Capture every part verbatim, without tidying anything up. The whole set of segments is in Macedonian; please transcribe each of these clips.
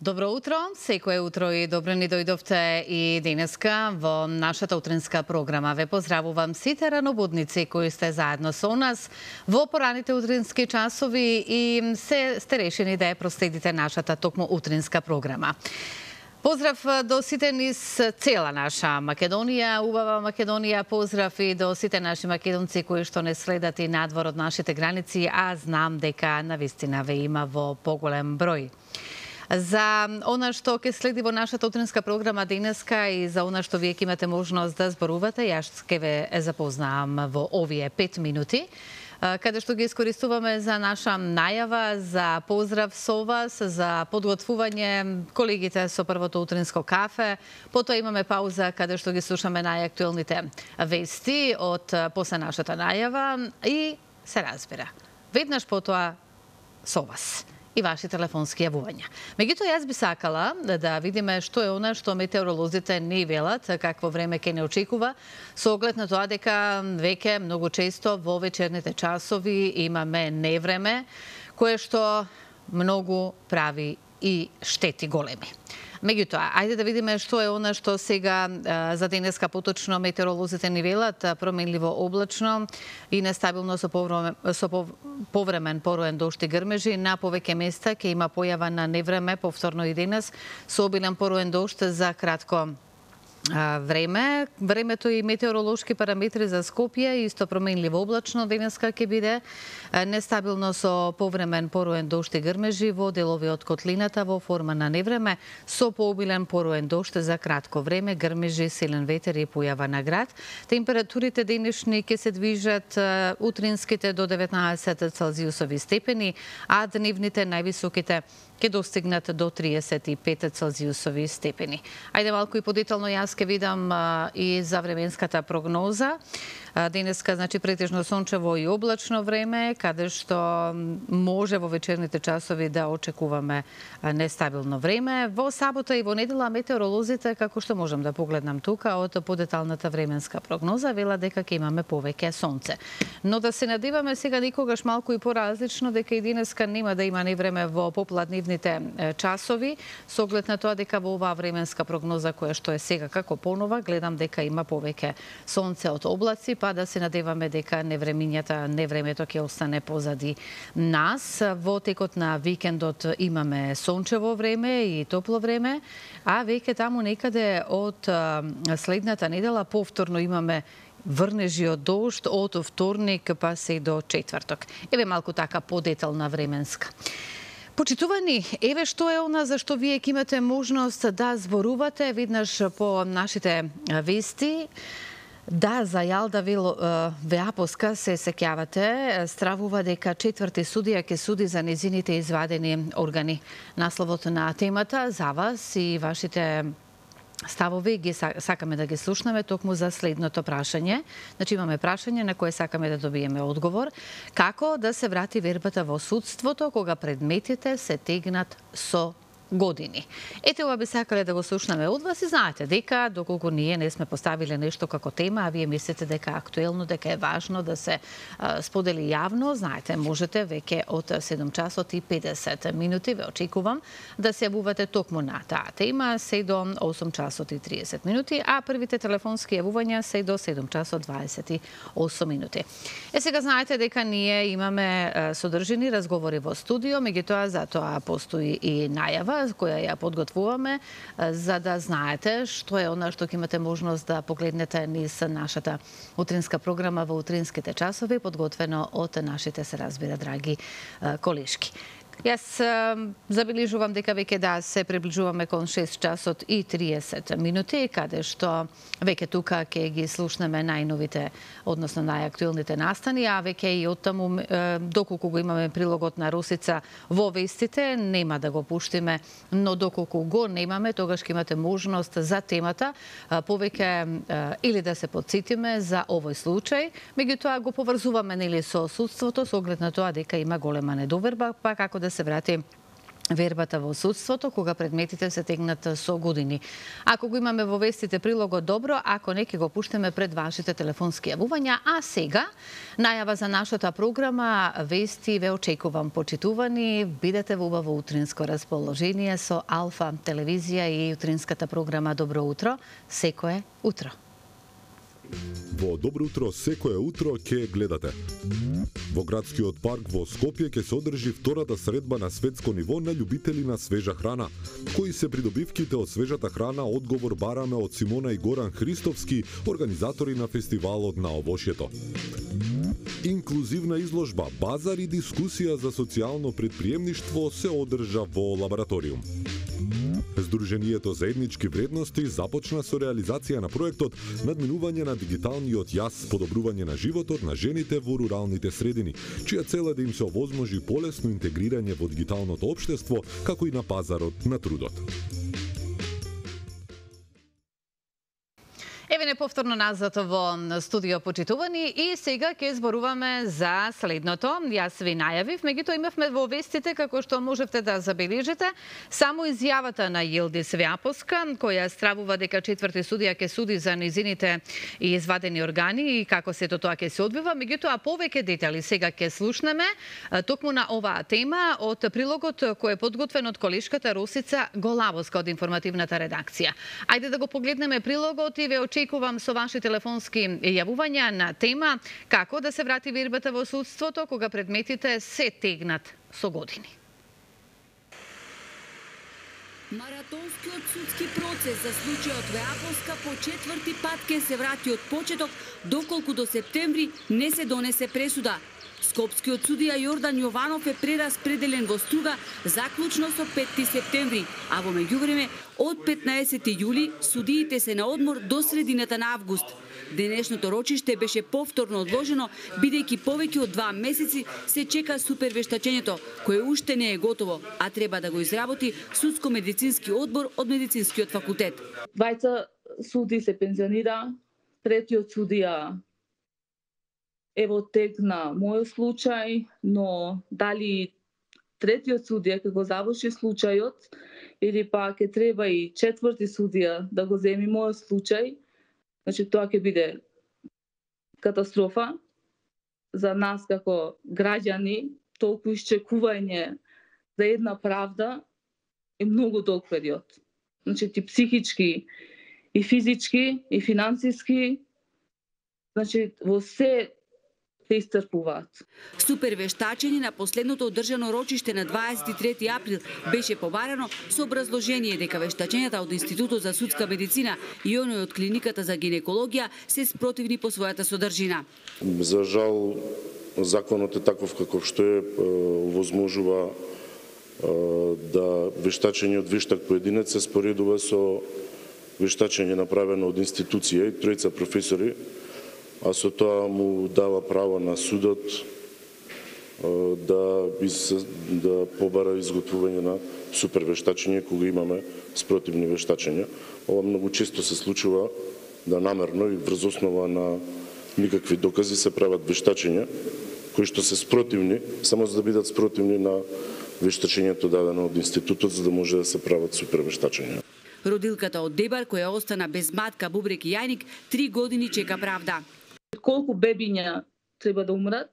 Добро утро, секое утро и добро ни дојдовте и денеска во нашата утринска програма. Ве поздравувам сите ранобудници кои сте заедно со нас во пораните утрински часови и се сте решени да ја проследите нашата токму утринска програма. Поздрав до сите низ цела наша Македонија, убава Македонија, поздрав и до сите наши македонци кои што не следат и надвор од нашите граници, а знам дека навистина ве има во поголем број. За она што ќе следи во нашата утринска програма денеска и за она што вие ќе имате можност да зборувате, јас ќе ве запознаам во овие пет минути, каде што ги искористуваме за наша најава, за поздрав со вас, за подготвување колегите со првото утринско кафе. Потоа имаме пауза каде што ги слушаме најактуелните вести од после нашата најава и се разбира. Веднаш потоа со вас и ваши телефонски јавувања. Меѓутоа, јас би сакала да видиме што е она што метеоролозите ни велат, какво време ќе не очекува, со оглед на тоа дека веќе многу често во вечерните часови имаме невреме, кое што многу прави и штети големи. Меѓутоа, ајде да видиме што е она што сега за денеска поточно метеоролозите ни велат, променливо облачно и нестабилно со, повремен, со повремен пороен дожд и грмежи. На повеќе места ќе има појава на невреме, повторно и денес, со обилен пороен дожд за кратко време. Времето и метеоролошки параметри за Скопје исто променливо облачно денеска ќе биде, нестабилно со повремен пороен дожд и грмежи во делови од котлината во форма на невреме, со пообилен пороен дожд за кратко време, грмежи, силен ветер и појава на град. Температурите денешни ќе се движат утринските до деветнаесет целзиусови степени, а дневните највисоките ќе достигнат до триесет и пет целзиусови степени. Ајде малку и подетално јас ќе видам а, и за временската прогноза. А, денеска, значи, претежно сончево и облачно време, каде што може во вечерните часови да очекуваме а, нестабилно време. Во сабота и во недела метеоролозите, како што можам да погледнам тука, од подеталната временска прогноза, вела дека ќе имаме повеќе сонце. Но да се надеваме сега никогаш малку и поразлично, дека и денеска нема да има невреме во попладнивните часови, со оглед на тоа дека во оваа временска прогноза која што е сега како понова, гледам дека има повеќе сонце од облаци, па да се надеваме дека невремињата, невремето ќе остане позади нас. Во текот на викендот имаме сончево време и топло време, а веќе таму некаде од следната недела повторно имаме врнежи од дожд од вторник па се до четврток. Еве малку така подетална временска. Почитувани, еве што е она за што вие ќе имате можност да зборувате веднаш по нашите вести. Да, за Јалда Веапоска се сеќавате, стравува дека четврти судија ќе суди за незините извадени органи. Насловот на темата за вас и вашите ставови ги сакаме да ги слушнеме токму за следното прашање. Значи имаме прашање на кое сакаме да добиеме одговор. Како да се врати вербата во судството кога предметите се тегнат со години? Ете, ова би сакале да го слушнеме од вас и знаете дека доколку ние не сме поставиле нешто како тема, а вие мислите дека е актуелно, дека е важно да се а, сподели јавно, знаете, можете веќе од седум часот и педесет минути ве очекувам да се јавувате токму на таа тема, се до осум часот и триесет минути, а првите телефонски јавувања се до седум часот дваесет и осум минути. Е, сега знаете дека ние имаме а, содржини разговори во студио, меѓутоа затоа постои и најава која ја подготвуваме, за да знаете што е она што ќе имате можност да погледнете низ нашата утринска програма во утринските часови, подготвено од нашите, се разбира, драги колешки. Јас забележувам дека веќе да се приближуваме кон шест часот и триесет минути, каде што веќе тука ќе ги слушнеме најновите, односно најактуелните настани, а веќе и оттаму, доколку го имаме прилогот на Росица во вестите, нема да го пуштиме, но доколку го немаме, тогаш ќе имате можност за темата повеќе или да се подсетиме за овој случај, меѓутоа го поврзуваме нели со судството, со оглед на тоа дека има голема недоверба, па како да се врати вербата во судството кога предметите се тегнат со години. Ако го имаме во вестите прилогот, добро, ако не, ќе го пуштаме пред вашите телефонски јавувања. А сега, најава за нашата програма, вести ве очекувам, почитувани, бидете во убаво утринско расположение со Алфа телевизија и утринската програма Добро утро, секое утро. Во Добро утро секое утро ќе гледате. Во градскиот парк во Скопје ќе се одржи втората средба на светско ниво на љубители на свежа храна. Кои се придобивките од свежата храна, одговор бараме од Симона и Горан Христовски, организатори на фестивалот на овошјето. Инклузивна изложба, базар и дискусија за социјално предприемништво се одржа во лабораториум. Сдруженијето за етнички вредности започна со реализација на проектот надминување на дигиталниот јаз, подобрување на животот на жените во руралните средини, чија цел е да им се овозможи полесно интегрирање во дигиталното општество, како и на пазарот на трудот. Еве не повторно назад во студио, почитувани, и сега ќе зборуваме за следното. Јас ви најавив, меѓутоа имавме во вестите, како што можевте да забележите, само изјавата на Јилдис Веаповска, која стравува дека четврти судија ќе суди за низините и извадени органи и како сето тоа ќе се одвива. Меѓутоа повеќе детали сега ќе слушнеме токму на оваа тема од прилогот кој е подготвен од колешката Росица Голавоска од информативната редакција. Ајде да го погледнеме прилогот и ве очекувам со ваши телефонски јавувања на тема како да се врати вербата во судството кога предметите се тегнат со години. Маратонскиот судски процес за случајот Веаповска по четврти пат ке се врати од почеток, доколку до септември не се донесе пресуда. Скопскиот судија Јордан Јованов е прераспределен во Струга заклучно со петти септември, а во меѓувреме од петнаесети јули судиите се на одмор до средината на август. Денешното рочиште беше повторно одложено, бидејќи повеќе од два месеци се чека супервештачењето, кое уште не е готово, а треба да го изработи судско-медицински одбор од медицинскиот факултет. Двајца суди се пензионира, третиот судија ево тек на мојот случај, но дали третиот судија ќе го заврши случајот или па ќе треба и четврти судија да го земи мојот случај, значи тоа ќе биде катастрофа за нас како граѓани. Толку исчекување за една правда е многу долг период. Значи ти психички и физички и финансиски, значи во се се истрпуваат. Супервештачење на последното одржано рочиште на дваесет и трети април беше побарано со образложение дека вештачењата од Институтот за судска медицина и оној од клиниката за гинекологија се спротивни по својата содржина. За жал, законот е таков каков што е, овозможува да вештачење од вештак поединец се споредува со вештачење направено од институција и тројца професори, а со тоа му дава право на судот да, да побара изготвување на супервештачење кога имаме спротивни вештачења. Ова многу често се случува да намерно и врз основа на никакви докази се прават вештачења кои што се спротивни, само за да бидат спротивни на вештачењето дадено од институтот, за да може да се прават супервештачења. Родилката од Дебар, која остана без матка, бубрек и јајник, три години чека правда. Колку бебиња треба да умрат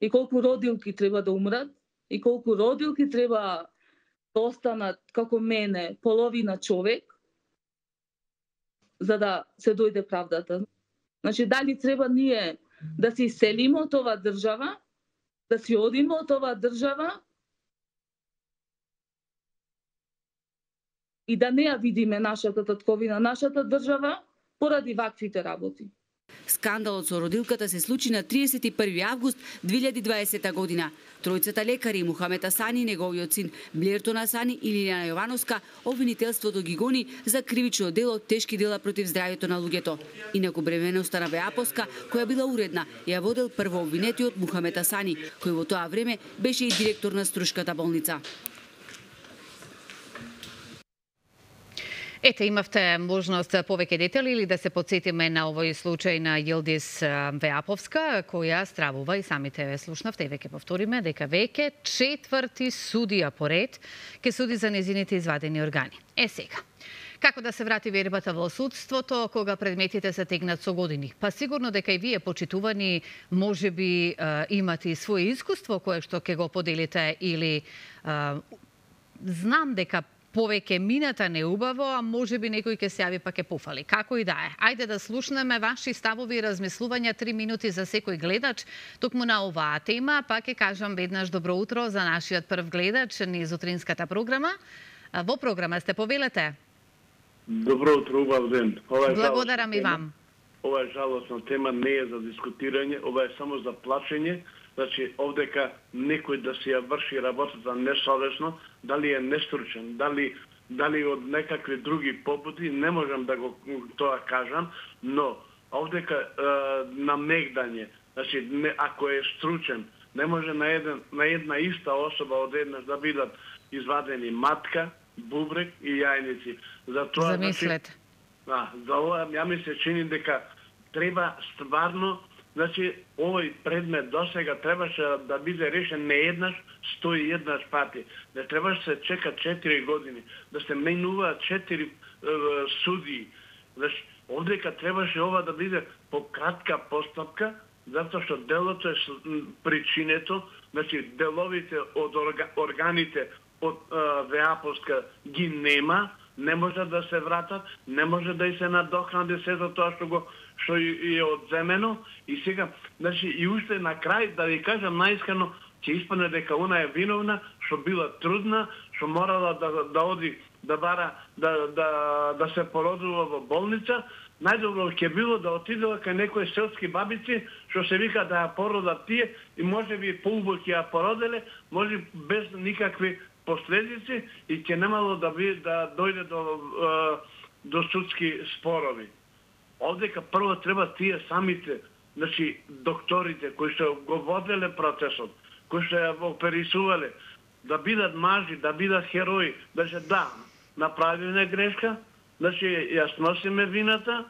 и колку родилки треба да умрат и колку родилки треба да останат како мене, половина човек, за да се дојде правдата. Значи, дали треба ние да се иселиме од оваа држава, да си одиме од оваа држава и да не ја видиме нашата татковина, нашата држава, поради ваквите работи. Скандалот со родилката се случи на триесет и први август две илјади и дваесета година. Тројцата лекари, Мухамед Асани, неговиот син Блертон Асани и Лилјана Јовановска, обвинителството ги гони за кривично дело тешки дела против здравјето на луѓето. Инаку бременоста на Веаповска, која била уредна, ја водел прво обвинетиот Мухамед Асани, кој во тоа време беше и директор на Струшката болница. Ете, имавте можност повеќе детали или да се подсетиме на овој случај на Јилдис Веаповска, која стравува и самите ве слушнавте и веќе повториме дека веќе четврти судија поред ке суди за незините извадени органи. Е сега, како да се врати вербата во судството кога предметите се тегнат со години? Па сигурно дека и вие, почитувани, може би имате и свое искуство кое што ќе го поделите или а, знам дека повеќе мината неубаво, а може би некој ќе се јави па ќе пофали. Како и да е. Ајде да слушнеме ваши ставови и размислувања, три минути за секој гледач. Токму на оваа тема, па ќе кажам веднаш добро утро за нашиот прв гледач низ утринската програма. Во програма сте, повелете. Добро утро, убав ден. Благодарам и вам. Ова е жалосна тема, не е за дискутирање, ова е само за плачење. Значи, овдека некој да си ја врши работата несовесно, дали е нестручен, дали, дали од некакви други побуди, не можам да го тоа кажам, но овдека е, намегдање, значи, не, ако е стручен, не може на, еден, на една иста особа одеднаш да бидат извадени матка, бубрек и јајници. Затоа, замислете. Значи, а, за ова, ја ми се чини дека треба стварно. Значи, овој предмет досега требаше да биде решен не еднаш, сто и еднаш пати. Не требаше се чека четири години, да се менуваат четири е, судии. Значи, овдека требаше ова да биде по кратка постапка, затоа што делото е причинето, значи деловите од орга, органите од е, Веаповска ги нема, не може да се вратат, не може да и се надокнади сето тоа што го што е одземено. И сега, значи, и уште на крај, да ви кажам наискрено, ќе испадне дека она е виновна, што била трудна, што морала да, да оди, да бара, да, да, да се породува во болница. Најдобро ќе било да отидела кај некои селски бабици, што се вика да ја породат тие, и може би поубаво ќе ја породеле, може без никакви последици, и ќе немало да, би, да дојде до, до судски спорови. Овдека прво треба тие самите, значи докторите кои што го воделе процесот, кои што ја оперисувале, да бидат мажи, да бидат херои, да се да, направиме грешка, значи ја сносиме вината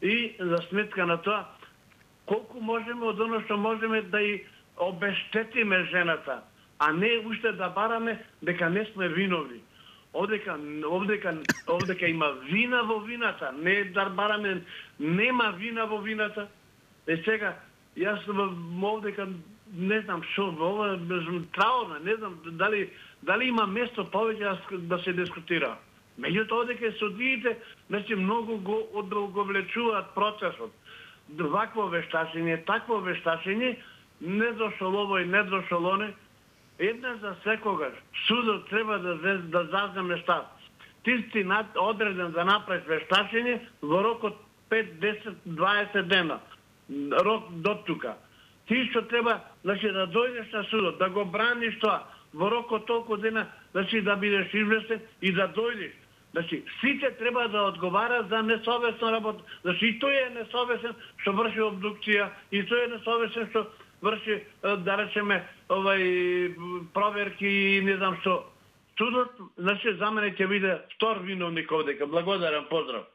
и за сметка на тоа колку можеме од оно што можеме да и обештетиме жената, а не уште да бараме дека не сме виновни. Овдека, овдека, овдека има вина во вината, не да бараме, нема вина во вината. Е сега, јас овдека не знам што, ова траурна, не знам дали, дали има место повеќе да се дискутира. Меѓутоа, овдека судиите, значи, многу го одолговлечуваат процесот. Вакво вештачење, такво вештачење, не дошол овој, не дошол оне. Една за секогаш, судот треба да, да заземе штат. Ти си одреден да направиш вештачење во рок од пет, десет, дваесет дена. Рок до тука. Ти што треба, значи, да дојдеш на судот, да го браниш тоа, во рок од толку дена, значи, да бидеш известен и да дојдеш. Значи, сите треба да одговарат за несовесна работа. Значи, и тој е несовесен што врши обдукција, и тој е несовесен што врши, да речеме, овај проверки и не знам што. Судот, значи, за мене ќе биде втор виновник овдека. Благодарам, поздрав.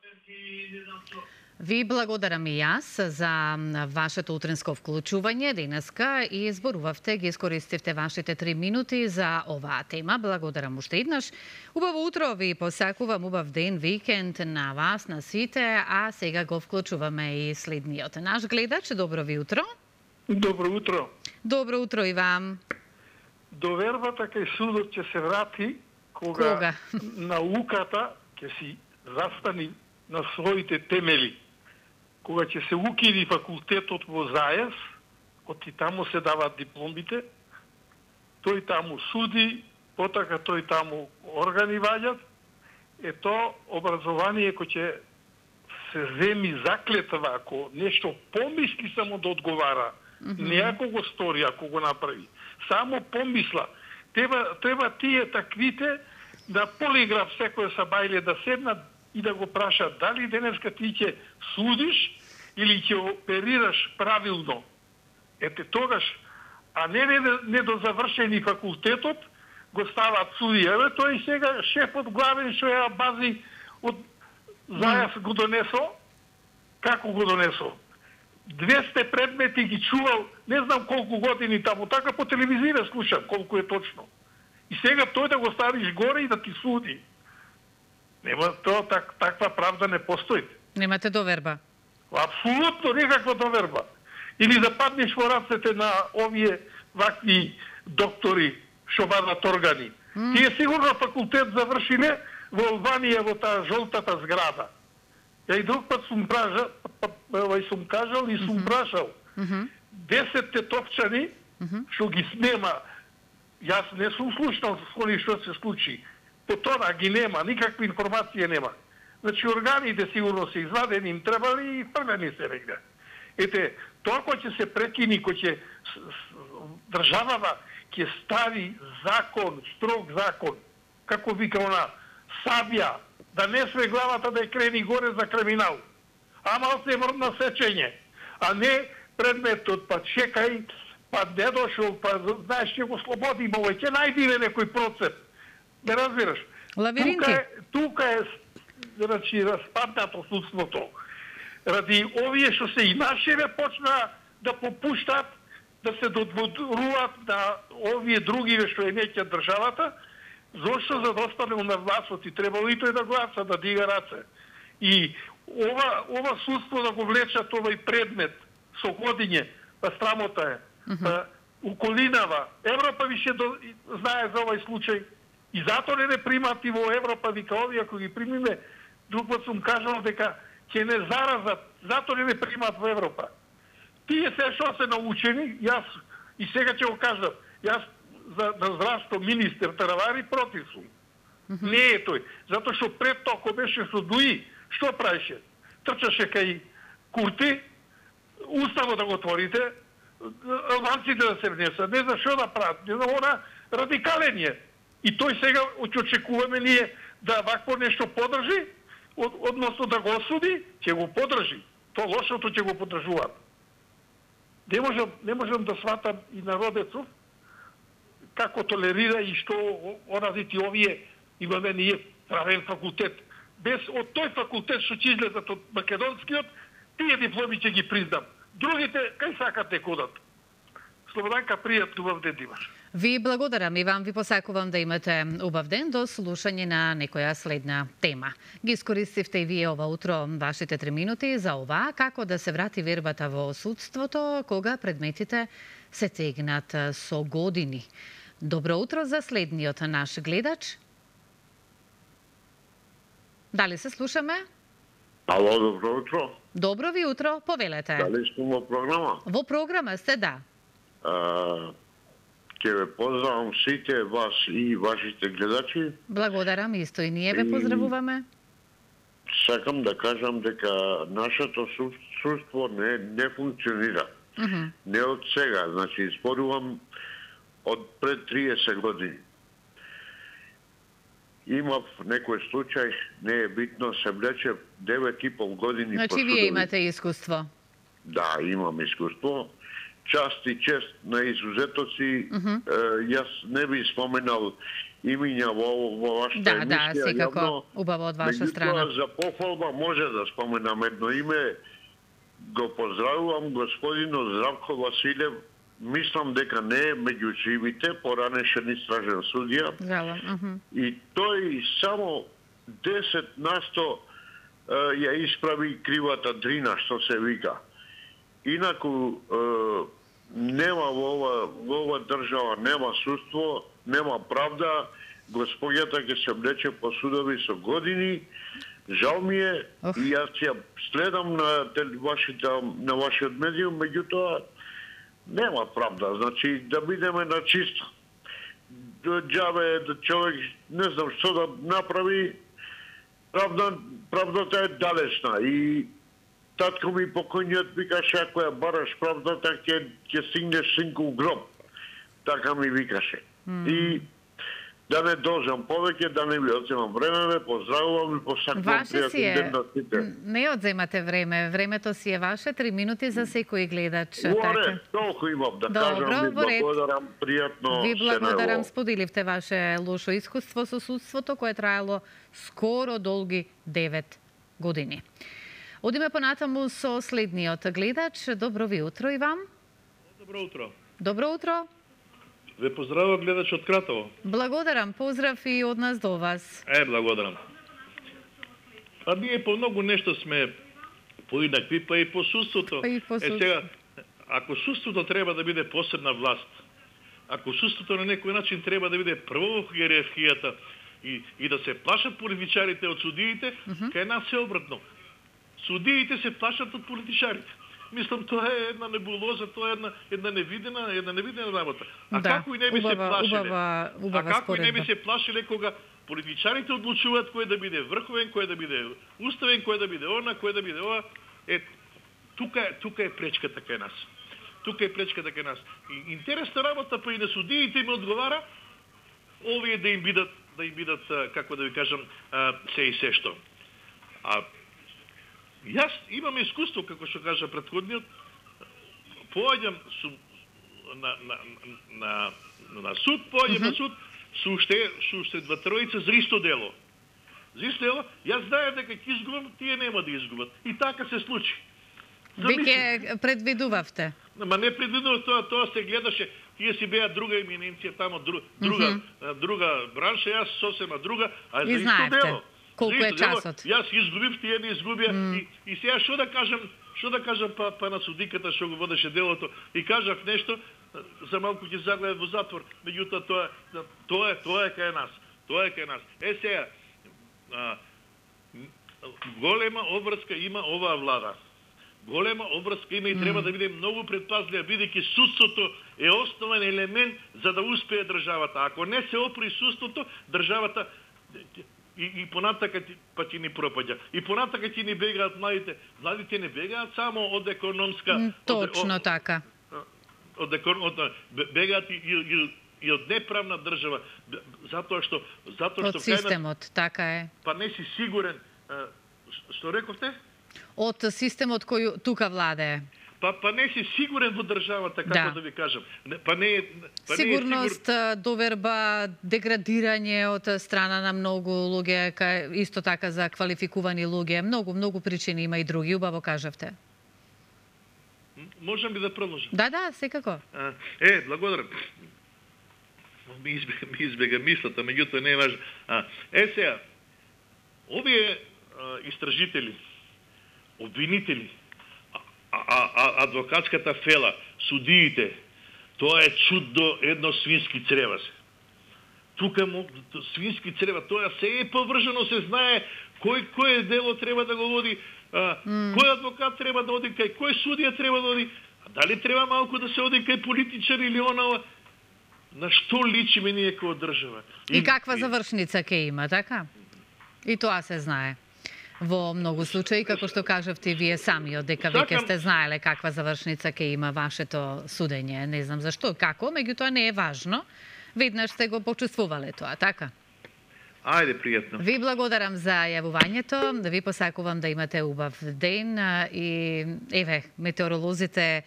Ви благодарам и јас за вашето утринско вклучување денеска и зборувавте, ги искористивте вашите три минути за оваа тема. Благодарам уште еднаш. Убаво утро ви посакувам, убав ден, викенд на вас, на сите, а сега го вклучуваме и следниот наш гледач. Добро ви утро. Добро утро. Добро утро и вам. Довербата кај судот ќе се врати кога, кога? науката ќе си застани на своите темели. Кога ќе се укиди факултетот во Зајас, оти таму се дават дипломите, тој таму суди, потака тој таму органи ваѓат, е то образование кој ќе се земи заклетва, ако нешто помисли само да одговара, mm-hmm. не ако го стори, ако го направи. Само помисла. Треба, треба тие таквите да полиграф секој сабајле да седнат и да го прашат дали денеска ти ќе судиш или ќе оперираш правилно. Ете тогаш, а не недозавршени факултетот, го стават судија. Еве тој сега шефот главен што ја бази од Зајас го донесо, како го донесо? двесте предмети ги чувал, не знам колку години таму, така по телевизија слушам колку е точно. И сега тој да го ставиш горе и да ти суди. Нема тоа, так, таква правда не постои. Немате доверба? Апсолутно никаква доверба. Или да паднеш во рацете на овие вакви доктори што бадат органи. Mm. Тие сигурно факултет завршиле во Албанија во таа жолтата зграда. Ја и друг пат сум пражал, и сум кажал и сум прашал. десет тетовчани што ги снема, јас не сум слушнал со они што се случи. По тоа ги нема, никакви информации нема. Значи органите сигурно се извадени, им требали и фргани се негде. Ете, тоа кој ќе се прекини, кој ќе државава ќе стави закон, строг закон, како вика она, сабја, да не све главата да ја крени горе за криминал. Ама се врна сечење, а не предметот, па чекај, па не дошол, па знаеш ќе го слободим овој, ќе најдиме некој процеп. Не разбираш? Лавиринки. Тука е, тука е значи, распаднато судството. Ради овие што се и нашеве почна да попуштат, да се додворуваат на овие други што е неќа државата, зошто за да останемо на властот и требало и тој да гласа, да дига раце. И ова, ова судство да го влечат овој предмет со годиње, па срамота е, па уколинава. Европа више до, знае за овој случај и затоа не не примат и во Европа, вика овие, ако ги примиме, друг пат сум кажал дека ќе не заразат, затоа не не примат во Европа. Тие се што се научени, јас и сега ќе го кажам, јас за на здравство министер Таравари против сум. Mm -hmm. Не е тој, затоа што пред тоа кој беше со Дуи, што правеше? Трчаше кај Курти, уставо да го отворите, албанците да се внесат, не за што да прават, не за она радикален е. И тој сега очекуваме ние да вакво нешто подржи, од, односно да го осуди, ќе го подржи. Тоа лошото ќе го подржуваат. Не можам, не можам да сватам и народецов како толерира и што оразити овие имаме ние правен факултет. Без од тој факултет што ќе излезат од македонскиот, тие дипломи ќе ги признам. Другите, кај сакат не кодат. Слободанка, пријатно убав ден имаш. Ви благодарам и вам ви посакувам да имате убав ден до слушање на некоја следна тема. Ги искористивте и вие ова утро вашите три минути за ова, како да се врати вербата во судството кога предметите се тегнат со години. Добро утро за следниот наш гледач. Дали се слушаме? Ало, добро утро. Добро ви утро, повелете. Дали сте во програма? Во програма сте, да. А, Ке ве поздравам сите вас и вашите гледачи. Благодарам, исто и ние ве поздравуваме. Сакам да кажам дека нашето судство не, не функционира. Uh -huh. Не од сега, значи зборувам од пред триесет години. Имав некој случај, не е битно, се влече девет и пол години. Значи вие имате искуство? Да, имам искуство. Част и чест на изузетоци, uh -huh. е, јас не би споменал имиња во, во вашата да, емисија. Да, секако убаво од ваша страна. За похвалба може да споменам едно име. Го поздравувам господинот Здравко Василев. Мислам дека не е меѓу живите, поранешен истражен судија. Жалам. Uh -huh. И тој само десет на сто е, ја исправи кривата дрина, што се вика. Инаку е, нема во ова, во ова држава, нема судство, нема правда, господјата ќе се влече по судови со години. Жал ми е, oh. и јас ја следам на вашите, на вашиот медиум, меѓутоа нема правда, значи да бидеме на чисто. Џабе да човек не знам што да направи, правда, правдата е далечна и татко ми покојниот викаше, ако ја бараш правдата, ќе ќе стигнеш синку в гроб. Така ми викаше. Mm. И да не должам повеќе, да не ви одземам време, ве поздравувам и посакувам пријатен ден на сите. Не одземате време, времето си е ваше, три минути за секој гледач. Уоре, толку имам да Добро, кажам, ви благодарам, пријатно. Ви благодарам, споделивте ваше лошо искуство со судството, кое траело скоро долги девет години. Одиме понатаму со следниот гледач. Добро ви утро и вам. Добро утро. Добро утро. Ве поздравува гледач од Кратово. Благодарам, поздрав и од нас до вас. Е, благодарам. Па ние по многу нешто сме поинакви, па и по судството. Па и по судството. Е, сега, ако судството треба да биде посебна власт, ако судството на некој начин треба да биде прво во иерархијата и, и да се плашат политичарите од судиите, uh -huh. кај нас е обратно. Судиите се плашат од политичарите. Мислам, тоа е една небулоза, тоа е една, една невидена, една невидена работа. А да, како и не би убава, се плашиле? Убава, убава а како споредба. и не би се плашиле кога политичарите одлучуваат кој да биде врховен, кој да биде уставен, кој да биде она, кој да биде ова. Е, тука, тука е пречката кај нас. Тука е пречката кај нас. И интересна работа, па и на судиите им одговара овие да им бидат, да им бидат, како да ви кажам, се и се што. А јас имам искуство, како што кажа претходниот, поаѓам су, на, на, на, на суд, поаѓам uh -huh. на суд, со уште, со уште два тројца за исто дело. За исто дело, јас знаев дека ќе изгубам, тие нема да изгубат. И така се случи. Веќе предвидувавте? Ма не предвидував тоа, тоа се гледаше, тие си беа друга еминенција тамо, друг, друга, uh -huh. друга бранша, јас сосема друга, а за и исто знаевте. дело. Колку е часот? Јас изгубив, тие не изгубија. Mm. И, и сега што да кажам, што да кажам па, па на судиката што го водеше делото и кажав нешто, за малку ќе загледат во затвор, меѓутоа тоа тоа е тоа е кај нас. Тоа е кај нас. Е сега а, голема обврска има оваа влада. Голема обврска има и mm. треба да биде многу предпазлива, бидејќи судството е основен елемент за да успее државата. Ако не се опри судството, државата И, и понатака па ќе ни пропаѓа. И понатака ќе ни бегаат младите. Младите не бегаат само од економска... Точно од, така. Од, од, од, бегаат и, и, и од неправна држава. Затоа што... Затоа од што системот, кај, така е. Па не си сигурен... Што рековте? Од системот кој тука владее. Па, па не си сигурен во државата, како да, да ви кажам. Па не, па Сигурност, не е сигур... доверба, деградирање од страна на многу луѓе, исто така за квалификувани луѓе. Многу, многу причини има и други, убаво кажавте. Можам ли да продолжам? Да, да, секако. А, е, благодарам. Ми избега, ми избега мислата, меѓутоа не е важно. А, е сега, овие а, истражители, обвинители, А, а адвокатската фела, судиите, тоа е чудо едно свински црева се. Тука му, свински црева, тоа се е повржено, се знае кој кој дело треба да го води, а, mm. кој адвокат треба да оди кај, кој судија треба да оди, а дали треба малку да се оди кај политичар или онава, на што личиме ние како држава. И, и каква завршница ќе има, така? И тоа се знае. Во многу случаи, како што кажавте вие самиот, дека веќе сте знаеле каква завршница ќе има вашето судење. Не знам зашто, како, меѓутоа не е важно. Веднаш сте го почувствувале тоа, така? Ајде, пријатно. Ви благодарам за јавувањето, да ви посакувам да имате убав ден и еве, метеоролозите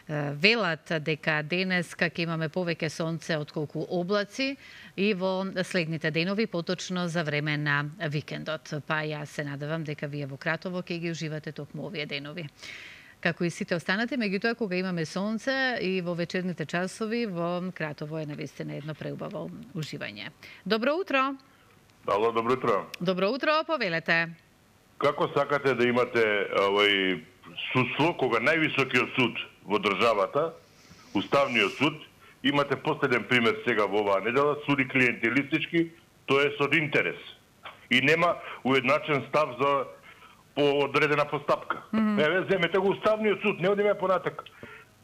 велат дека денеска ќе имаме повеќе сонце отколку облаци и во следните денови, поточно за време на викендот. Па јас се надевам дека вие во Кратово ќе ги уживате токму овие денови. Како и сите останати, меѓутоа кога имаме сонце и во вечерните часови, во Кратово е навистина едно преубаво уживање. Добро утро! Ало, добро утро! Добро утро, повелете! Како сакате да имате овој судство кога највисокиот суд во државата, Уставниот суд, имате последен пример сега во оваа недела, суди клиентелистички, тоа е со интерес. И нема уедначен став за по одредена постапка. Mm -hmm. Еве, земете го Уставниот суд, не одиме понатак.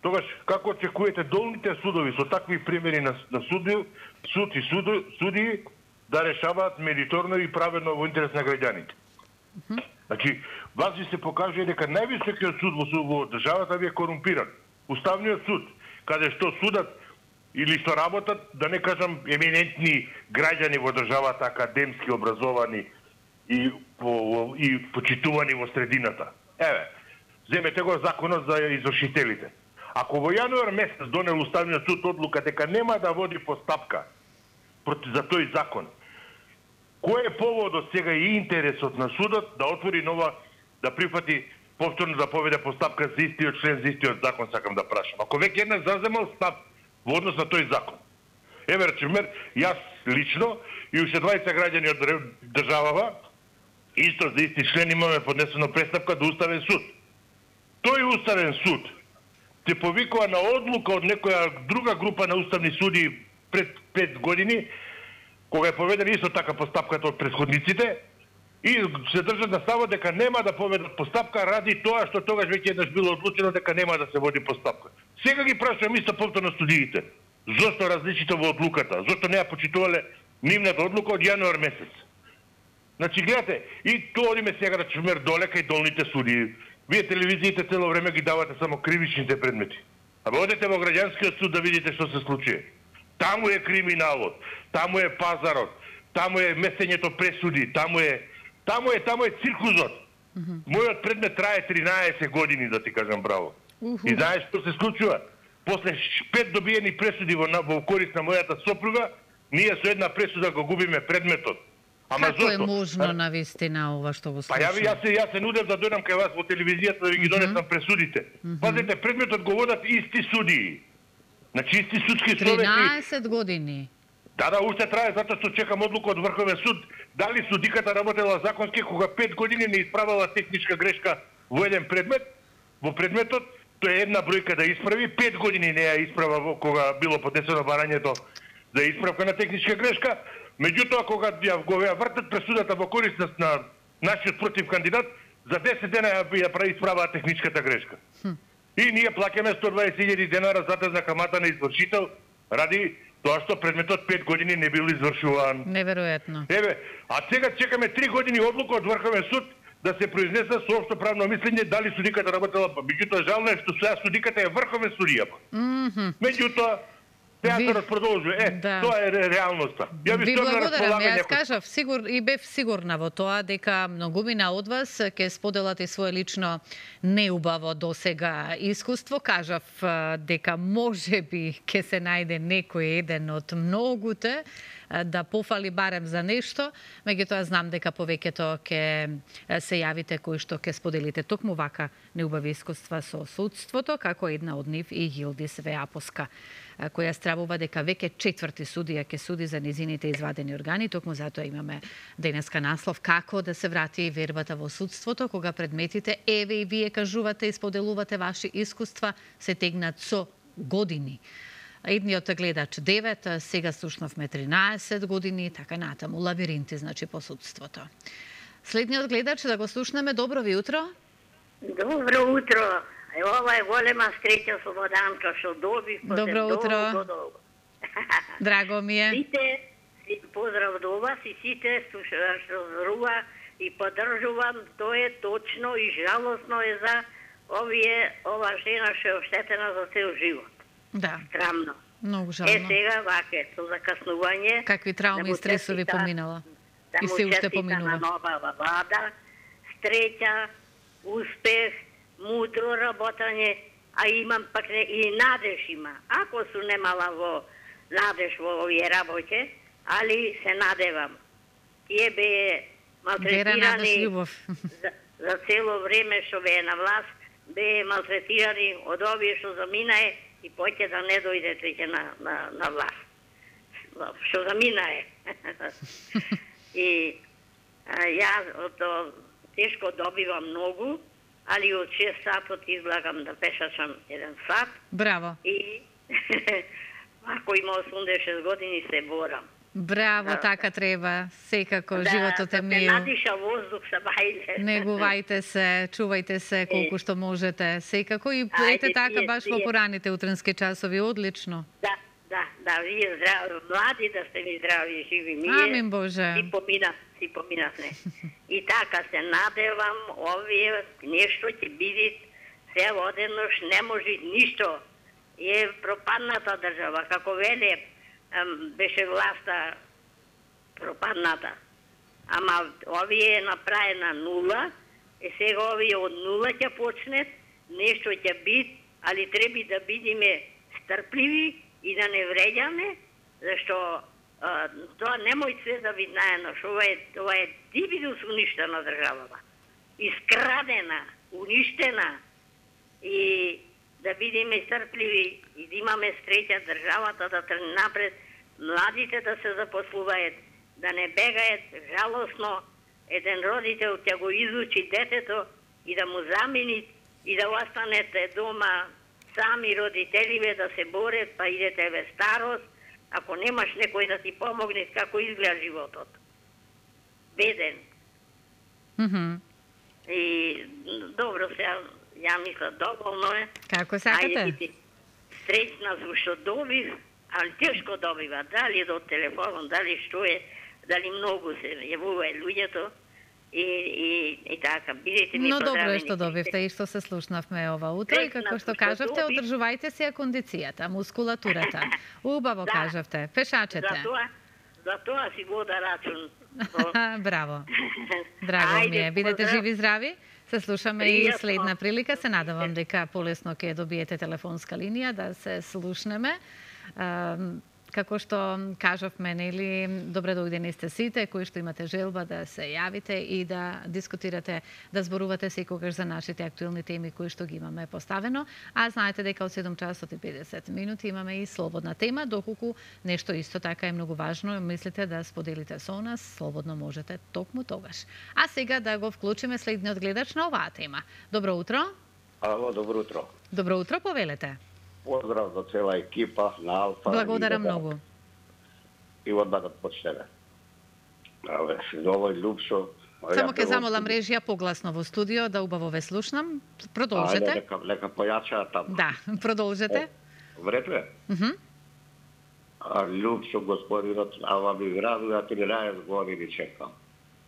Тогаш, како очекувате долните судови со такви примери на, на суди, суд и суди, суди да решаваат мериторно и праведно во интерес на граѓаните? Mm -hmm. Значи, вас ви се покажува дека највисокиот суд во, во државата ви е корумпиран. Уставниот суд, каде што судат или што работат, да не кажам еминентни граѓани во државата, академски образовани и, по, и почитувани во средината. Еве, земете го законот за извршителите. Ако во јануар месец донел Уставниот суд одлука дека нема да води постапка против за тој закон, Кој е поводот сега и интересот на судот да отвори нова, да прифати повторно да поведе постапка за истиот член, за истиот закон, сакам да прашам. Ако веќе еднаш заземал став во однос на тој закон. Еве, речемер, јас лично и уште дваесет граѓани од државава, исто за исти член имаме поднесено престапка до Уставен суд. Тој Уставен суд се повикува на одлука од некоја друга група на уставни суди пред пет години, кога е поведена исто така постапката од претходниците, и се држат на ставот дека нема да поведат постапка ради тоа што тогаш веќе еднаш било одлучено дека нема да се води постапка. Сега ги прашувам исто повторно студиите. Зошто различито во одлуката? Зошто не ја почитувале нивната одлука од јануар месец? Значи, гледате, и тоа одиме сега да чумер долека и долните суди. Вие телевизиите цело време ги давате само кривичните предмети. Абе, одете во граѓанскиот суд да видите што се случи. Таму е криминалот, таму е пазарот, таму е месењето пресуди, таму е таму е таму е циркузот. Mm -hmm. Мојот предмет трае тринаесет години, да ти кажам браво. Uh -huh. И знаеш што се случува? После пет добиени пресуди во, во корист на мојата сопруга, ние со една пресуда го губиме предметот. Ама како зошто? Е можно на вистина ова што го слушам? Па ја, јас, се, јас се нудев да дојдам кај вас во телевизијата да ви ги донесам uh -huh. пресудите. Uh -huh. Пазете, предметот го водат исти судии. Значи исти судски совети. тринаесет години. Да, да, уште трае, затоа што чекам одлука од Врховен суд. Дали судиката работела законски кога пет години не исправила техничка грешка во еден предмет, во предметот, тоа е една бројка да исправи, пет години не ја исправа кога било поднесено барањето за исправка на техничка грешка. Меѓутоа, кога ја го ја вртат пресудата во корист на нашиот против кандидат, за десет дена ја, ја прави исправаа техничката грешка. Хм. И ние плаќаме сто дваесет илјади денара затезна камата на извршител ради тоа што предметот пет години не бил извршуван. Неверојатно. Еве, а сега чекаме три години одлука од Врховен суд да се произнеса со општо правно мислење дали судиката работела. Меѓутоа жално е што сега судиката е Врховен судија. Mm -hmm. Меѓутоа театарот продолжува. Е, да. Тоа е реалноста. Ја ви, ви благодарам. Јас кажав сигур и бев сигурна во тоа дека многумина од вас ќе споделате свое лично неубаво досега искуство. Кажав дека можеби ќе се најде некој еден од многуте да пофали барем за нешто, меѓутоа знам дека повеќето ќе се јавите кои што ќе споделите токму вака неубави искуства со судството, како една од нив и Јилдис Веаповска, која стравува дека веќе четврти судија ќе суди за низините извадени органи. Токму затоа имаме денеска наслов како да се врати вербата во судството, кога предметите, еве и вие кажувате и споделувате ваши искуства, се тегнат со години. Едниот гледач девет, сега слушнавме тринаесет години, така натаму, лабиринти, значи, по судството. Следниот гледач, да го слушнеме, добро ви утро. Добро утро. Ова е голема среќа со Воданка, што доби. Добро утро. Долго, долго. Драго ми е. Сите, поздрав до вас и сите што зборува и поддржувам, тоа е точно и жалосно е за овие, ова жена што е оштетена за цел живот. Да. Срамно. Многу жално. Е, сега, ваке, со закаснување... Какви трауми и стресови поминала? Да и се уште поминува. На нова влада, среќа, успех, мудро работање, а имам пак не, и надеж има. Ако су немала во надеж во овие работе, али се надевам. Тие бе малтретирани за, за цело време што бе на власт, бе малтретирани од овие што заминае и поќе да не дојдете веќе на, на, на власт. Што заминае. И а, јас ото тешко добивам многу, али од шест сатот излагам да пешачам еден сат. Браво. И ако има осумдесет и шест години се борам. Браво, да, така треба. Секако, да, животот е мил. Да, да надиша воздух са бајле. Негувајте се, чувајте се колку што можете. Секако и ете така баш во пораните утренски часови. Одлично. Да, да, да, вие здрави, млади да сте ви здрави и живи. Ние Амин Боже. Си помина, си поминавме. И така се надевам, овие нешто ќе биде се одеднош, не може ништо. Е пропадната држава, како веле, беше власта пропадната. Ама овие е направена нула, и сега овие од нула ќе почнет, нешто ќе биде, али треба да бидеме стрпливи и да не вреѓаме, зашто а, тоа немој се да ви наедно, што ова е, ова е дивидус уништена државава. Искрадена, уништена. И да бидеме стрпливи и да имаме среќа државата да тргне напред, младите да се запослуваат, да не бегаат жалосно, еден родител ќе го изучи детето и да му замени и да останете дома сами родителиве да се борат, па идете ве старост, ако немаш некој да ти помогне како изгледа животот. Беден. Mm-hmm. И добро се, ја мисля, доволно е. Како сакате? Ајде, среќна сум што добив, али тешко добива, дали до телефон, дали што е, дали многу се јавуваат луѓето. И, и, и така, бидете ми Но добро е поздравени. што добивте и што се слушнавме ова утро и како што кажавте, одржувајте си ја кондицијата, мускулатурата. Убаво Да. кажавте, пешачете. За тоа, за тоа си вода рачун. Браво. Драго ми е. Бидете поздрав. живи и здрави. Се слушаме и Пријатно. следна прилика. Се надавам дека полесно ќе добиете телефонска линија да се слушнеме. Ам, Како што кажавме, нели, добре дојдени сте сите кои што имате желба да се јавите и да дискутирате, да зборувате секогаш за нашите актуелни теми кои што ги имаме поставено. А знаете дека од седум часот и педесет минути имаме и слободна тема, доколку нешто исто така е многу важно, мислите да споделите со нас, слободно можете токму тогаш. А сега да го вклучиме следниот гледач на оваа тема. Добро утро. Ало, добро утро. Добро утро, повелете. Поздрав за цела екипа на Алфа. Благодарам и да, многу. И одмah да почнеме. Абе, овој Лупшо... Само ќе замолам режија погласно во студио да убаво ве слушнам. Продолжете. Ајде, лека, лека појачаа таму. Да, продолжете. Вред ли? Мгм. А Лупшо, господинот, ава ми градува тринаесет години чекам.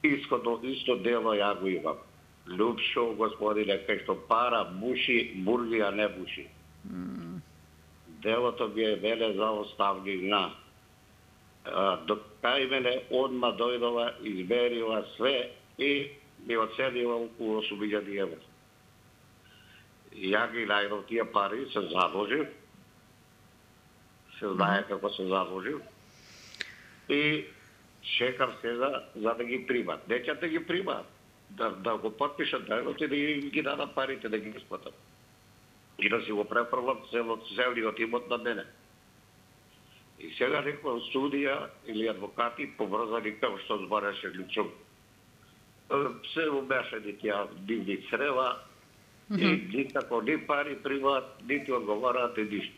Иското, исто дело ја го имам. Лупшо, господине, кај што пара буши, бургија не буши. Делото би е веле за оставнина. До кај мене одма дојдова, измерила све и ми оценила околу осум илјади евра. Ја ги најдов тие пари, се задолжив. Се знае како се задолжив. И чекам сега за да ги примат. Не ќе да ги примат. Да, да го подпишат дајлот и да ги, ги дадат парите, да ги исплатат. И да си го префрлам целот, целиот имот на мене. И сега некоја судија или адвокати побрзани како што збореше Лючук. Се умешани тие дивни црева и никако ни пари примат, нити одговараат и ништо.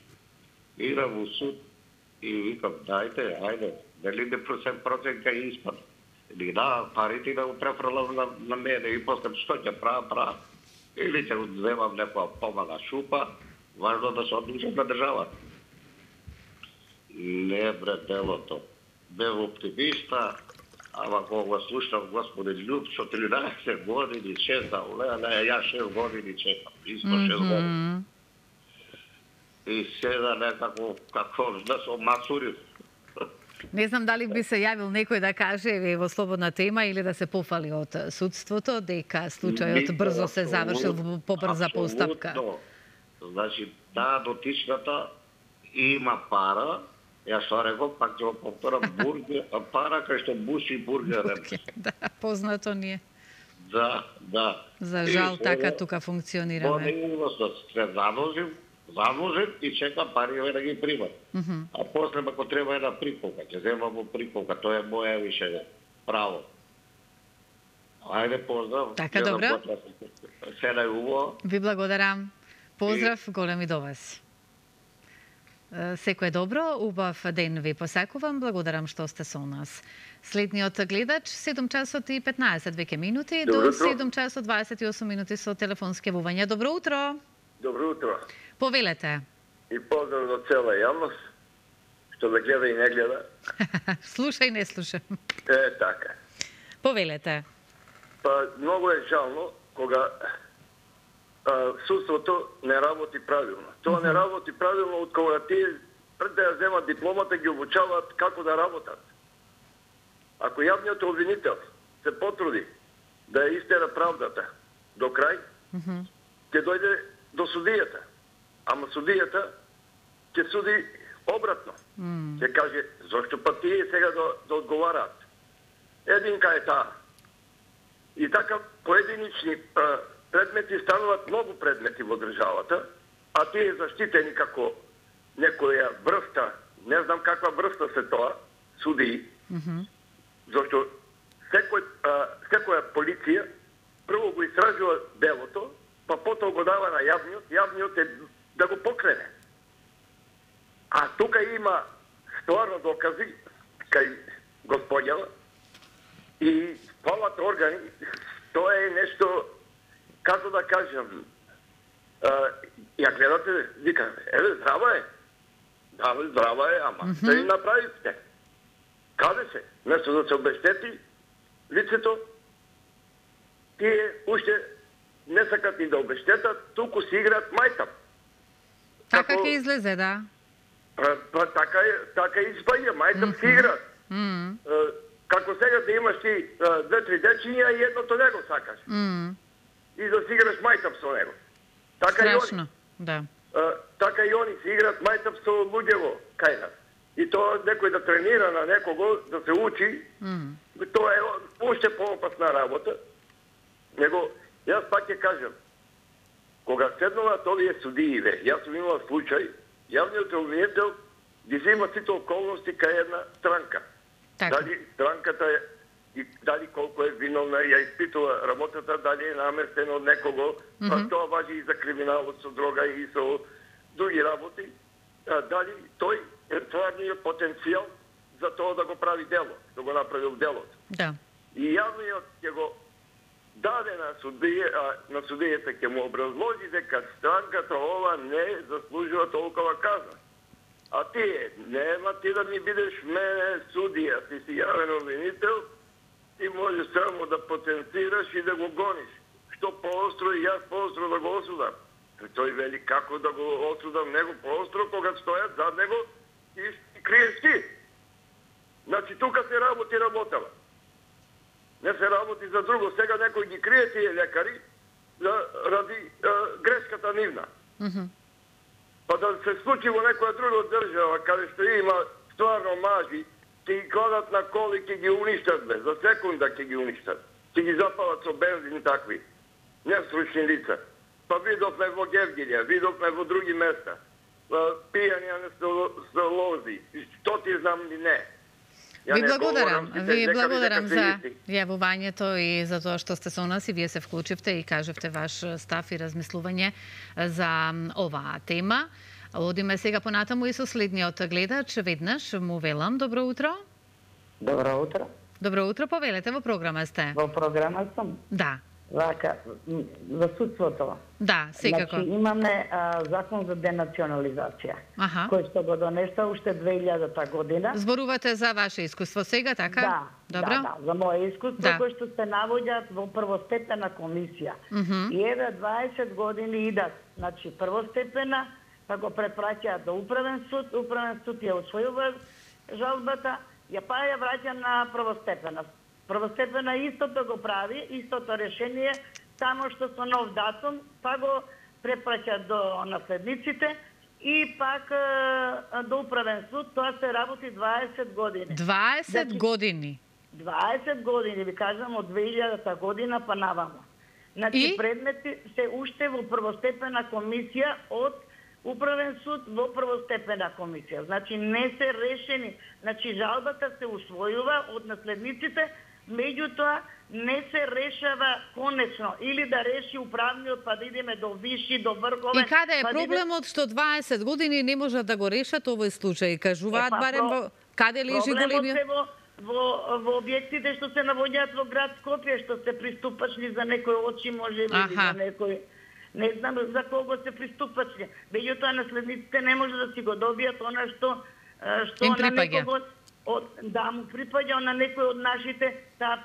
Идам во суд и викам, дајте, ајде, дали не процент кај испад. Или да, парите да го префрлам на, на мене и после што ќе правам, правам. Или ќе земам некоја помага шупа, важно да се одлучам на државата. Не бре делото. Бев оптимиста, ама кога го слушам господин Лупшо, тринаесет години чекам, леле, ја шест години чекам, исто шест години. И сега некако, како да се омацурив. Не знам дали би се јавил некој да каже еве во слободна тема или да се пофали од судството дека случајот брзо се завршил во побрза постапка. Значи, таа дотичната има пара, ја што реков, пак ќе го повторам, бургер, пара кај што буши бургер. Да, познато ни е. Да, да. За жал така тука функционираме. Се задолжим, задолжим и чекам пари да ги примат. Mm -hmm. А после ако треба една приполка, ќе земам во приполка, тоа е моја више право. Ајде, поздрав. Така, добро. Се најубаво. Ви благодарам. Поздрав, голем и до вас. Секој добро, убав ден ви посакувам, благодарам што сте со нас. Следниот гледач, седум часот и петнаесет веќе минути, до седум часот дваесет и осум минути со телефонски јавувања. Добро утро. Добро утро. Повелете. И поздрав до цела јавност, што ме гледа и не гледа. Слушај, не слушам. Е, така. Повелете. Па, многу е жално кога а, судството не работи правилно. Тоа не работи правилно од кога тие пред да ја земат дипломата ги обучаваат како да работат. Ако јавниот обвинител се потруди да ја истера правдата до крај, ќе дојде до судијата. Ама судијата ќе суди обратно. Се каже, зашто па тие сега да, да одговараат? Единка е таа. И така поединични а, предмети стануваат многу предмети во државата, а тие заштитени како некоја врста, не знам каква врста се тоа, судии, Мгм. зашто секој, а, секоја полиција прво го истражува делото, па потоа го дава на јавниот, јавниот е да го покрене. А тука има стварно докази кај господјава и фалат органи, тоа е нешто, како да кажам, а, ја гледате, вика, еве, здрава е. Да, здрава е, ама Мгм. што им направите? Каде се? Место да се обештети лицето, тие уште не сакат и да обештетат, туку си играат мајтап. Така Како- ќе излезе, да. Па, па така е, така испаѓа, мајтап си играат. Мм. Е, Како сега да имаш ти е, две-три дечиња и едното него сакаш. Мм. И да си играш мајтап со него. Така и они. Страшно. Да. Е, така и они си играат мајтап со луѓево кај нас. И тоа некој да тренира на некого, да се учи, Мм. тоа е уште поопасна работа. Него, јас пак ќе кажам, кога седнуваат овие судии, ве, јас сум имал случај, јавниот обвинител ги зема сите околности кај една странка. Така. Дали странката е, и дали колку е виновна, ја испитува работата, дали е наместена од некого, па Мгм. тоа важи и за криминалот со дрога и со други работи, а, дали тој е тварниот потенцијал за тоа да го прави дело, да го направи делото. Да. И јавниот ќе го даде на судија, а, на судијата ќе му образложи дека странката ова не заслужува толкова казна. А ти, нема ти да ми бидеш мене судија, ти си јавен обвинител, ти можеш само да потенцираш и да го гониш. Што поостро и јас поостро да го осудам. Тој вели како да го осудам него поостро, кога стојат зад него и, и криеш ти. Значи тука се работи работава. Не се работи за друго. Сега некој ги крие тие лекари да, ради а, грешката нивна. Мгм. Па да се случи во некоја друга држава, каде што има стварно мажи, ќе ги кладат на коли, ќе ги уништат, бе. За секунда ќе ги уништат. Ќе ги запалат со бензин такви. Нестручни лица. Па видовме во Гевгилија, видовме во други места. Пијања на столози. Што ти знам ли не. Ја Ви не благодарам. говорам, Ви дека благодарам дека за се исти. јавувањето и за тоа што сте со нас и вие се вклучивте и кажевте ваш став и размислување за оваа тема. Одиме сега понатаму и со следниот гледач. Веднаш му велам добро утро. Добро утро. Добро утро, повелете, во програма сте. Во програма сум. Да. Вака, м, за судството. Да, секако. Значи, имаме а, закон за денационализација, Аха. кој што го донеса уште две илјадата година. Зборувате за ваше искуство сега, така? Да, Добро. да, да, за моje искуство, Да. кој што се навоѓаат во првостепена комисија. Мгм. И еве дваесет години идат, значи првостепена, па го препраќаат до управен суд, управен суд ја усвојува жалбата, ја па ја враќа на првостепена. Првостепена истото го прави, истото решение, само што со нов датум, па го препраќа до наследниците и пак е, до управен суд, тоа се работи дваесет години. дваесет Значи, години. дваесет години, ви кажам, од две илјадата година па навамо. Значи, И? предмети се уште во првостепена комисија од управен суд во првостепена комисија. Значи, не се решени. Значи, жалбата се усвојува од наследниците, меѓутоа не се решава конечно. Или да реши управниот, па да идеме до виши, до врховен. И каде е па да иде- проблемот што дваесет години не можат да го решат овој случај? Кажуваат Е, па, барем про- во... Каде лежи Проблемот големиот? се во, во, во објектите што се навоѓаат во град Скопје, што се приступачни за некој очи, може би, или Аха. за некој... Не знам за кого се приступачни. Меѓутоа, наследниците не може да си го добијат она што, е, што Им на припаѓа. некого... Од, да, му припаѓа на некој од нашите, таа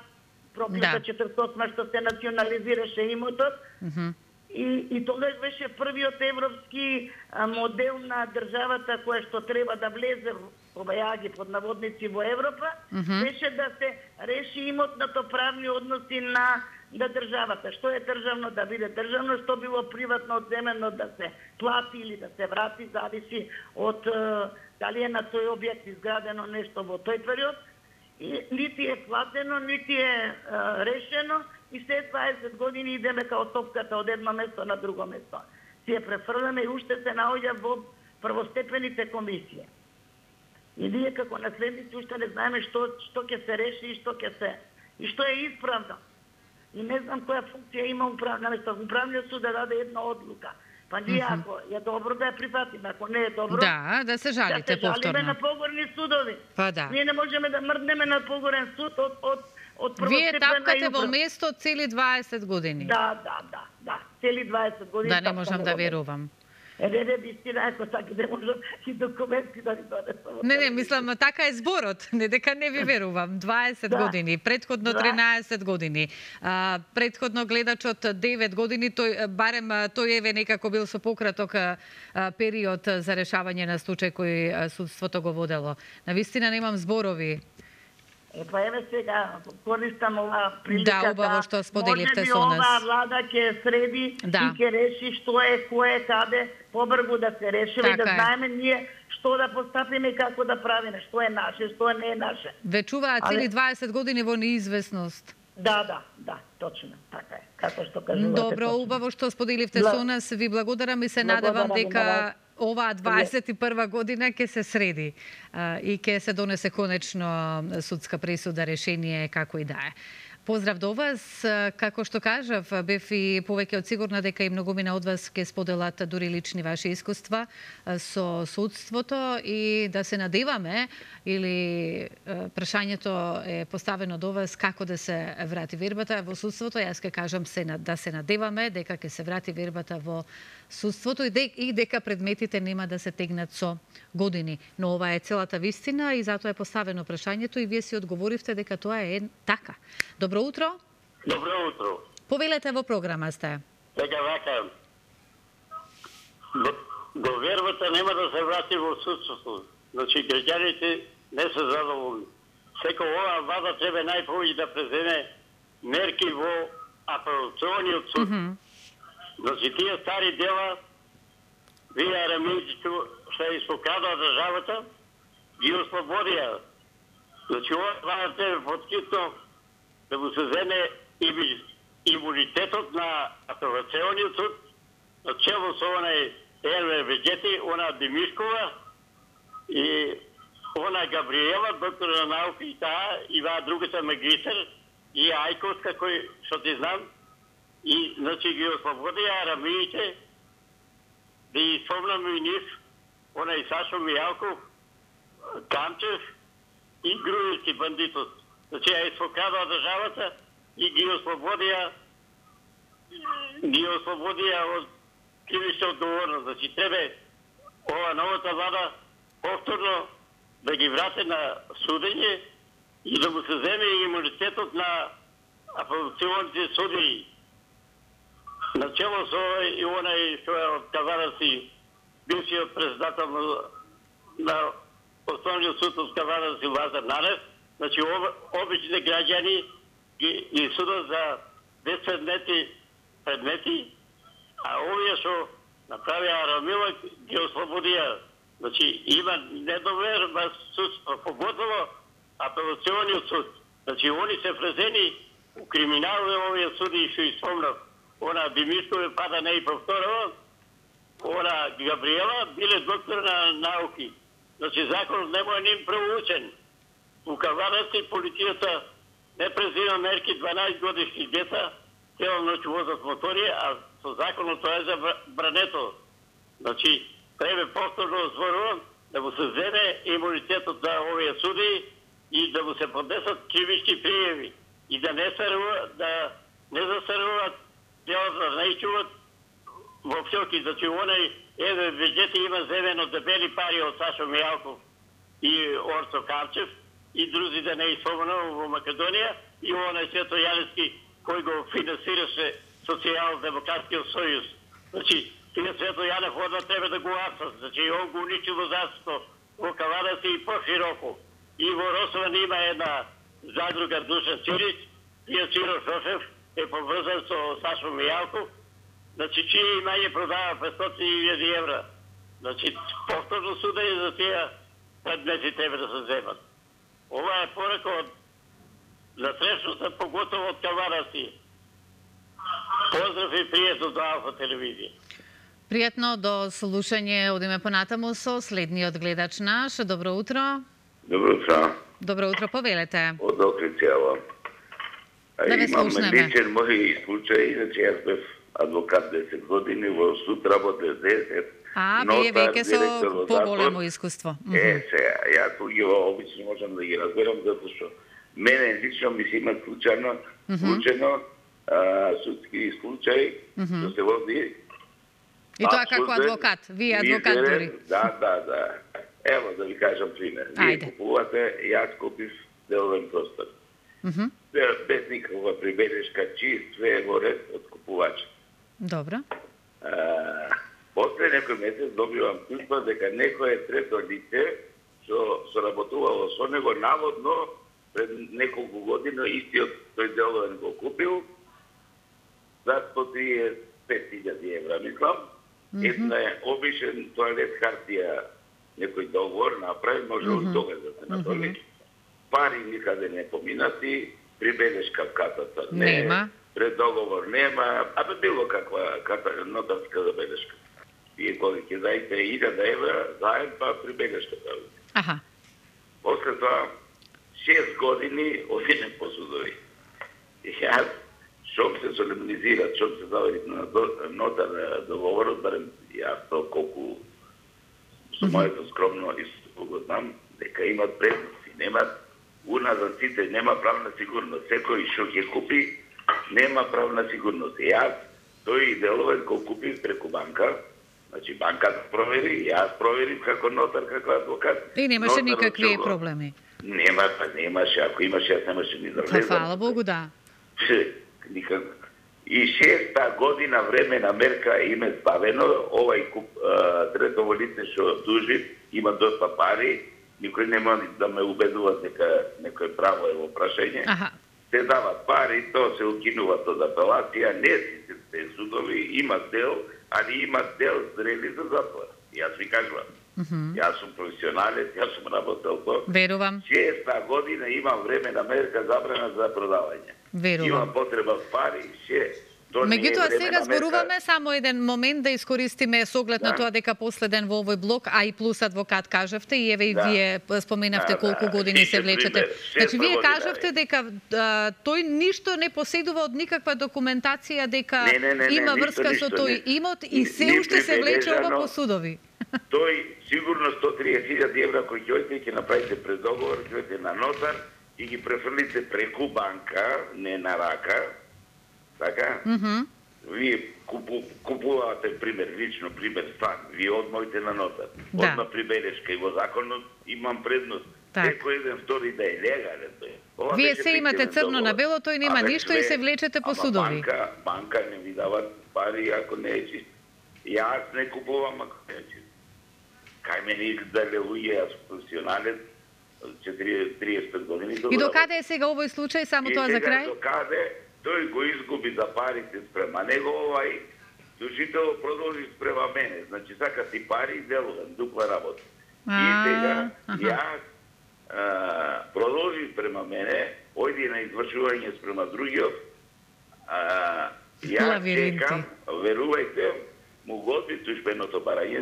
проклета Да. четиридесет и осма што се национализираше имотот. Мгм. И, и тогаш беше првиот европски а, модел на државата која што треба да влезе, обајаги под наводници, во Европа, Мгм. беше да се реши имотното правни односи на да државата, што е државно да биде државно, што било приватно одземено да се плати или да се врати, зависи од дали е на тој објект изградено нешто во тој период. И нити е платено, нити е а, решено и след дваесет години идеме као топката од едно место на друго место. Си ја префрламе и уште се наоѓа во првостепените комисии. И ние како наследници уште не знаеме што што ќе се реши и што ќе се и што е исправно. И не знам која функција има управна место. Управниот суд да даде една одлука. Па ние Мгм. ако е добро да ја прифатиме, ако не е добро, Да, да се жалите да се жалиме повторно. на погорни судови. Па да. Ние не можеме да мрднеме на погорен суд од од од Вие првостепена тапкате и во управ- место цели дваесет години. Да, да, да, да. Цели дваесет години. Да, не тапкаме можам да во место. верувам. Е, не, не, вистина, ако саки да можам и документи да ви донесам. Не, не, мислам, така е зборот. Не дека не ви верувам. дваесет Да. години, предходно Да. тринаесет години. А, предходно гледачот девет години, тој барем а, тој еве некако бил со пократок а, а, период за решавање на случај кој а, судството го водело. Навистина немам зборови. Е, па еве сега, користам ова прилика Да, убаво што споделивте може со би нас. оваа влада ќе среди Да. и ќе реши што е, кој е, каде, побрзо да се реши и да Така е. знаеме ние што да постапиме и како да правиме, што е наше, што не е наше. Вечуваат Але- цели дваесет години во неизвестност. Да, да, да, точно, така е. Како што кажувате. Добро, точно. убаво што споделивте Бла- со нас. Ви благодарам и се Благодарам надевам ви на дека вас. оваа дваесет и прва година ќе се среди а, и ќе се донесе конечно судска пресуда, решение како и да е. Поздрав до вас. Како што кажав, бев и повеќе од сигурна дека и многумина од вас ќе споделат дури лични ваши искуства со судството и да се надеваме или прашањето е поставено до вас како да се врати вербата во судството. Јас ќе кажам се да се надеваме дека ќе се врати вербата во судството и, де, и дека предметите нема да се тегнат со години. Но ова е целата вистина и затоа е поставено прашањето и вие си одговоривте дека тоа е така. Добро утро. Добро утро. Повелете во програма сте. Дека вака, до, до вербата нема да се врати во судството. Значи, граѓаните не се задоволни. Секо оваа влада треба најповеќе да преземе мерки во апелациониот суд. Mm -hmm. Значи, тие стари дела, вие арамејците што ја испокрадува државата, ги ослободија. Значи, ова влада треба поткитно да му се земе имунитетот на апелациониот суд, на чело со онај Елвер Веđети, она Демишкова и она Габриела, доктор на науки и таа, и ваа другата магистар, и Ајковска, кој, што ти знам, и, значи, ги ослободија арамиите, да ги спомнам и нив, онај Сашо Мијалков, Камчев и Груевски бандитот. Значи, ја испокрадува државата и ги ослободија ги ослободија од кривична одговорност. Значи, треба ова новата влада повторно да ги врати на судење и да му се земе имунитетот на апелационите судии. Начело со и онај што е од Кавараси, бившиот председател на, на Основниот суд од Кавараси Лазар Нарев, значи обичните граѓани ги, ги судат за безпредметни предмети, а овие што направија Арамила ги ослободија. Значи има недовер во судство, поготово апелациониот суд. Значи они се презени у криминални овие суди што испомнав. Она Димишкове пада не и повторува, она Габриела биле доктор на науки. Значи законот не му е ним проучен. У Кавараси полицијата не презима мерки дванаесет годишни деца, цела ноќ возат мотори, а со законот тоа е забрането. Значи, треба повторно зборувам да му се земе имунитетот на овие суди и да му се поднесат кривични пријави и да не старува, да не застаруваат делата, да не чуват во псилки. Значи, онај Еве Веđети има земено дебели пари од Сашо Мијалков и Орцо Камчев и други да не испомнувам во Македонија и онај Свето Јаневски кој го финансираше Социјално-демократскиот сојуз. Значи, тие Свето Јанев одма треба да го апсат. Значи, он го уничи во застото во Кавараси и по-широко. И во Росован има една задруга Душан Цирич, тие Циро Шофев, е поврзан со Сашо Мијалков, значи чие имање продава петстотини илјади евра. Значи, повторно судење за тие предмети треба да се земат. Ова е порака од насречноста, поготово од кавараси. Поздрав и пријатно до Алфа телевизија. Пријатно до слушање, одиме понатаму со следниот гледач наш. Добро утро. Добро утро. Добро утро, повелете. Од Окрицјава. Да ве Имам слушнеме. личен мој случај, значи јас бев адвокат десет години, во суд работев десет. А, вие веќе со поголемо искуство. Е, сега, јас туѓево обично можам да ги разберам, затоа што мене лично ми се има случајно, случајно судски случај, што се води. И тоа како адвокат, вие адвокат дори. Да, да, да. Ево да ви кажам пример. Вие купувате, јас купив деловен простор. Без никаква прибелешка, чист, све е во ред од купувач. Добро. После некој месец добивам туžба дека некој трето лице што соработувало со него наводно пред неколку години истиот тој деловен го купил за сто триесет пет илјади евра, мислам. Една е обичен тоалет хартија, некој договор направи, може од тога да се натоли. Пари никаде не поминати, прибелешка в катата не, нема, преддоговор нема, абе било каква ката, нотарска забелешка. Вие коли ќе дајте илјада евра, заем па прибелешка прави. Аха. После тоа, шест години одиме по судови. И јас, шом се солемнизират, шом се завери на нотар договорот, барем јас то колку со моето скромно искуство го знам, дека имат предности, немат уназад сите, нема правна сигурност. Секој што ќе купи, нема правна сигурност. Јас, тој деловен кој купив преку банка, значи банката провери, јас проверив како нотар, како адвокат. И немаше никакви проблеми. Нема, па немаше, ако имаше, јас немаше ни да влезам. Фала Богу, да. Никак. И шеста година времена мерка име збавено, овај куп, а, третово лице што тужи, има доста пари, никој нема да ме убедува дека некој право е во прашање. Аха. Се дават пари, тоа се укинува од апелација, не сите се судови, има дел, али има дел зрели за затвор. Јас ви кажувам. Mm -hmm. Јас сум професионалец, јас сум работел тоа. Верувам. Шеста година имам време на мерка забрана за продавање. Верувам. Имам потреба пари, ше. Меѓутоа сега зборуваме само еден момент да искористиме с оглед на тоа дека последен во овој блок, а и плюс адвокат кажавте и еве и Да. вие споменавте Да, колку да. години се влечете. Пример, Значи шеста вие година, кажавте дека а, тој ништо не поседува од никаква документација дека Не, не, не, не, има ништо, врска со ништо, тој не. имот и се Ни уште се влече ова прибележано. по судови. Тој сигурно сто триесет илјади евра кои ќе одите ќе направите преддоговор, ќе одите на нотар и ги префрлите преку банка, не на рака. Така? Mm -hmm. Вие купу, купувате, пример, лично, пример, стан, вие одмоите на нотар. Да. Одма прибелешка и во законот имам предност. Так. Секој еден втори да е легален. Ова Вие беше се имате фиктивен црно на договор. бело, тој нема Абе, ништо и се влечете по ама судови. Банка, банка не ви дава пари ако не е чист. Јас не купувам ако не е чист. Кај мене дале луѓе, јас сум професионалец, триесет и пет години. И докаде е сега овој случај, само тоа за крај? И сега докаде тој го изгуби за парите спрема него, овај тужител продолжи спрема мене. Значи, сака ти пари и делувам, дупла работа. И сега, јас а, продолжи спрема мене, ојди на извршување спрема другиот, а, јас чекам, верувајте, му готви туžбеното барање,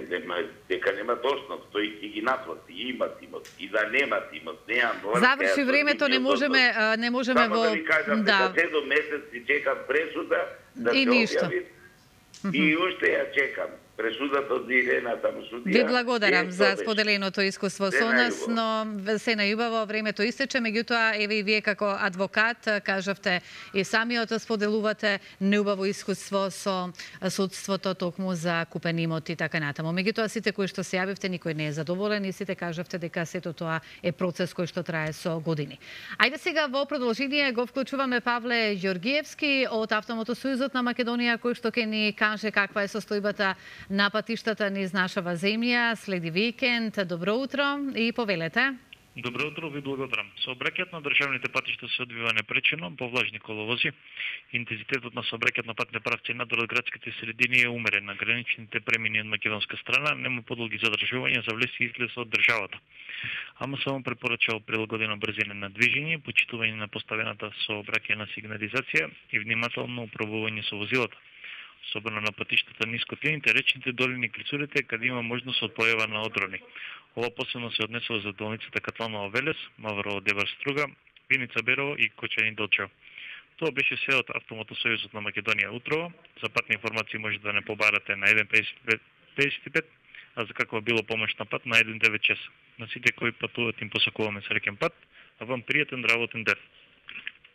дека немат основ, тој ќе ги наплати, имат имот, и да немат имот, неам врска. Заврши времето, не можеме, не можеме Само во... да ви кажам, дека седум месеци чекам пресуда, да се објави, и уште ја чекам. Пресудата од Ирена таму судија. Ви благодарам за споделеното искуство со нас, но се најубаво времето истече, меѓутоа еве и вие како адвокат кажавте и самиот споделувате неубаво искуство со судството токму за купен имот и така натаму. Меѓутоа сите кои што се јавивте никој не е задоволен и сите кажавте дека сето тоа е процес кој што трае со години. Ајде сега во продолжение го вклучуваме Павле Ѓоргиевски од Автомотосојузот на Македонија кој што ќе ни каже каква е состојбата на патиштата низ нашава земја. Следи викенд. Добро утро и повелете. Добро утро, ви благодарам. Сообраќајот на државните патишта се одвива непречено, по влажни коловози. Интензитетот на сообраќајот на патни правци надвор градските средини е умерен. На граничните премини од македонска страна нема подолги задржувања за влез и излез од државата. Ама само препорачува прилагодена брзина на движење, почитување на поставената сообраќајна сигнализација и внимателно управување со возилата. Особено на патиштата ниско тлените, речните долини клицурите, каде има можност од појава на одрони. Ова посебно се однесува за долницата Катланово Велес, Маврово Дебар Струга, Виница Берово и Кочани Долчево. Тоа беше се од Автомотосојузот на Македонија утрово. За патни информации може да не побарате на еден петдесет и пет, а за каква било помош на пат на еден девет шест. На сите кои патуват им посакуваме среќен пат, а вам пријатен работен ден.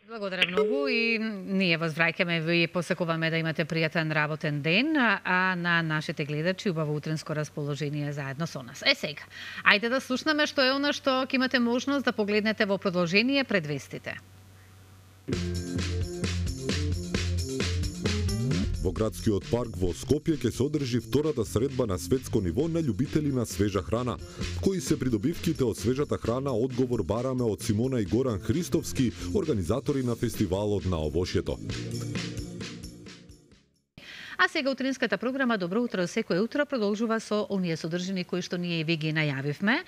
Благодарам многу и ние вас враќаме, ви посакуваме да имате пријатен работен ден, а на нашите гледачи убаво утренско расположение заедно со нас. Е сега, ајде да слушнеме што е она што ќе имате можност да погледнете во продолжение пред вестите. Во градскиот парк во Скопје ќе се одржи втората средба на светско ниво на љубители на свежа храна. Кои се придобивките од свежата храна, одговор бараме од Симона и Горан Христовски, организатори на фестивалот на овошјето. А сега утринската програма Добро утро секој утро продолжува со оние содржини кои што ние ви ги најавивме.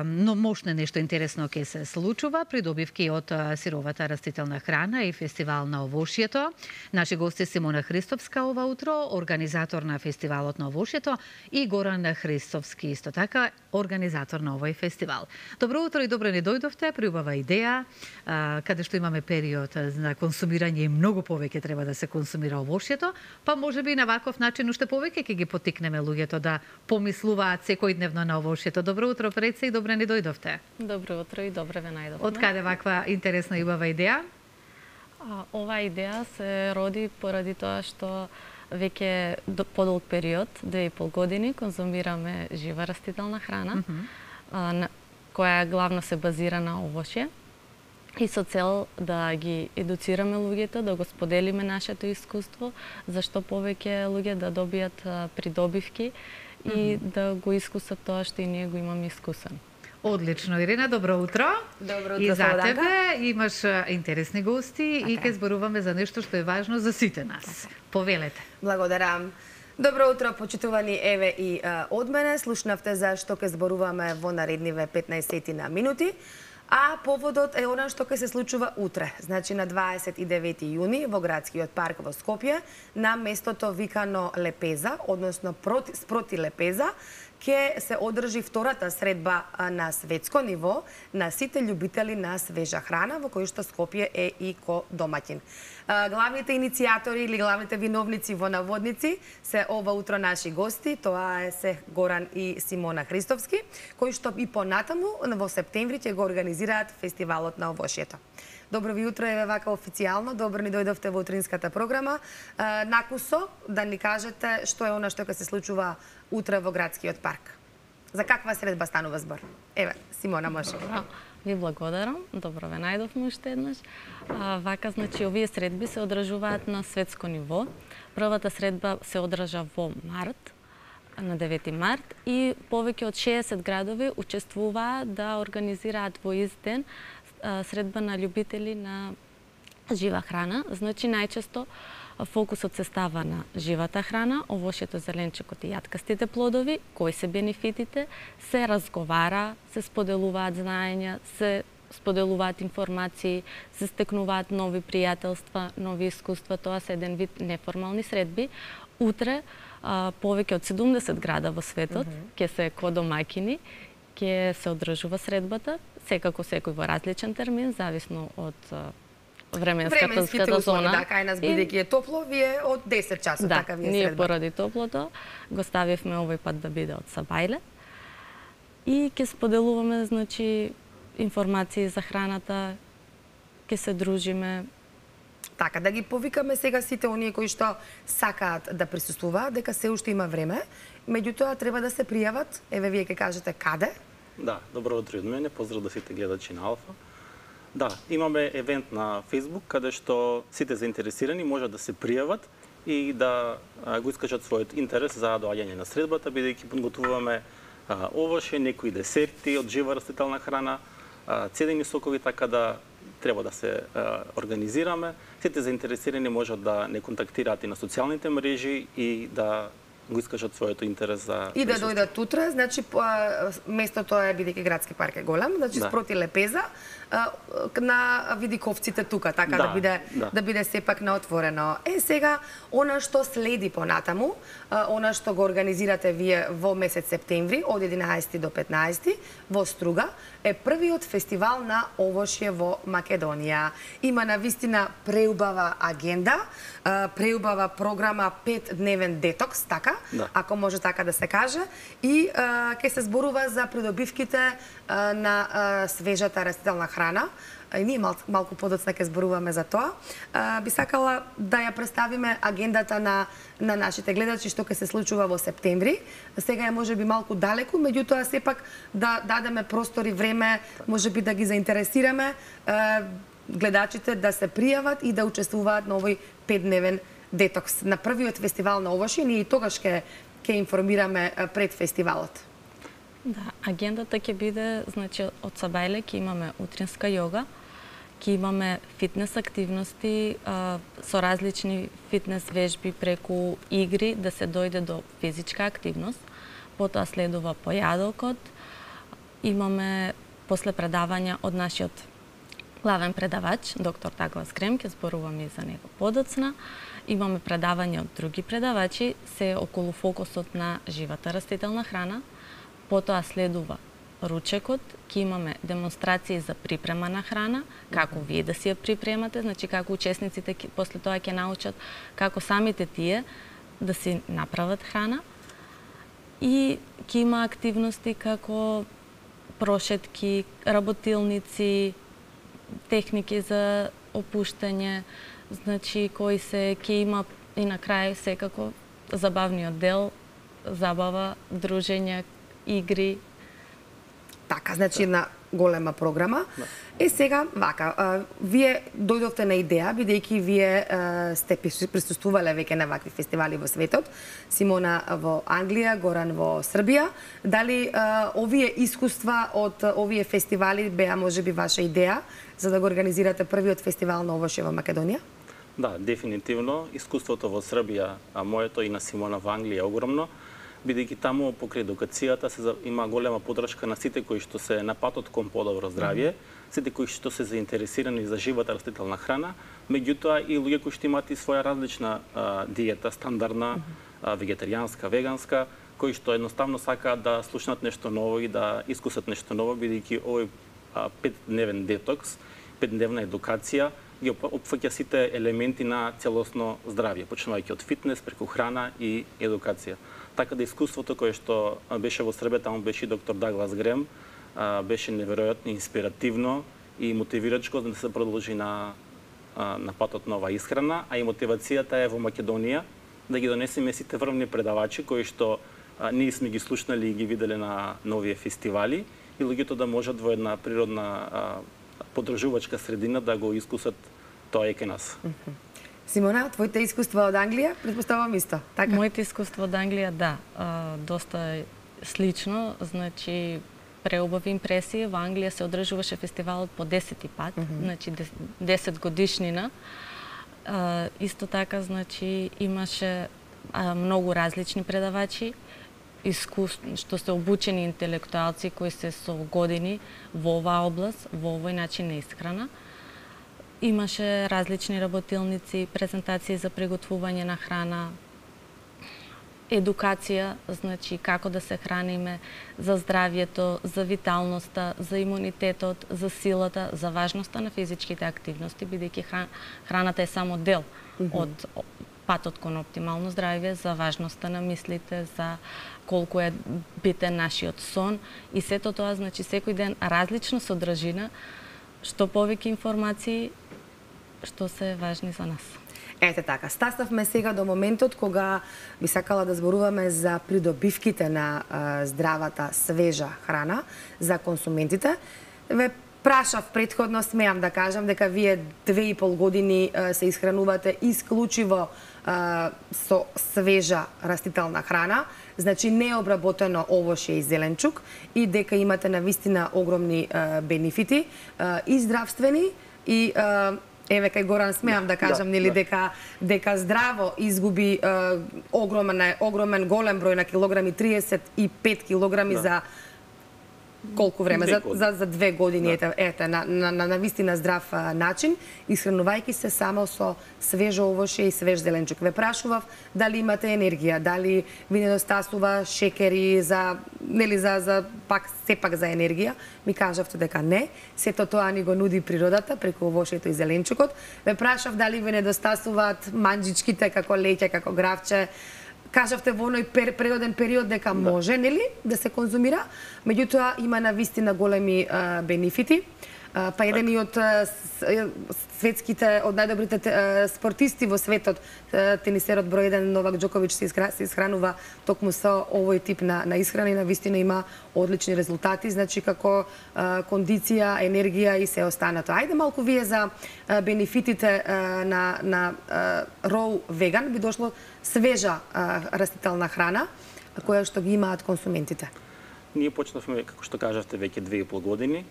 Но можне нешто интересно ќе се случува, придобивки од сировата растителна храна и фестивал на овошјето. Наши гости Симона Христовска ова утро, организатор на фестивалот на овошјето, и Горан Христовски, исто така организатор на овој фестивал. Добро утро и добро не дојдовте, приубава идеја, каде што имаме период на консумирање и многу повеќе треба да се консумира овошјето, па може би на ваков начин уште повеќе ќе ги поттикнеме луѓето да помислуваат секојдневно на овошјето. Добро утро, Преце, и добре не дојдовте. Добро утро и добре ве најдовме. Од каде ваква интересна и убава идеја? А, ова идеја се роди поради тоа што веќе подолг период, две и пол години, конзумираме жива растителна храна, mm-hmm. а, на, која главно се базира на овошје. И со цел да ги едуцираме луѓето, да го споделиме нашето искуство, зашто повеќе луѓе да добијат придобивки и mm-hmm. да го искусат тоа што и ние го имаме искусан. Одлично, Ирина, добро утро. Добро утро, и за Слободанка. тебе имаш интересни гости така. И ќе зборуваме за нешто што е важно за сите нас. Така. Повелете. Благодарам. Добро утро, почитувани, еве и а, од мене. Слушнавте за што ќе зборуваме во наредниве петнаесет на минути. А поводот е она што ќе се случува утре, значи на дваесет и девети јуни во градскиот парк во Скопје, на местото викано Лепеза, односно проти, спроти Лепеза, ќе се одржи втората средба на светско ниво на сите љубители на свежа храна, во кој што Скопје е и ко домаќин. Главните иницијатори или главните виновници во наводници се ова утро наши гости, тоа е се Горан и Симона Христовски, кои што и понатаму во септември ќе го организираат фестивалот на овошјето. Добро ви утро, еве вака официјално, добро ни дојдовте во утринската програма. Накусо да ни кажете што е она што ќе се случува утре во градскиот парк. За каква средба станува збор? Еве, Симона, може. Ви благодарам. Добро ве најдовме уште еднаш. А, вака, значи, овие средби се одржуваат на светско ниво. Првата средба се одржа во март, на девети март, и повеќе од шеесет градови учествуваат да организираат во ист ден средба на љубители на жива храна. Значи, најчесто фокусот се става на живата храна, овошјето, зеленчекот и јаткастите плодови, кои се бенефитите, се разговара, се споделуваат знаења, се споделуваат информации, се стекнуваат нови пријателства, нови искуства, тоа се еден вид неформални средби. Утре, повеќе од седумдесет града во светот, ќе се ко домаќини, ќе се одржува средбата, секако секој во различен термин, зависно од временската зона. Да, кај нас бидејќи е топло, вие од десет часот, да, така вие ние средба. поради топлото го ставивме овој пат да биде од Сабајле и ќе споделуваме, значи, информации за храната, ќе се дружиме. Така, да ги повикаме сега сите оние кои што сакаат да присуствуваат, дека се уште има време, меѓутоа треба да се пријават. Еве, вие ќе кажете каде? Да, добро утро од мене, поздрав да сите гледачи на Алфа. Да, имаме евент на Facebook, каде што сите заинтересирани можат да се пријават и да го искажат својот интерес за доаѓање на средбата, бидејќи подготвуваме овоше, некои десерти од жива растителна храна, цедени сокови, така да треба да се организираме. Сите заинтересирани можат да не контактираат и на социјалните мрежи и да го искажат својот интерес за и да дојдат утре, значи местото е, бидејќи градски парк е голем, значи да. Спроти Лепеза на видиковците тука, така да, да биде да. да биде сепак на отворено. Е сега она што следи понатаму, она што го организирате вие во месец септември од единаесети до петнаесети во Струга е првиот фестивал на овошје во Македонија. Има навистина преубава агенда, преубава програма петдневен детокс, така, да. Ако може така да се каже, и ќе се зборува за придобивките на свежата растителна храна. И ние мал, малку подоцна ќе зборуваме за тоа. А, би сакала да ја представиме агендата на, на нашите гледачи што ќе се случува во септември. Сега е можеби малку далеку, меѓутоа сепак да дадеме простор и време, можеби да ги заинтересираме а, гледачите да се пријават и да учествуваат на овој петдневен детокс. На првиот фестивал на овошје, ние и тогаш ќе ќе информираме пред фестивалот. Да, агендата ќе биде, значи, од сабајле ќе имаме утринска јога, ќе имаме фитнес активности а, со различни фитнес вежби преку игри да се дојде до физичка активност. Потоа следува појадокот. Имаме после предавања од нашиот главен предавач, доктор Даглас Грем, ќе зборуваме и за него подоцна. Имаме предавања од други предавачи, се околу фокусот на живата растителна храна. Потоа следува ручекот, ќе имаме демонстрации за припрема на храна, како вие да си ја припремате, значи како учесниците после тоа ќе научат како самите тие да си направат храна. И ќе има активности како прошетки, работилници, техники за опуштање, значи кои се ќе има и на крај секако забавниот дел, забава, дружење, игри. Така, значи една голема програма. Да. Е сега, вака, а, вие дојдовте на идеја, бидејќи вие а, сте присуствувале веќе на вакви фестивали во светот. Симона во Англија, Горан во Србија. Дали а, овие искуства од овие фестивали беа можеби ваша идеја за да го организирате првиот фестивал на овошје во Македонија? Да, дефинитивно. Искуството во Србија, а моето и на Симона во Англија е огромно, бидејќи таму покрај едукацијата се има голема поддршка на сите кои што се на патот кон подобро здравје, сите кои што се заинтересирани за живата растителна храна, меѓутоа и луѓе кои што имаат и своја различна а, диета, стандардна, а, вегетаријанска, веганска, кои што едноставно сакаат да слушнат нешто ново и да искусат нешто ново, бидејќи овој а, петдневен детокс, петдневна едукација ги опфаќа сите елементи на целосно здравје, почнувајќи од фитнес, преку храна и едукација. Така да искуството кое што беше во Србија, таму беше и доктор Даглас Грем, беше неверојатно инспиративно и мотивирачко да се продолжи на, на патот на оваа исхрана, а и мотивацијата е во Македонија да ги донесеме сите врвни предавачи кои што ние сме ги слушнали и ги виделе на новие фестивали и луѓето да можат во една природна подржувачка средина да го искусат тоа е кај нас. Симона, твоите искуства од Англија, претпоставувам исто, така? Моите искуства од Англија, да, доста слично, значи преубави импресии. Во Англија се одржуваше фестивалот по десети пат, mm -hmm. значи десет годишнина. Исто така, значи имаше многу различни предавачи, искус... што се обучени интелектуалци кои се со години во оваа област, во овој начин на исхрана. Имаше различни работилници, презентации за приготвување на храна, едукација, значи како да се храниме, за здравјето, за виталноста, за имунитетот, за силата, за важноста на физичките активности, бидејќи храната е само дел mm -hmm. од патот кон оптимално здравје, за важноста на мислите, за колку е битен нашиот сон и сето тоа, значи секој ден различна содржина, што повеќе информации што се важни за нас. Ете така, стаставме сега до моментот кога би сакала да зборуваме за придобивките на а, здравата, свежа храна за консументите. Ве прашав претходно, смеам да кажам, дека вие две и пол години а, се исхранувате исклучиво а, со свежа растителна храна. значи необработено овошје и зеленчук и дека имате навистина огромни а, бенефити а, и здравствени и а, еве кај Горан смеам да кажам, нели, дека дека здраво изгуби е, огромен огромен голем број на килограми, триесет и пет килограми да. за колку време? За, за, за две години, да. ете, ете на, на, на, на вистина здрав а, начин, исхранувајќи се само со свежо овошје и свеж зеленчук. Ве прашував дали имате енергија, дали ви недостасува шекери за, нели, за, за пак, сепак за енергија. Ми кажавте дека не, сето тоа ни го нуди природата преку овошјето и зеленчукот. Ве прашав дали ви недостасуваат манџичките како леќе, како гравче. Кажавте во оној пер, природен период дека да. може, нели, да се конзумира, меѓутоа има навистина големи а, бенефити. А, па еден и од а, светските, од најдобрите а, спортисти во светот, а, тенисерот број еден Новак Џоковиќ се, искра, се исхранува токму со овој тип на, на исхрана и навистина има одлични резултати, значи како а, кондиција, енергија и се останато. Ајде малку вие за а, бенефитите а, на, на а, Raw Vegan би дошло свежа а, растителна храна, која што ги имаат консументите. Ние почнавме, како што кажавте, веќе две и пол години.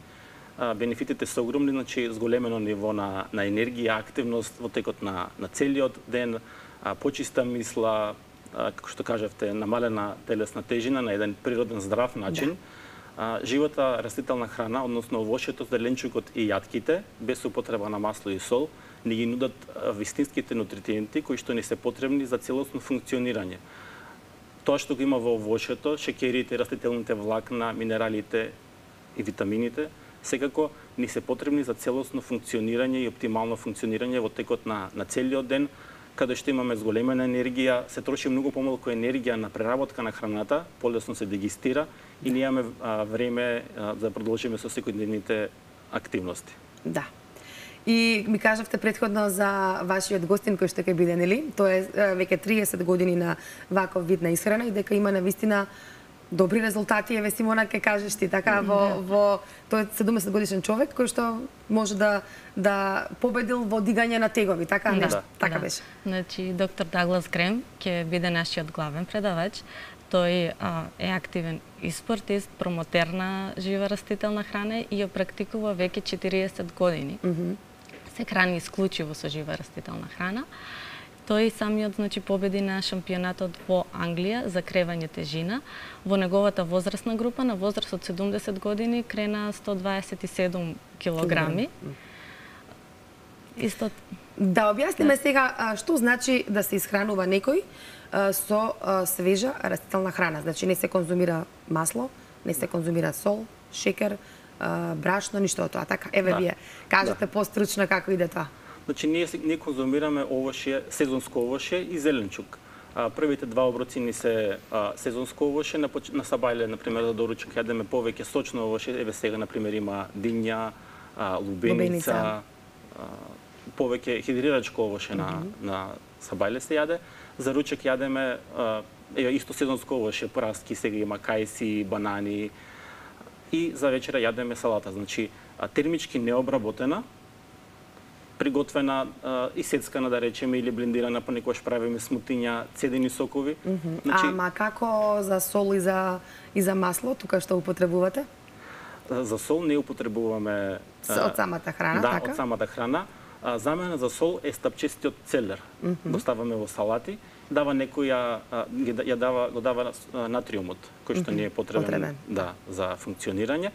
А, бенефитите се огромни, значи зголемено ниво на, на енергија, активност во текот на, на целиот ден, а, почиста мисла, а, како што кажавте, намалена телесна тежина на еден природен здрав начин. Да. А, живата растителна храна, односно овошјето, зеленчукот и јатките, без употреба на масло и сол, ни ги нудат вистинските нутриенти кои што ни се потребни за целосно функционирање. Тоа што го има во овошјето, шекерите, растителните влакна, минералите и витамините, секако ни се потребни за целосно функционирање и оптимално функционирање во текот на, на целиот ден, каде што имаме зголемена енергија, се троши многу помалку енергија на преработка на храната, полесно се дегистира и ние имаме а, време а, да продолжиме со секојдневните активности. Да. И ми кажавте предходно за вашиот гостин кој што ќе биде, нели? Тоа е веќе триесет години на ваков вид на исхрана и дека има навистина добри резултати. Еве Симона ќе кажеш ти така во во тој е седумдесет годишен човек кој што може да да победил во дигање на тегови, така да, нешто, така да. беше. Значи доктор Даглас Грем ќе биде нашиот главен предавач. Тој а, е активен и спортист, промотер на жива растителна храна и ја практикува веќе четириесет години. Mm -hmm. Се храни исклучиво со жива растителна храна. Тој самиот значи победи на шампионатот во Англија за кревање тежина. Во неговата возрастна група на возраст од седумдесет години крена сто дваесет и седум килограми. Исто... Да објасниме да. сега што значи да се исхранува некој со свежа растителна храна. Значи не се конзумира масло, не се конзумира сол, шекер, брашно, ништо од тоа. Така, еве да. вие кажете да. постручно како иде тоа. Значи ние не конзумираме овошје, сезонско овошје и зеленчук. А, првите два оброци ни се а, сезонско овошје, на, на сабајле, например, за доручок јадеме повеќе сочно овошје. Еве сега например има диња, а, лубеница, лубеница. А, повеќе хидрирачко овошје mm -hmm. на на сабајле се јаде. За ручек јадеме а, еве исто сезонско овошје, праски, сега има кајси, банани. И за вечера јадеме салата, значи термички необработена, приготвена а, и сецкана, да речеме, или блендирана, па некојаш правиме смутиња, цедени сокови. Mm -hmm. значи... Ама како за сол и за, и за масло, тука што употребувате? За сол не употребуваме... А, од самата храна, да, така? од самата храна. А, замена за сол е стапчестиот целер. Mm -hmm. Го ставаме во салати. Дава некоја, ја дава, го дава натриумот, кој што mm -hmm. не е потребен, потребен. Да, за функционирање.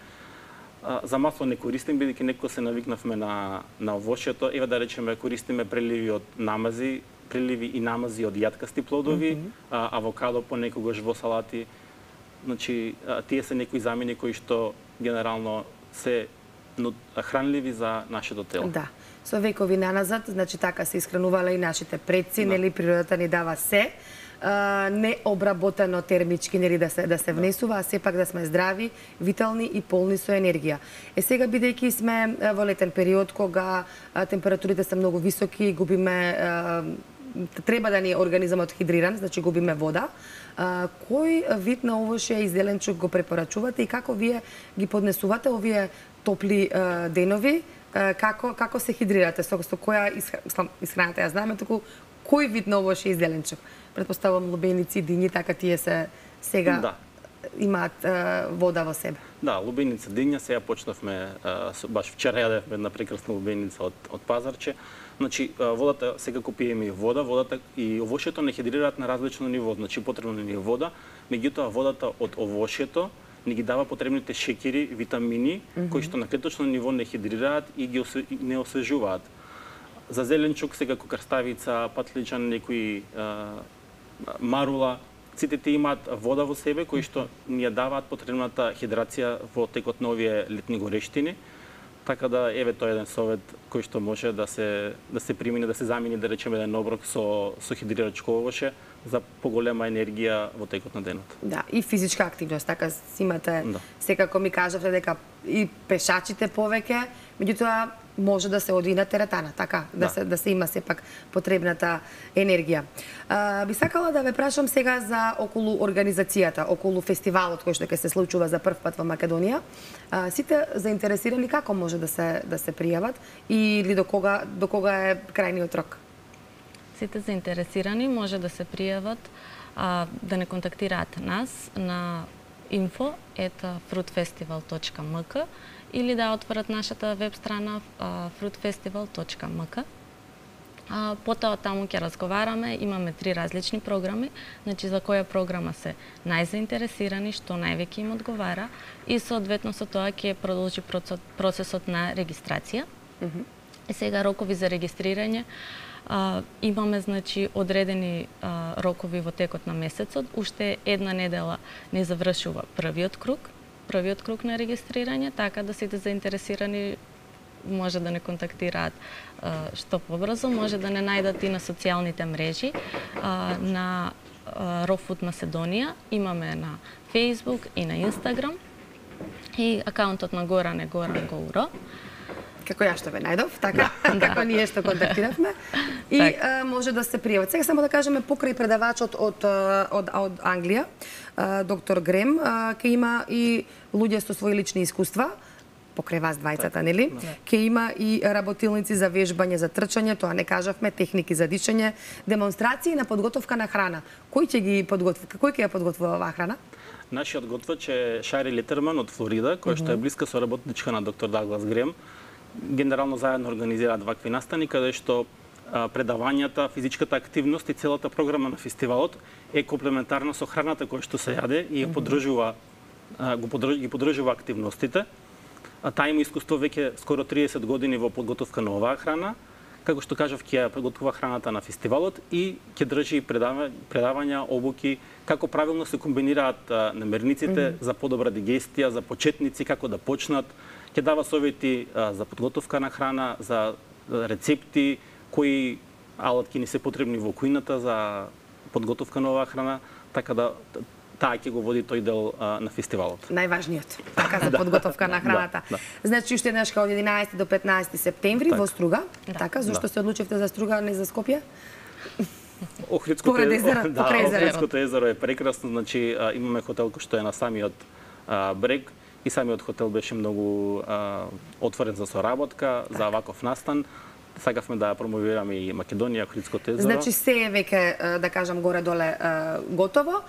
За масло не користим, бидејќи некој се навикнавме на, на овошјето. Ева да речеме, користиме преливи од намази, преливи и намази од јаткасти плодови, mm -hmm. а, авокадо понекогаш во салати. Значи, тие се некои замени кои што генерално се хранливи за нашето тело. Да. Со векови наназад, значи така се исхранувале и нашите предци, да. Нели природата ни дава се. Необработено термички, нели да се да се внесува, а сепак да сме здрави, витални и полни со енергија. Е сега бидејќи сме во летен период кога температурите се многу високи, губиме треба да ни е организмот хидриран, значи губиме вода. Кој вид на овошје и зеленчук го препорачувате и како вие ги поднесувате овие топли денови? Како како се хидрирате, со, со која исхраната ја знаме, туку кој вид на овошје и зеленчук? Претпоставувам лубеници, дињи, така тие се сега да. имаат а, вода во себе. Да, лубеница диња, сега почнавме, а, баш вчера јадевме една прекрасна лубеница од, од пазарче. Значи, водата, секако пиеме и вода, водата и овошјето не хидрираат на различно ниво, значи потребно ни е вода, меѓутоа водата од овошјето ни ги дава потребните шеќери, витамини, mm -hmm. кои што на клеточно ниво не хидрираат и ги осве, не освежуваат. За зеленчук, секако крставица, патличан, некои а, марула, сите тие имаат вода во себе, кои што ни ја даваат потребната хидрација во текот на овие летни горештини. Така да, еве тој еден совет кој што може да се да се примени, да се замени, да речеме, еден оброк со со хидрирач овоше за поголема енергија во текот на денот. Да, и физичка активност, така си имате, да. Секако ми кажавте дека и пешачите повеќе, меѓутоа може да се оди на теретана, така, да, да се да се има сепак потребната енергија. А, би сакала да ве прашам сега за околу организацијата, околу фестивалот кој што ќе се случува за прв пат во Македонија. А, сите заинтересирани како може да се да се пријават или до кога до кога е крајниот рок? Сите заинтересирани може да се пријават, а, да не контактираат нас на info at fruitfestival точка m k или да отворат нашата веб страна fruit festival точка m k. Потоа таму ќе разговараме, имаме три различни програми, значи за која програма се најзаинтересирани, што највеќе им одговара и соодветно со тоа ќе продолжи процесот на регистрација. Mm -hmm. И сега рокови за регистрирање. Uh, имаме, значи, одредени uh, рокови во текот на месецот. Уште една недела не завршува првиот круг, првиот круг на регистрирање, така да сите заинтересирани може да не контактираат uh, што побрзо, може да не најдат и на социјалните мрежи. Uh, на uh, Raw Food Macedonија имаме на Facebook и на Instagram и акаунтот на Горан е Горан Гоуро. Како ја што ве најдов, така, да. Како ние што контактиравме. И так. а, може да се пријават. Сега само да кажеме, покрај предавачот од, од, од Англија, а, доктор Грем, а, ке има и луѓе со своји лични искуства, покрај вас двајцата, нели? Ке има и работилници за вежбање, за трчање, тоа не кажавме, техники за дишање, демонстрации на подготовка на храна. Кој ќе ги подготви? Кој ќе ја подготвува оваа храна? Нашиот готвач е Шари Летерман од Флорида, кој што е блиска соработничка на доктор Даглас Грем. Генерално заедно организираат вакви настани, каде што а, предавањата, физичката активност и целата програма на фестивалот е комплементарна со храната која што се јаде и ја поддржува, а, го поддрж, ги поддржува активностите. А таа има искуство веќе скоро триесет години во подготовка на оваа храна. Како што кажав, ќе ја подготвува храната на фестивалот и ќе држи предава, предавања, обуки, како правилно се комбинираат а, намерниците mm -hmm. за подобра дигестија, за почетници, како да почнат. Ќе дава совети а, за подготовка на храна, за рецепти, кои алатки ни се потребни во кујната за подготовка на оваа храна, така да таа ќе го води тој дел а, на фестивалот. Најважниот, така за подготовка на храната. Да, да. Значи уште еднаш од единаесети до петнаесети септември во Струга, да. Така, зашто да. Се одлучивте за Струга, а не за Скопје? Охридското езеро, да, Охридското езеро е прекрасно, значи а, имаме хотел кој што е на самиот а, брег. И самиот хотел беше многу а, отворен за соработка, так. За ваков настан. Сакавме да промовираме и Македонија, Охридското езеро. Значи се е веќе, да кажам, горе-доле готово.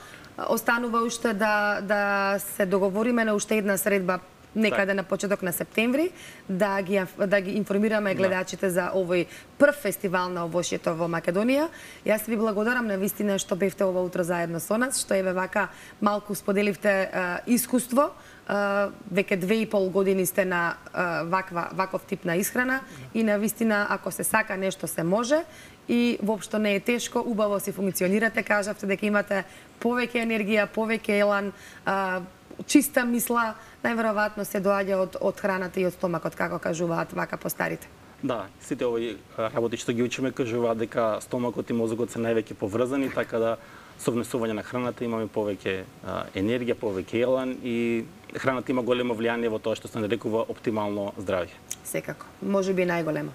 Останува уште да, да се договориме на уште една средба некаде так. На почеток на септември, да ги, да ги информираме гледачите да. За овој прв фестивал на овошјето во Македонија. Јас ви благодарам на вистина што бевте ова утро заедно со нас, што еве вака малку споделивте а, искуство. Uh, веќе две и пол години сте на uh, ваква, ваков тип на исхрана и на вистина, ако се сака нешто се може и воопшто не е тешко, убаво си функционирате, кажавте дека имате повеќе енергија, повеќе елан, uh, чиста мисла, најверојатно се доаѓа од, од храната и од стомакот, како кажуваат вака постарите. Да, сите овои работи што ги учиме кажуваат дека стомакот и мозокот се највеќе поврзани, така да со внесување на храната имаме повеќе а, енергија, повеќе елан и храната има големо влијание во тоа што се нарекува оптимално здравје. Секако, може би најголемо.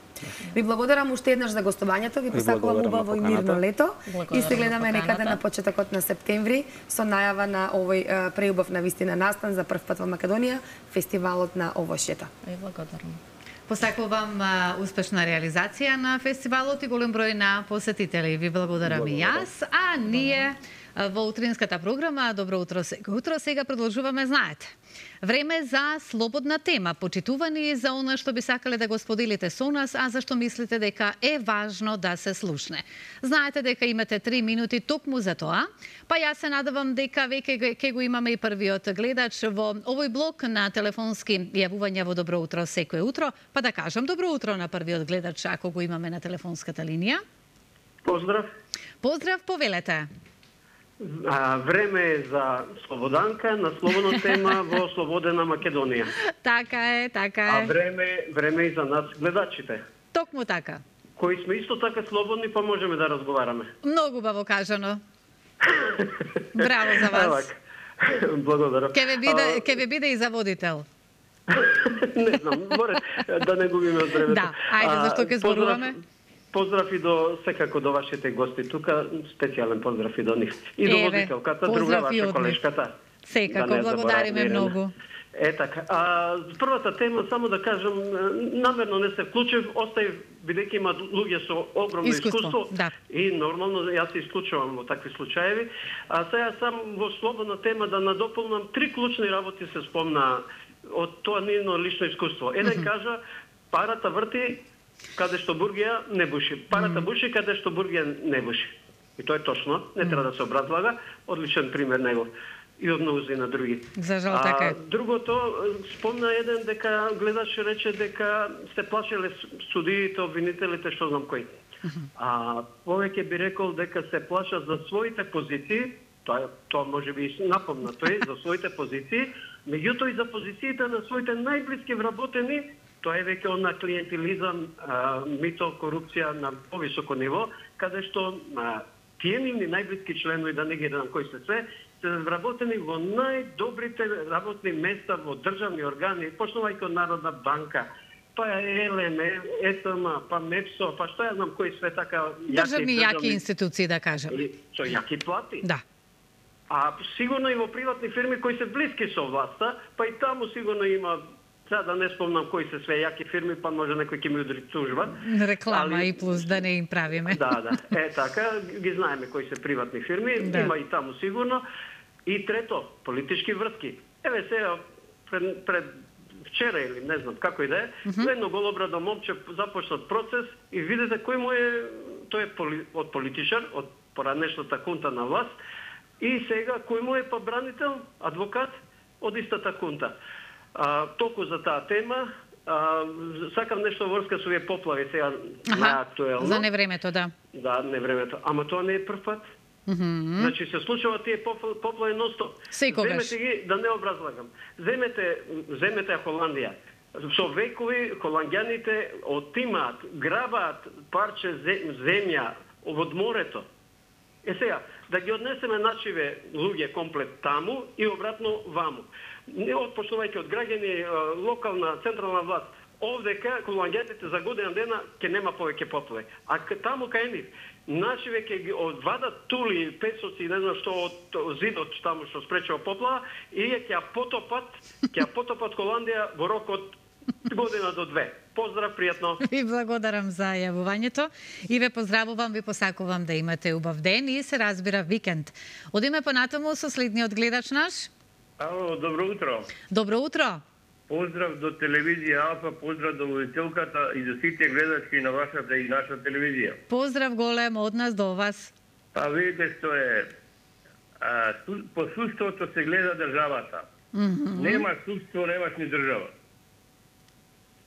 Ви благодарам уште еднаш за гостувањето, ви посакувам убаво и мирно лето и се гледаме некаде на почетокот на септември со најава на овој а, преубав на вистина настан за прв пат во Македонија, фестивалот на овошјето. Ви благодарам. Посакувам а, успешна реализација на фестивалот и голем број на посетители. Ви благодарам и јас, а ние Во утринската програма Добро утро сега. Утро сега продолжуваме, знаете. Време за слободна тема, почитувани за она што би сакале да го споделите со нас, а зашто мислите дека е важно да се слушне. Знаете дека имате три минути токму за тоа, па јас се надевам дека веќе ќе го имаме и првиот гледач во овој блок на телефонски јавувања во Добро утро секое утро, па да кажам добро утро на првиот гледач ако го имаме на телефонската линија. Поздрав. Поздрав, повелете. А, време е за слободанка на слободна тема во слободена Македонија. Така е, така е. А време, време и за нас гледачите. Токму така. Кои сме исто така слободни, па можеме да разговараме. Многу убаво кажано. Браво за вас. Благодарам. Ке ве биде, ке ве биде и за водител. Не знам, море да не губиме од времето. Да, ајде, зашто ке зборуваме? Поздрав и до секако до вашите гости тука, специјален поздрав и до нив. И до водителката, друга ваша колешката. Секако, да благодариме многу. Е така. А првата тема, само да кажам, намерно не се вклучив, оставив бидејќи има луѓе со огромно искуство, искуство да. И нормално јас се исклучувам во такви случаеви. А сега сам во слободна тема да надополнам три клучни работи се спомна од тоа нивно лично искуство. Еден mm -hmm. кажа парата врти каде што бургија не буши. Парата mm -hmm. буши каде што бургија не буши. И тоа е точно, не треба да се образлага, одличен пример него. И од мнозина на други. За жал така е. Другото, спомна еден дека гледаш рече дека се плашеле судиите, обвинителите, што знам кои. Mm -hmm. А повеќе би рекол дека се плашат за своите позиции, тоа тоа може би напомна тој за своите позиции, меѓутоа и за позициите на своите најблиски вработени. Тоа е веќе она клиентилизам, а, мито, корупција на повисоко ниво, каде што а, тие нивни најблиски членови, да не ги дадам кои се све, се вработени во најдобрите работни места во државни органи, почнувајќи од Народна банка, па Ел Ем, Е Т М, па МЕПСО, па што ја знам кои све така јаки државни јаки институции, да кажем. Со јаки плати. Да. А сигурно и во приватни фирми кои се блиски со власта, па и таму сигурно има. Сега да не спомнам кои се све јаки фирми, па може некој ќе ми удри тужба. Реклама али... и плюс да не им правиме. Да, да. Е така, ги знаеме кои се приватни фирми, да. Има и таму сигурно. И трето, политички врски. Еве сега пред, пред вчера или не знам како и да е, mm -hmm. едно голобрадо момче започнат процес и видите кој му е, тој е поли, од политичар, од поранешната кунта на власт, и сега кој му е па бранител, адвокат од истата кунта. А, толку за таа тема. А, сакам нешто врска со овие поплави сега наактуелно. За невремето, да. Да, невремето. Ама тоа не е прв пат. Mm -hmm. Значи се случува тие поплави ностоп. Секогаш. Земете ги, да не образлагам. Земете, земете Холандија. Со векови холанѓаните отимаат, грабаат парче земја од морето. Е сега, да ги однесеме нашиве луѓе комплет таму и обратно ваму. Не отпочнувајќи од граѓани, локална, централна власт, овдека холанѓаните за година дена ќе нема повеќе поплави. А таму кај нив, нашиве ќе ги одвадат тули, песоци, не знам што од зидот таму што спречува поплава и ќе ја потопат, ќе ја потопат Холандија во рок од година до две. Поздрав, пријатно. Ви благодарам за јавувањето и ве поздравувам, ви посакувам да имате убав ден и се разбира викенд. Одиме понатаму со следниот гледач наш. Ало, добро утро. Добро утро. Поздрав до телевизија Алфа, поздрав до водителката и до сите гледачки на вашата и наша телевизија. Поздрав голем од нас до вас. А видите што е, а, су, по судството се гледа државата. Mm -hmm. Нема судство, немаш ни држава.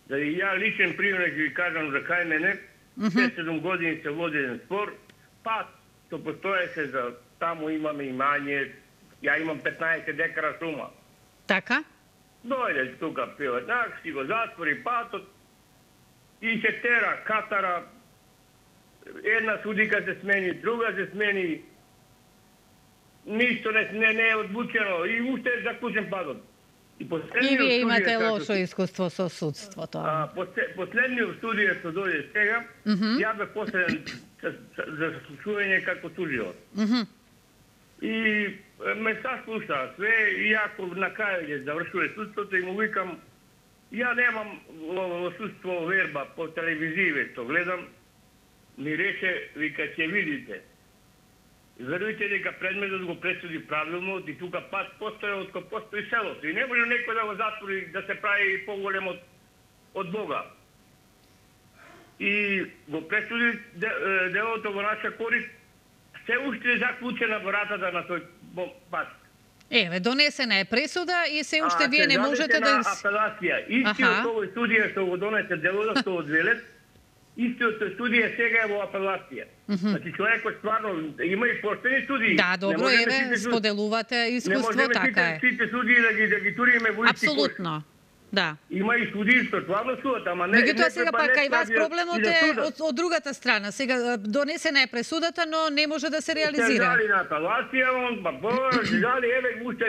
Да и ја личен пример ќе ви кажам за кај мене, шест-седум години се води еден спор, па што постоеше за таму имаме имање, ја имам петнаесет декара шума. Така? Дојде тука пилетак, си го затвори патот и се тера, катара, една судика се смени, друга се смени, ништо не, не, не е одвучено и уште е заклучен патот. И, и вие имате лошо искуство со судството. А, последниот студија што дојде сега, mm -hmm. ја бе последен за слушување како тужилот. Mm -hmm. И ме саслуша све, и ако на крај ќе завршува судството и му викам, ја немам во судство верба по телевизиве што гледам, ми рече, вика, ќе видите. Верујте дека предметот го пресуди правилно и тука пат постоја од кој постои селото. И не може некој да го затвори да се прави поголем од, од Бога. И го пресуди делото во наша корист, се уште е заклучена вратата на тој пат. Еве, донесена е пресуда и се уште а, вие не можете да... А, апелација. Истиот овој судија што го донесе делото, што од Велет, истиот судија сега е во апелација. Mm -hmm. Значи човекот стварно има и поштени судии. Да, добро, еве, споделувате искуство, така е. Не можеме сите судии да ги, да ги туриме во исти кош. Апсолутно. Да. Има и судии што стварно судат, ама не... Меѓутоа сега пак кај вас проблемот е од, од другата страна. Сега донесена е пресудата, но не може да се реализира. Се жали на апелација, он, па бо, жали, еве, уште,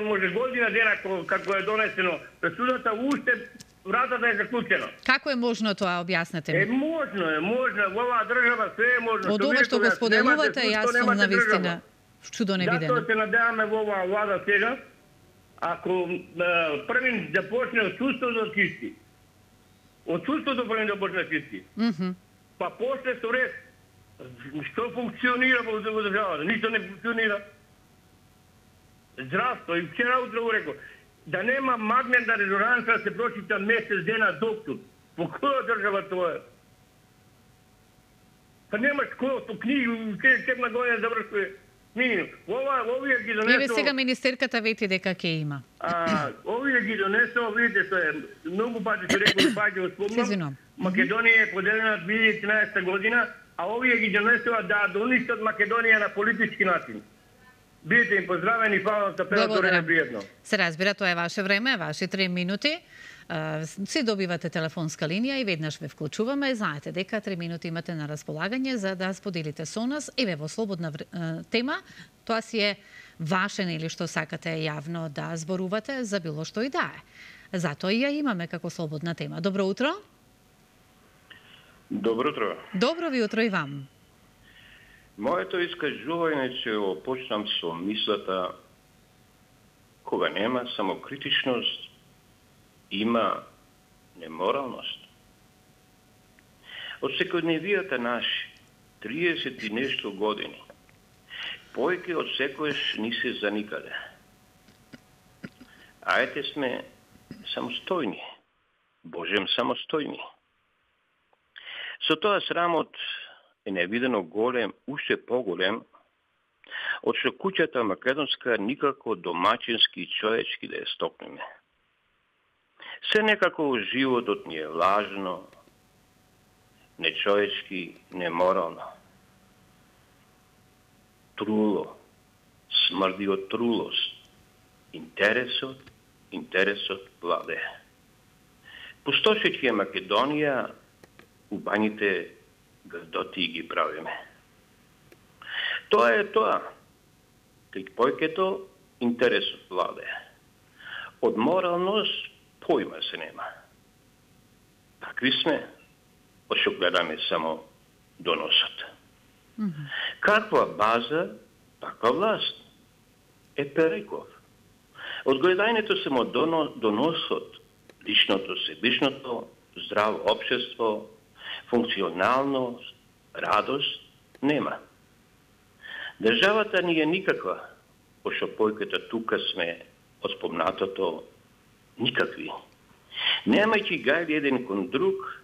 може година дена како е донесено пресудата, уште вратата е заклучена. Како е можно тоа, објаснете ми? Е, можно е, можно. Во оваа држава све е можно. Од ова што го споделувате, јас сум на вистина чудо невидено. Затоа се надеваме во оваа влада сега, ако првин да почне од судството да чисти. Од судството првин да почне да чисти. Mm -hmm. Па после со ред, што функционира во државата? Ништо не функционира. Здравство, и вчера утре го рекол, да нема магнетна резонанса да се прочита месец дена доктор. Во која држава тоа е? Па нема школото, книги, седма година завршува минимум. Ова, овие ги донесува... Еве сега министерката вети дека ќе има. А, овие ги донесува, видите што е, многу пати се рекол, пати го спомнам, Македонија е поделена две илјади и тринаесетта година, а овие ги донесува да доништат Македонија на политички начин. Бидете им поздравени, фала за педатора е пријатно. Се разбира, тоа е ваше време, ваши три минути. Си добивате телефонска линија и веднаш ве вклучуваме. Знаете дека три минути имате на располагање за да споделите со нас. Еве во слободна тема, тоа си е ваше нели што сакате јавно да зборувате за било што и да е. Затоа и ја имаме како слободна тема. Добро утро. Добро утро. Добро ви утро и вам. Моето искажување ќе го почнам со мислата кога нема самокритичност, има неморалност. Од секојдневијата наши, триесет и нешто години, поеќе од секојаш ни се заникале. Ајте сме самостојни, Божем самостојни. Со тоа срамот е невидено голем, уште поголем, од што куќата македонска никако домачински и човечки да ја стокнеме. Се некако животот ни е лажно, нечовечки, неморално. Труло, смрди од трулост. Интересот, интересот владе. Пустошеќи е Македонија, убаните грдоти ги правиме. Тоа е тоа. Кај појкето интересот владе. Од моралност појма се нема. Такви сме, од што гледаме само доносот. Mm -hmm. Каква база, таква власт. Е переков. Од гледањето само доносот, личното себичното, здраво општество, функционалност, радост, нема. Државата ни е никаква, пошто појката тука сме од спомнатото никакви. Немајќи гајли еден кон друг,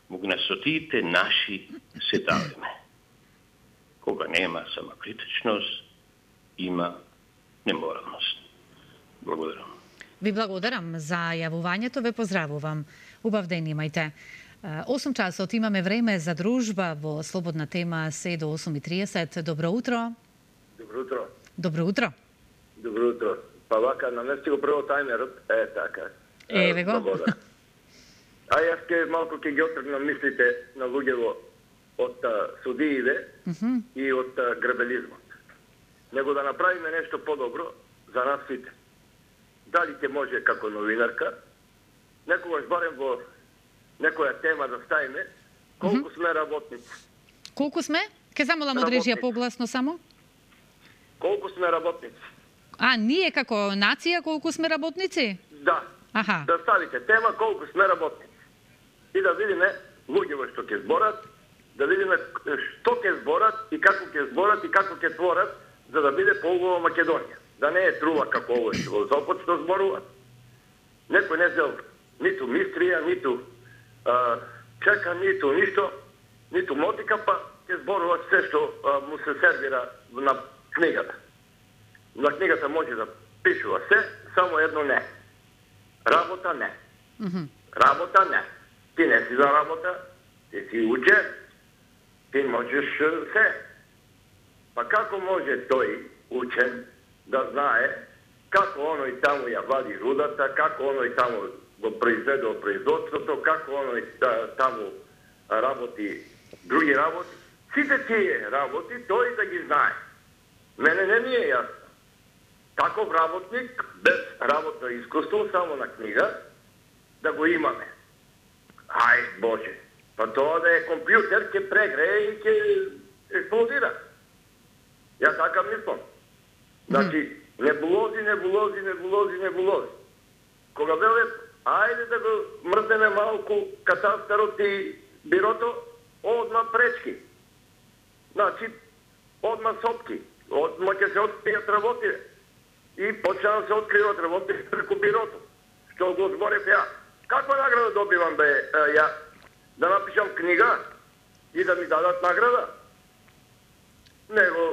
мугнасотиите наши се давиме. Кога нема самокритичност, има неморалност. Благодарам. Ви благодарам за јавувањето, ве поздравувам. Убав ден имајте. осум часот имаме време за дружба во слободна тема се до осум и триесет. Добро утро. Добро утро. Добро утро. Добро утро. Па вака, намести го прво тајмерот. Е, така. Еве го. А јас ке малку ке ги отргнам мислите на луѓево од судиите mm -hmm. и од грабелизмот. Него да направиме нешто подобро за нас сите. Дали ќе може како новинарка, некогаш барем во некоја тема да ставиме, колку mm -hmm. сме работници. Колку сме? Ке замолам од режија погласно само. Колку сме работници. А, ние како нација колку сме работници? Да. Аха. Да ставите тема колку сме работници. И да видиме луѓето што ќе зборат, да видиме што ќе зборат и како ќе зборат и како ќе творат, за да биде поубава Македонија. Да не е трува како овој во Сопот што зборуваат. Некој не зел ниту мистрија, ниту а, чека, ниту ништо, ниту мотика, па ќе зборува се што а, му се сервира на книгата. На книгата може да пишува се, само едно не. Работа не. Mm-hmm. Работа не. Ти не си за работа, ти си учен, ти можеш се. Па како може тој учен да знае како оној таму ја вади рудата, како оној таму го произведе производството, како оној таму работи други работи. Сите тие работи тој да ги знае. Мене не ми е јасно. Таков работник, без работа и искуство, само на книга, да го имаме. Ај, Боже, па тоа да е компјутер, ќе прегрее и ќе експлодира. Ја така мислам. Значи, небулози, небулози, небулози, небулози. Кога веле, ајде да го мрзнеме малку катастарот и бирото, одма пречки. Значи, одма сопки, одма ќе се откријат работи. И почна да се откриват работи преку бирото. Што го зборев ја. Каква награда добивам бе ја? Да напишам книга и да ми дадат награда? Него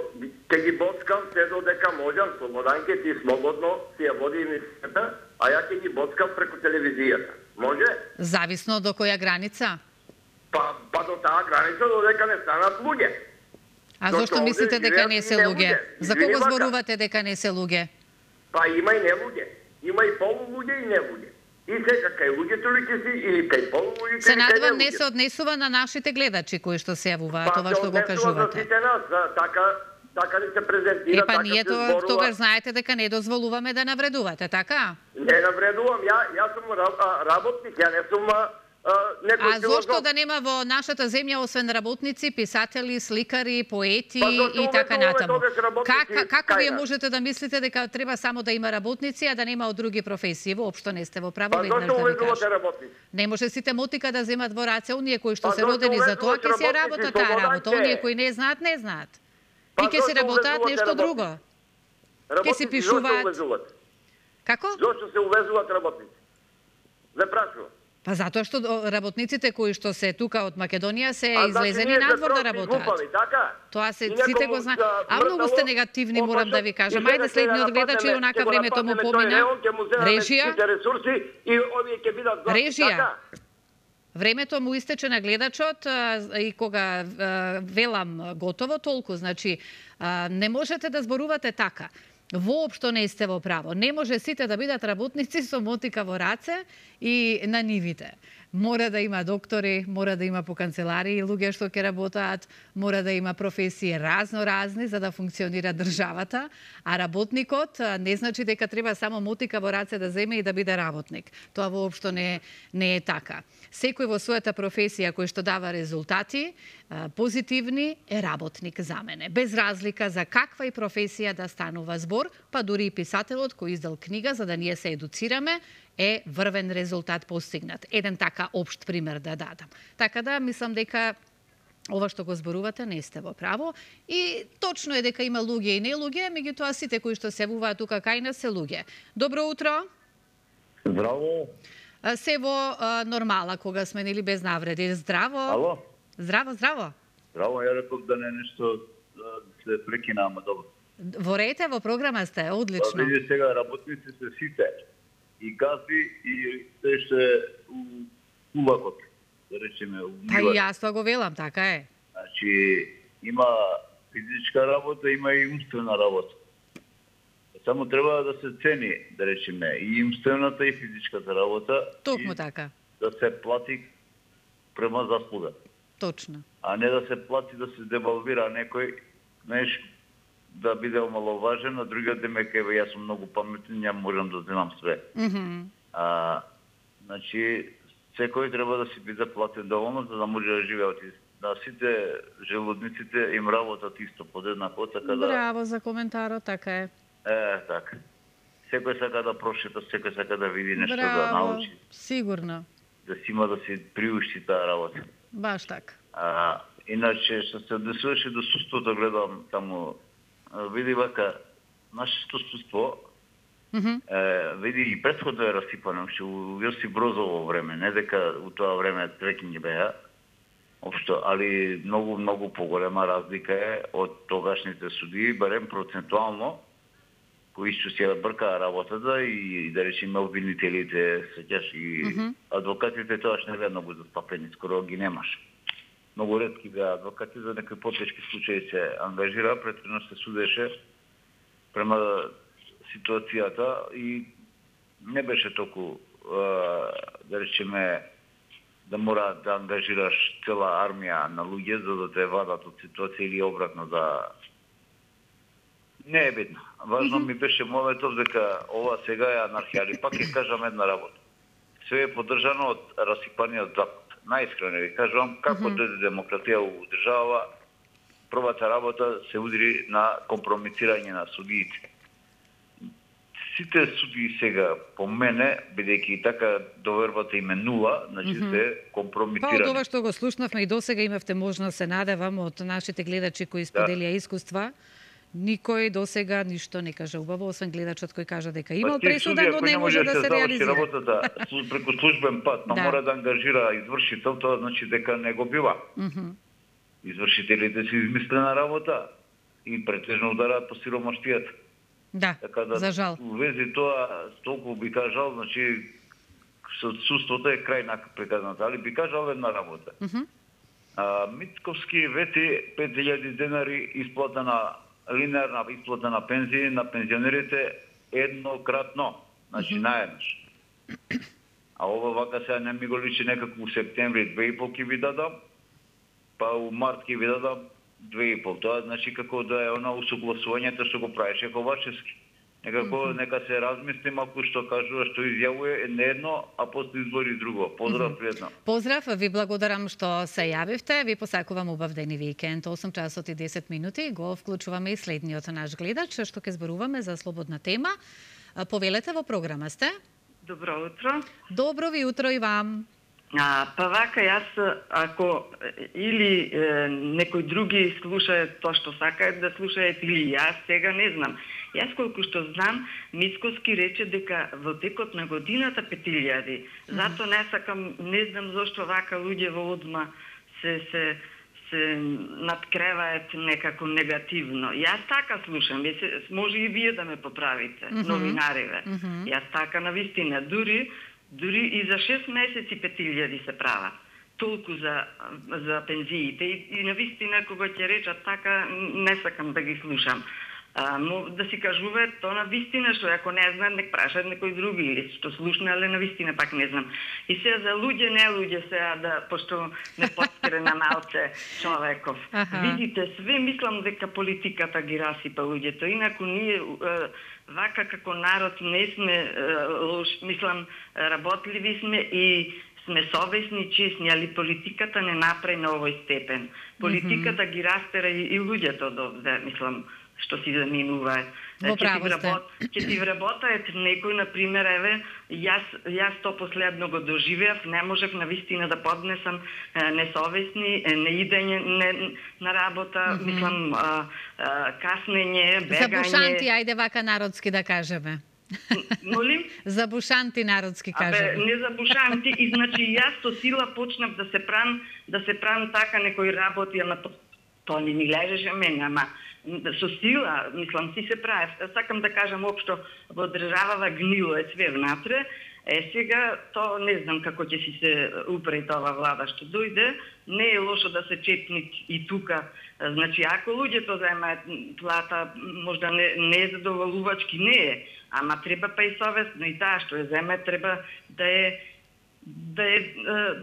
ќе ги боцкам се додека можам, слободанке ти слободно си ја води емисијата, а ја ќе ги боцкам преку телевизијата. Може? Зависно до која граница? Па, па до таа граница додека не станат луѓе. А зошто мислите дека не се луѓе? За кого зборувате дека не се луѓе? Па има и не луѓе. Има и полулуѓе и не луѓе. И сега кај луѓето ли ќе си или кај полулуѓето се надевам не се однесува на нашите гледачи кои што се јавуваат ова што го кажувате. Па се однесува за сите нас, така така ни се презентира, така се зборува. Епа ние тоа тогаш знаете дека не дозволуваме да навредувате, така? Не навредувам, ја јас сум работник, ја не сум некој. А зошто да нема во нашата земја освен работници, писатели, сликари, поети и така натаму? Как, како вие можете да мислите дека треба само да има работници, а да нема од други професии? Воопшто не сте во право, веднаш да ви кажам. Не може сите мотика да земат во раце, оние кои што се родени за тоа, ќе се работат таа работа, оние кои не знаат, не знаат. И ќе се работат нешто друго. Ќе се пишуваат. Како? Зошто се увезуваат работници? Ве прашувам. Па затоа што работниците кои што се тука од Македонија се излезени надвор да работат. Тоа се сите го знаат. А многу сте негативни, морам да ви кажам. Ајде следниот гледач и онака времето му помина. Режија. Режија. Времето му истече на гледачот и кога велам готово толку, значи не можете да зборувате така. Воопшто не сте во право. Не може сите да бидат работници со мотика во раце и на нивите. Мора да има доктори, мора да има по канцеларии луѓе што ќе работаат, мора да има професии разно-разни за да функционира државата, а работникот не значи дека треба само мотика во раце да земе и да биде работник. Тоа воопшто не, не е така. Секој во својата професија кој што дава резултати позитивни е работник за мене. Без разлика за каква и професија да станува збор, па дури и писателот кој издал книга за да ние се едуцираме, е врвен резултат постигнат. Еден така општ пример да дадам. Така да, мислам дека ова што го зборувате не сте во право и точно е дека има луѓе и не луѓе, меѓутоа сите кои што се јавуваат тука кај нас се луѓе. Добро утро. Здраво. Се во а, нормала кога сме нели без навреди. Здраво. Ало. Здраво, здраво. Здраво, ја реков да не нешто да се прекина, ама добро. Во рете, во програма сте, одлично. Па види сега работници се сите. И гази и се што е у кулакот, да речеме, у Па и јас тоа го велам, така е. Значи, има физичка работа, има и умствена работа. Само треба да се цени, да речеме, и умствената и физичката работа. Токму така. Да се плати према заслуга. Точно. А не да се плати да се девалвира некој, знаеш, да биде омаловажен, а другиот демек еве јас сум многу паметен, ја можам да знам све. Mm -hmm. А, значи, секој треба да си биде платен доволно за да може да живее од на сите желудниците им работат исто подеднако, така да... Браво за коментарот, така е. Е, така. Секој сака да прошета, секој сака да види нешто, Браво, да научи. Сигурно. Да си има да си приушти таа работа. Баш така. А, Иначе, што се однесуваше до суството, гледам таму, види вака, нашето суство, mm -hmm. е, види и предходно е расипано, уште у Јосип Брозово време, не дека у тоа време трекинги беа, општо, али многу, многу поголема разлика е од тогашните судии, барем процентуално, кои што се бркаа работата и, да речеме обвинителите, сеќаш и mm -hmm. адвокатите тоаш не беа многу застапени, скоро ги немаш. Многу ретки беа адвокати, за некои потешки случаи се ангажира, претhodно се судеше према ситуацијата и не беше толку, да речеме, да мора да ангажираш цела армија на луѓе за да те вадат од ситуација или обратно да... Не е бедно. Важно mm -hmm. ми беше моментот дека ова сега е анархија, али пак ќе кажам една работа. Све е поддржано од расипаниот Запад. Најискрено ви кажувам, како mm -hmm. дојде демократија у држава, првата работа се удри на компромитирање на судиите. Сите судии сега, по мене, бидејќи така довербата им е нула, значи mm -hmm. се компромитирани. Па од ова што го слушнавме и досега имавте можност, се надевам, од нашите гледачи кои споделија да. искуства, никој досега ништо не кажа убаво, освен гледачот кој кажа дека имал пресуда, но не може да се реализира. Работата преку службен пат, но да. мора да ангажира извршител, тоа значи дека не го бива. Mm -hmm. Извршителите се измислена работа и претежно удараат по сиромаштијата. Да, така да, за жал. У вези тоа, толку би кажал, значи, со судството е крај на приказната, али би кажал една работа. Mm -hmm. а, Митковски вети пет илјади денари исплата на линеарна исплата на пензии на пензионерите еднократно, значи mm -hmm. наеднаш. А ова вака сега не ми го личи некако у септември две и пол ќе ви дадам, па у март ќе ви дадам две и пол. Тоа значи како да е она усогласувањето што го правеше Ковачевски. Некако mm -hmm. нека се размисли малку што кажува, што изјавува не едно, а после избори друго. Поздрав, mm -hmm. пријатно. Поздрав, ви благодарам што се јавивте. Ви посакувам убав ден и викенд. осум часот и десет минути. Го вклучуваме и следниот наш гледач, што ќе зборуваме за слободна тема. Повелете, во програма сте. Добро утро. Добро ви утро и вам. А, па вака, јас, ако или е, некој други слушаат тоа што сакаат да слушаат, или јас, сега не знам. Јас колку што знам, Мицковски рече дека во текот на годината пет илјади. Зато не сакам, не знам зошто вака луѓе во одма се се се надкреваат некако негативно. Јас така слушам, може и вие да ме поправите, mm -hmm. новинариве. Mm -hmm. Јас така навистина, дури дури и за шест месеци пет илјади се прават. Толку за за пензиите и, и навистина кога ќе речат така не сакам да ги слушам. А, но да си кажуваат тоа на вистина, што ако не знаат, нек прашаат некој други или што слушна, але на вистина пак не знам. И сега за луѓе, не луѓе сега, да, пошто не подскре на малце човеков. Аха. Видите, све мислам дека политиката ги расипа луѓето, инаку ние вака како народ не сме лош, мислам, работливи сме и сме совесни, честни, али политиката не направи на овој степен. Политиката mm -hmm. ги растера и, и луѓето да, мислам, што си заминуваат. Во право сте. Ќе ти вработаат некој, например, еве, јас, јас то последно го доживеав, не можев навистина да поднесам е, несовесни, е, неидење не, на работа, mm -hmm. мислам, а, а, каснење, бегање. Забушанти, ајде вака народски да кажеме. Молим? Забушанти народски кажеме. Абе, не забушанти, и значи јас со сила почнав да се прам, да се прам така некој работи, ама то, то не ми лежеше мене, ама со сила, мислам, си се прави. Сакам да кажам општо, во државава гнило е све внатре. Е, сега, то не знам како ќе си се упреди ова влада што дојде. Не е лошо да се чепни и тука. Значи, ако луѓето заемаат плата, можда не, не е задоволувачки, не е. Ама треба па и совестно и таа што ја земе треба да е да е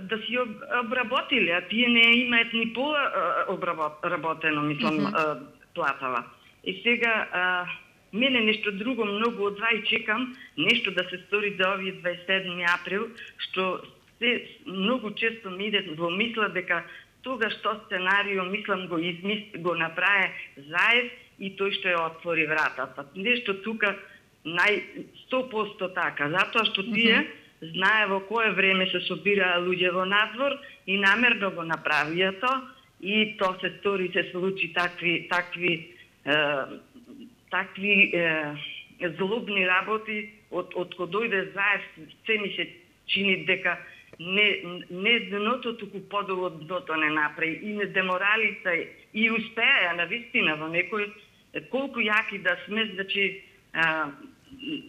да си обработили, а тие не имаат ни пола обработено, мислам, mm -hmm. платава. И сега а, мене нешто друго многу од два и чекам нешто да се стори до овие дваесет и седми април, што се многу често ми иде во мисла дека тогаш што сценарио, мислам, го измис, го направи Заев и тој што ја отвори вратата. Нешто тука нај сто проценти така, затоа што тие mm -hmm. знае во кое време се собираа луѓе во надвор и намерно го направија тоа и то се стори, се случи такви, такви, е, такви е, злобни работи, од, од кога дојде Заев, се ми се чини дека не, не дното, туку подолу од дното не направи. И не деморалица, и успеа на вистина во некој, колку јаки да сме, значи, а,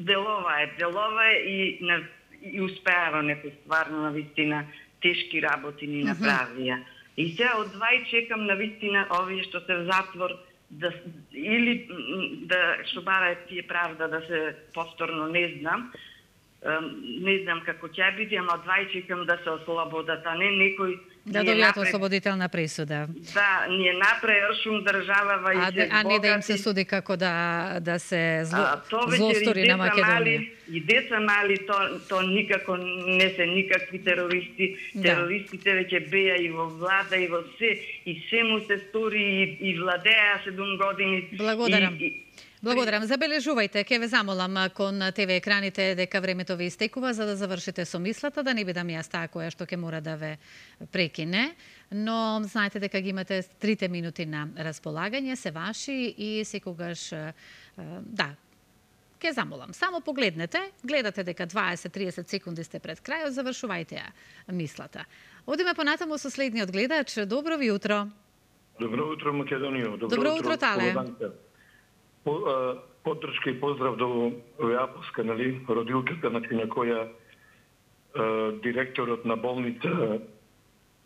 делова е, делова е и, на, и успеа во некој стварно на вистина тешки работи ни направија. Mm -hmm. И сега од двај чекам на вистина овие што се в затвор, да, или да, што бара тие правда да се повторно не знам, не знам како ќе биде, ама од двај чекам да се ослободат, а не некој да добијат ослободителна пресуда. Да, ние направи ршум држава и се а не да им се суди како да да се зло, злостори на Македонија. Мали, и деца мали, то, то никако не се никакви терористи. Да. Терористите веќе беа и во влада и во се, и се му се стори и, и владеа седум години. Благодарам. И, и, Благодарам. Забележувајте, ќе ве замолам кон Те Ви екраните дека времето ви истекува за да завршите со мислата, да не бидам јас таа која што ќе мора да ве прекине. Но знаете дека ги имате трите минути на располагање, се ваши и секогаш, да, ќе замолам. Само погледнете, гледате дека дваесет до триесет секунди сте пред крајот, завршувајте ја мислата. Одиме понатаму со следниот гледач. Добро ви утро. Добро утро, Македонија. Добро, Добро утро, Тале. По, а, поддршка и поздрав до Апоска, нали, родилката, значи, на која а, директорот на болница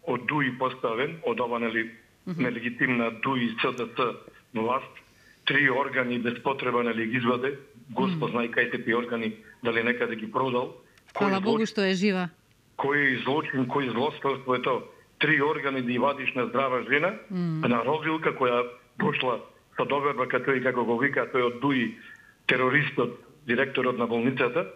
од ДУИ поставен, од ова, нали, mm -hmm. нелегитимна ДУИ СДС власт, три органи без потреба, нали, ги изваде, Господ знае кај се тие органи, дали некаде ги продал. Хвала Богу што е жива. Кој злочин, кој злосторство е тоа? Три органи да вадиш на здрава жена, mm. на родилка која дошла со доверба како тој, како го вика, тој од ДУИ, терористот, директорот на болницата,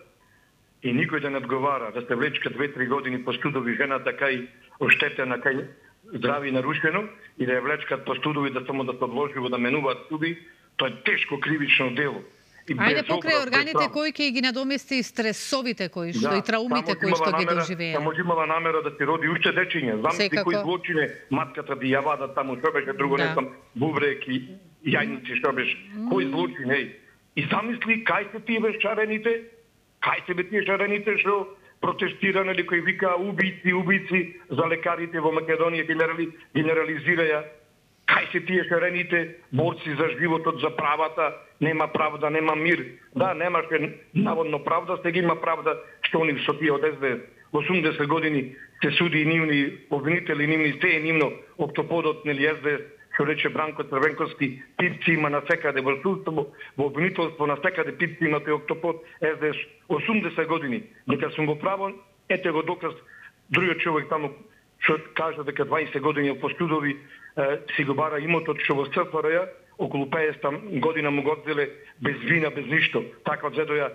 и никој да не одговара, да се влечка две-три години по студови жената кај оштетена, кај здрави нарушено, и да ја влечкат по студови да само да се одложиво да менуваат студи, тоа е тешко кривично дело. Ајде покрај органите кои ќе ги надомести стресовите кои што да, и траумите кои што ги доживеа. Само имала намера да се роди уште дечиња. Замисли кои злочине матката да ја вада таму, што беше друго, да. Не знам, бубрек и јајници, што беше. Mm. Кои злочине, еј. И замисли кај се тие шарените, кај се бе тие шарените што протестиране или кои вика убици, убици за лекарите во Македонија, генерали, генерализираја. Кај се тие шарените борци за животот, за правата, нема правда, нема мир. Да, немаше наводно правда, сега има правда што они со тие од ес де ес. осумдесет години се суди и нивни обвинители, нивни се е нивно октоподот, нели ес де ес, што рече Бранко Црвенковски, пипци има на секаде во судство, во обвинителство на секаде пипци има тој октопод ес де ес осумдесет години. Дека сум во право, ете го доказ другиот човек таму што кажа дека дваесет години по студови си го бара имотот што во ес еф ар ја околу пеесет година му го одзеле без вина, без ништо. Така одзедоја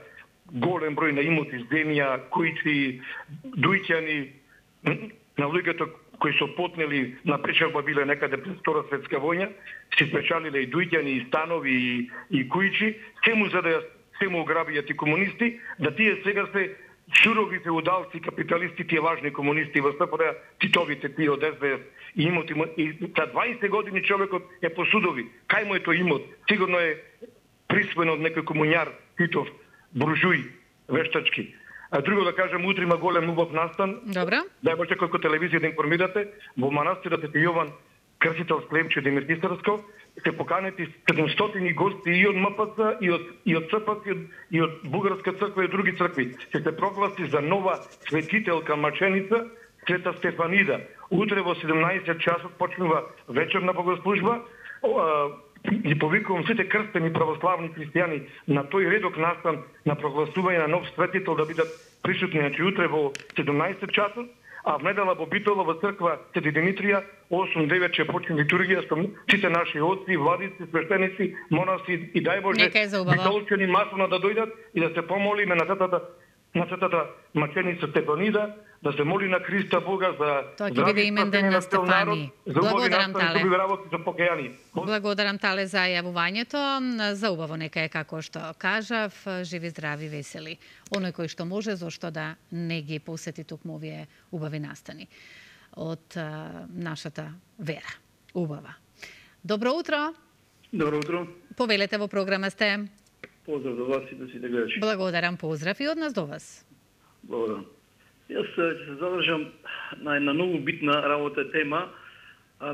голем број на имоти, земја, кујци, дујќани, на луѓето кои се потнели на печалба биле некаде пред Втора светска војна, си спечалиле и дујќани, и станови, и, и кујчи, се му задоја, се му ограбијат и комунисти, да тие сега се сурови феудалци, капиталисти, тие важни комунисти во ес еф ар ја, титовите тие од ес де ес, и имоти му, и за дваесет години човекот е по судови. Кај му е тој имот? Сигурно е присвоен од некој комуњар, Титов, буржуј, вештачки. А друго да кажем, утре има голем убав настан. Добро. Дај може како телевизија да информирате, во манастирот Свети Јован, крстител Клемче Демиртисарско, се поканети седумстотини гости и од ем пе це, и од, и од ЦПЦ, и од, и од Бугарска црква и од други цркви. Ќе се прогласи за нова светителка маченица, Света Стефанида. Утре во седумнаесет часот почнува вечерна богослужба. Ги повикувам сите крстени православни христијани на тој редок настан на прогласување на нов светител да бидат присутни, значи утре во седумнаесет часот, а в недела во Битола во црква Свети Димитрија осум-девет ќе почне литургија со сите наши отци, владици, свештеници, монаси и дај Боже битолчани масовно да дојдат и да се помолиме на светата на светата маченица Стефанида, да се моли на Христа Бога за тоа ќе биде имен ден на Стефани. Благодарам, Тале. За Благодарам, Тале, за јавувањето. За убаво нека е како што кажав, живи, здрави, весели. Оној кој што може, зошто да не ги посети токму овие убави настани од а, нашата вера. Убава. Добро утро. Добро утро. Повелете во програма сте. Поздрав до вас и до сите гледачи. Благодарам, поздрав и од нас до вас. Благодарам. Јас ќе се задржам на една многу битна работа тема а,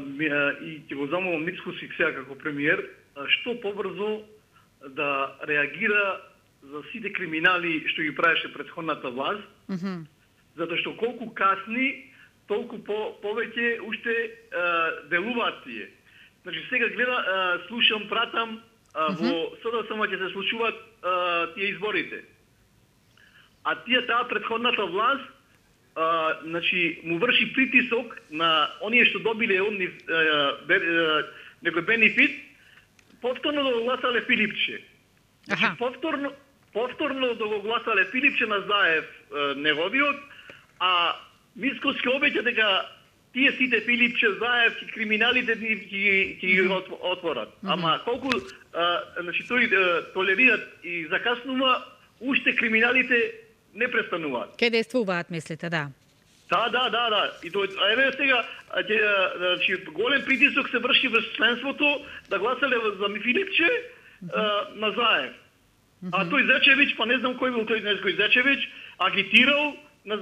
и ќе го замолам Мицкоски сега како премиер што побрзо да реагира за сите криминали што ги правеше претходната власт, Mm -hmm. затоа што колку касни, толку по, повеќе уште а, делуваат тие. Значи сега гледа, а, слушам, пратам, а, во СДСМ ќе се случуваат а, тие изборите. А тие таа претходната власт а, значи му врши притисок на оние што добиле онни некој бенефит, повторно да го гласале Филипче. Значи повторно повторно да го гласале Филипче на Заев неговиот, а Мицкоски обеќа дека тие сите Филипче, Заев и криминалите ќе ги отворат. Mm -hmm. Ама колку а, значи тој а, толерираат и закаснува, уште криминалите не престануваат. Ке действуваат, мислите, да? Да, да, да, да. И тоа еве сега значи голем притисок се врши врз членството да гласале за Филипче mm -hmm. а, на Заев. Mm -hmm. А тој Зечевич, па не знам кој бил тој некој Зечевич, агитирал на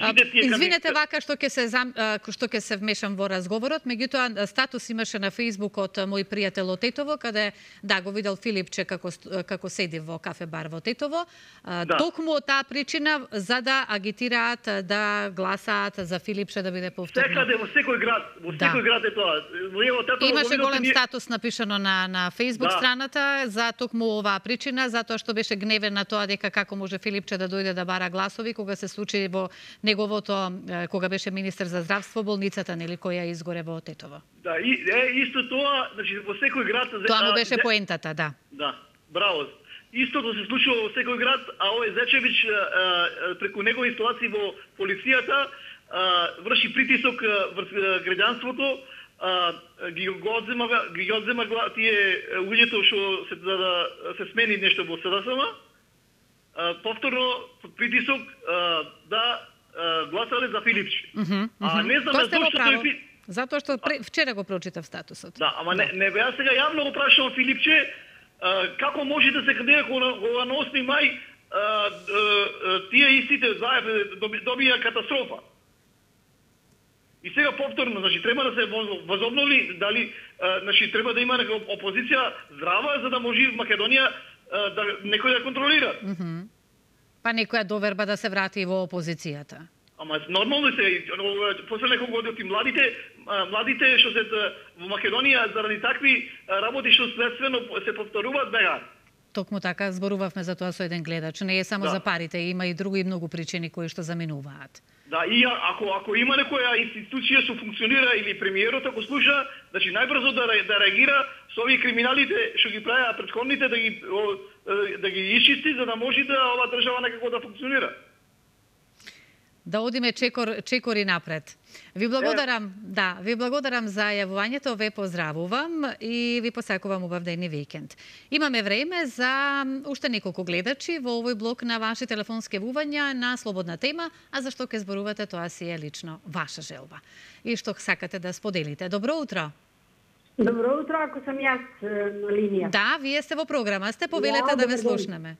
А, извинете вака што ќе се зам, што ќе се вмешам во разговорот, меѓутоа статус имаше на Facebook од мој пријател од Тетово, каде да го видел Филипче како како седи во кафе бар во Тетово. Да. Токму од таа причина за да агитираат да гласаат за Филипче да биде повторно. Секаде во секој град, во да. секој град е тоа. Во Тетово имаше голем ние... статус напишано на на Facebook да. страната за токму оваа причина, затоа што беше гневен на тоа дека како може Филипче да дојде да бара гласови кога се случи во неговото, кога беше министер за здравство, болницата, нели, која изгоре во Тетово. Да, и е, исто тоа, значи во секој град... Тоа му беше поентата, да. Да, браво. Истото се случува во секој град, а овој Зечевич преку негови инсталации во полицијата врши притисок врз граѓанството, ги го одзема, ги одзема тие луѓето што се да, да се смени нешто во СДСМ, повторно притисок да гласале за Филипче. Mm -hmm, а не знам зашто тој... Затоа што пре... вчера го прочитав статусот. Да, ама не, не беа сега јавно го прашувам Филипче а, како може да се кандидира кога на осми мај а, а, тие истите Заев добија катастрофа. И сега повторно, значи треба да се возобнови, дали а, значи треба да има некоја опозиција здрава за да може Македонија а, да некој да контролира. Mm -hmm. Па некоја доверба да се врати во опозицијата. Ама нормално се, после неколку години младите, младите што се во Македонија заради такви работи што следствено се повторуваат бегаат. Токму така зборувавме за тоа со еден гледач. Не е само да. за парите, има и други многу причини кои што заминуваат. Да, и ако ако има некоја институција што функционира или премиерот ако слуша, значи најбрзо да да реагира со овие криминалите што ги правеа претходните да ги да ги исчисти за да може да оваа држава некако да функционира. Да одиме чекор, чекори напред. Ви благодарам, да, ви благодарам за јавувањето, ве поздравувам и ви посакувам убав ден и викенд. Имаме време за уште неколку гледачи во овој блок на ваши телефонски јавувања на слободна тема, а за што ќе зборувате, тоа си е лично ваша желба. И што сакате да споделите. Добро утро. Добро утро, ако сам јас на линија. Да, вие сте во програма, сте повелете ja, да ве слушнеме.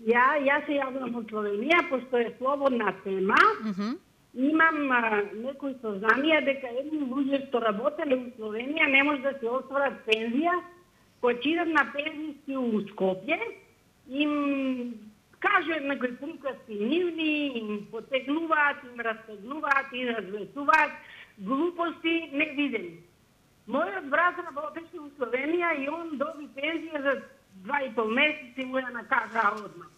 Ја, јас се јавувам од Словенија, постои слободна тема. Uh -huh. Имам а, некои сознанија дека едни луѓе што работеле во Словенија не може да се остварат пензија, почитат на пензиски у Скопје, им кажу некои приказки нивни, им потегнуваат, им растегнуваат и развесуваат глупости невидени. Мојот брат работеше во Словенија и он доби пензија за два и пол месеци му ја накажаа одмah.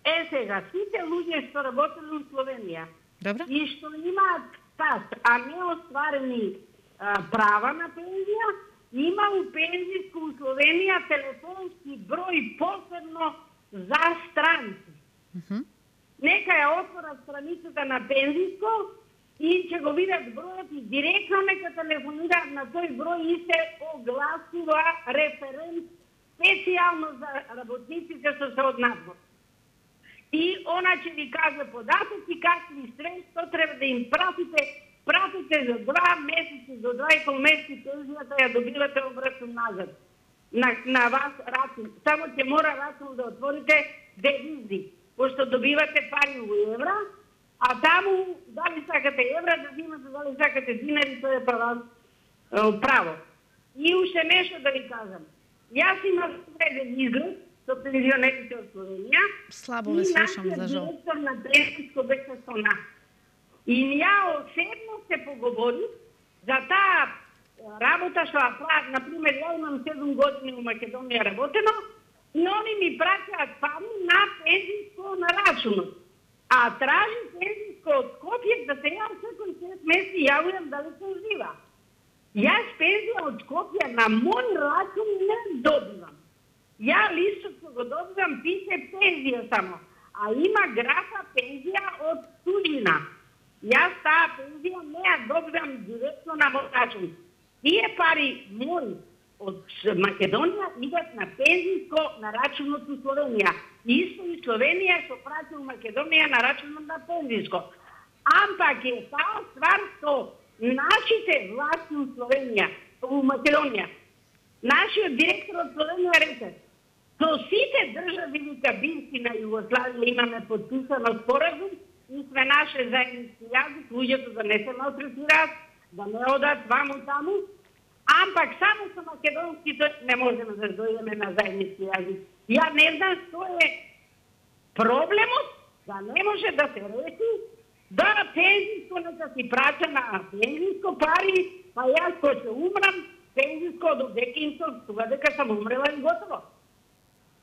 Е сега, сите луѓе што работеле во Словенија Добре. и што имаат стаж, а не остварени а, права на пензија, има у пензиско у Словенија телефонски број посебно за странци. Uh -huh. Нека ја отворат страницата на пензиско и ќе го видат бројот и директно нека телефонираат на тој број и се огласува референт специјално за работниците што се од надвор. И она ќе ви каже податоци, какви средства треба да им пратите пратите за два месеци, до два и пол месеци пензијата ја добивате обратно назад на, на вас рачун. Само ќе мора рачун да отворите девизи, пошто добивате пари во евра, а таму дали сакате евра да взимате, дали сакате динари, тоа е право. право. И уште нешто да ви кажам. Јас имам среден изглед со пензионерите од Словенија. Слабо ве слушам, за жал. Директор на пензијско беше со нас. И ја осебно се поговори за таа работа што ја прават. Например, ја имам седум години во Македонија работено и они ми праќаат пари на пензијско на рачунот. А тражи пензијско од Скопје да се ја секој шест месеци јавувам дали се ужива. Јас пензија од Скопје на мој рачун не добивам. Ја листот го добивам, пише пензија само, а има графа пензија од туѓина. Јас таа пензија не ја добивам директно на мој рачун. Тие пари мои од Македонија идат на пензијско на рачунот у Словенија. Исто и Словенија што прати у Македонија на рачунот на пензијско. Ампак е таа ствар што нашите власти у Словенија, у Македонија, нашиот директор од Словенија рече, со сите држави вика бивши на Југославија имаме подписано споразум и сме наше заеднички јазик, луѓето да не се малтретираат, да не одат ваму таму, ампак само со македонските не можеме да дојдеме на заеднички јазик. Ја не знам што е проблемот, да не може да се реши, да пензијско нека си праќа на пензијско пари, па јас кој се умрам, пензијско до декинско, тога дека сам умрела и готово.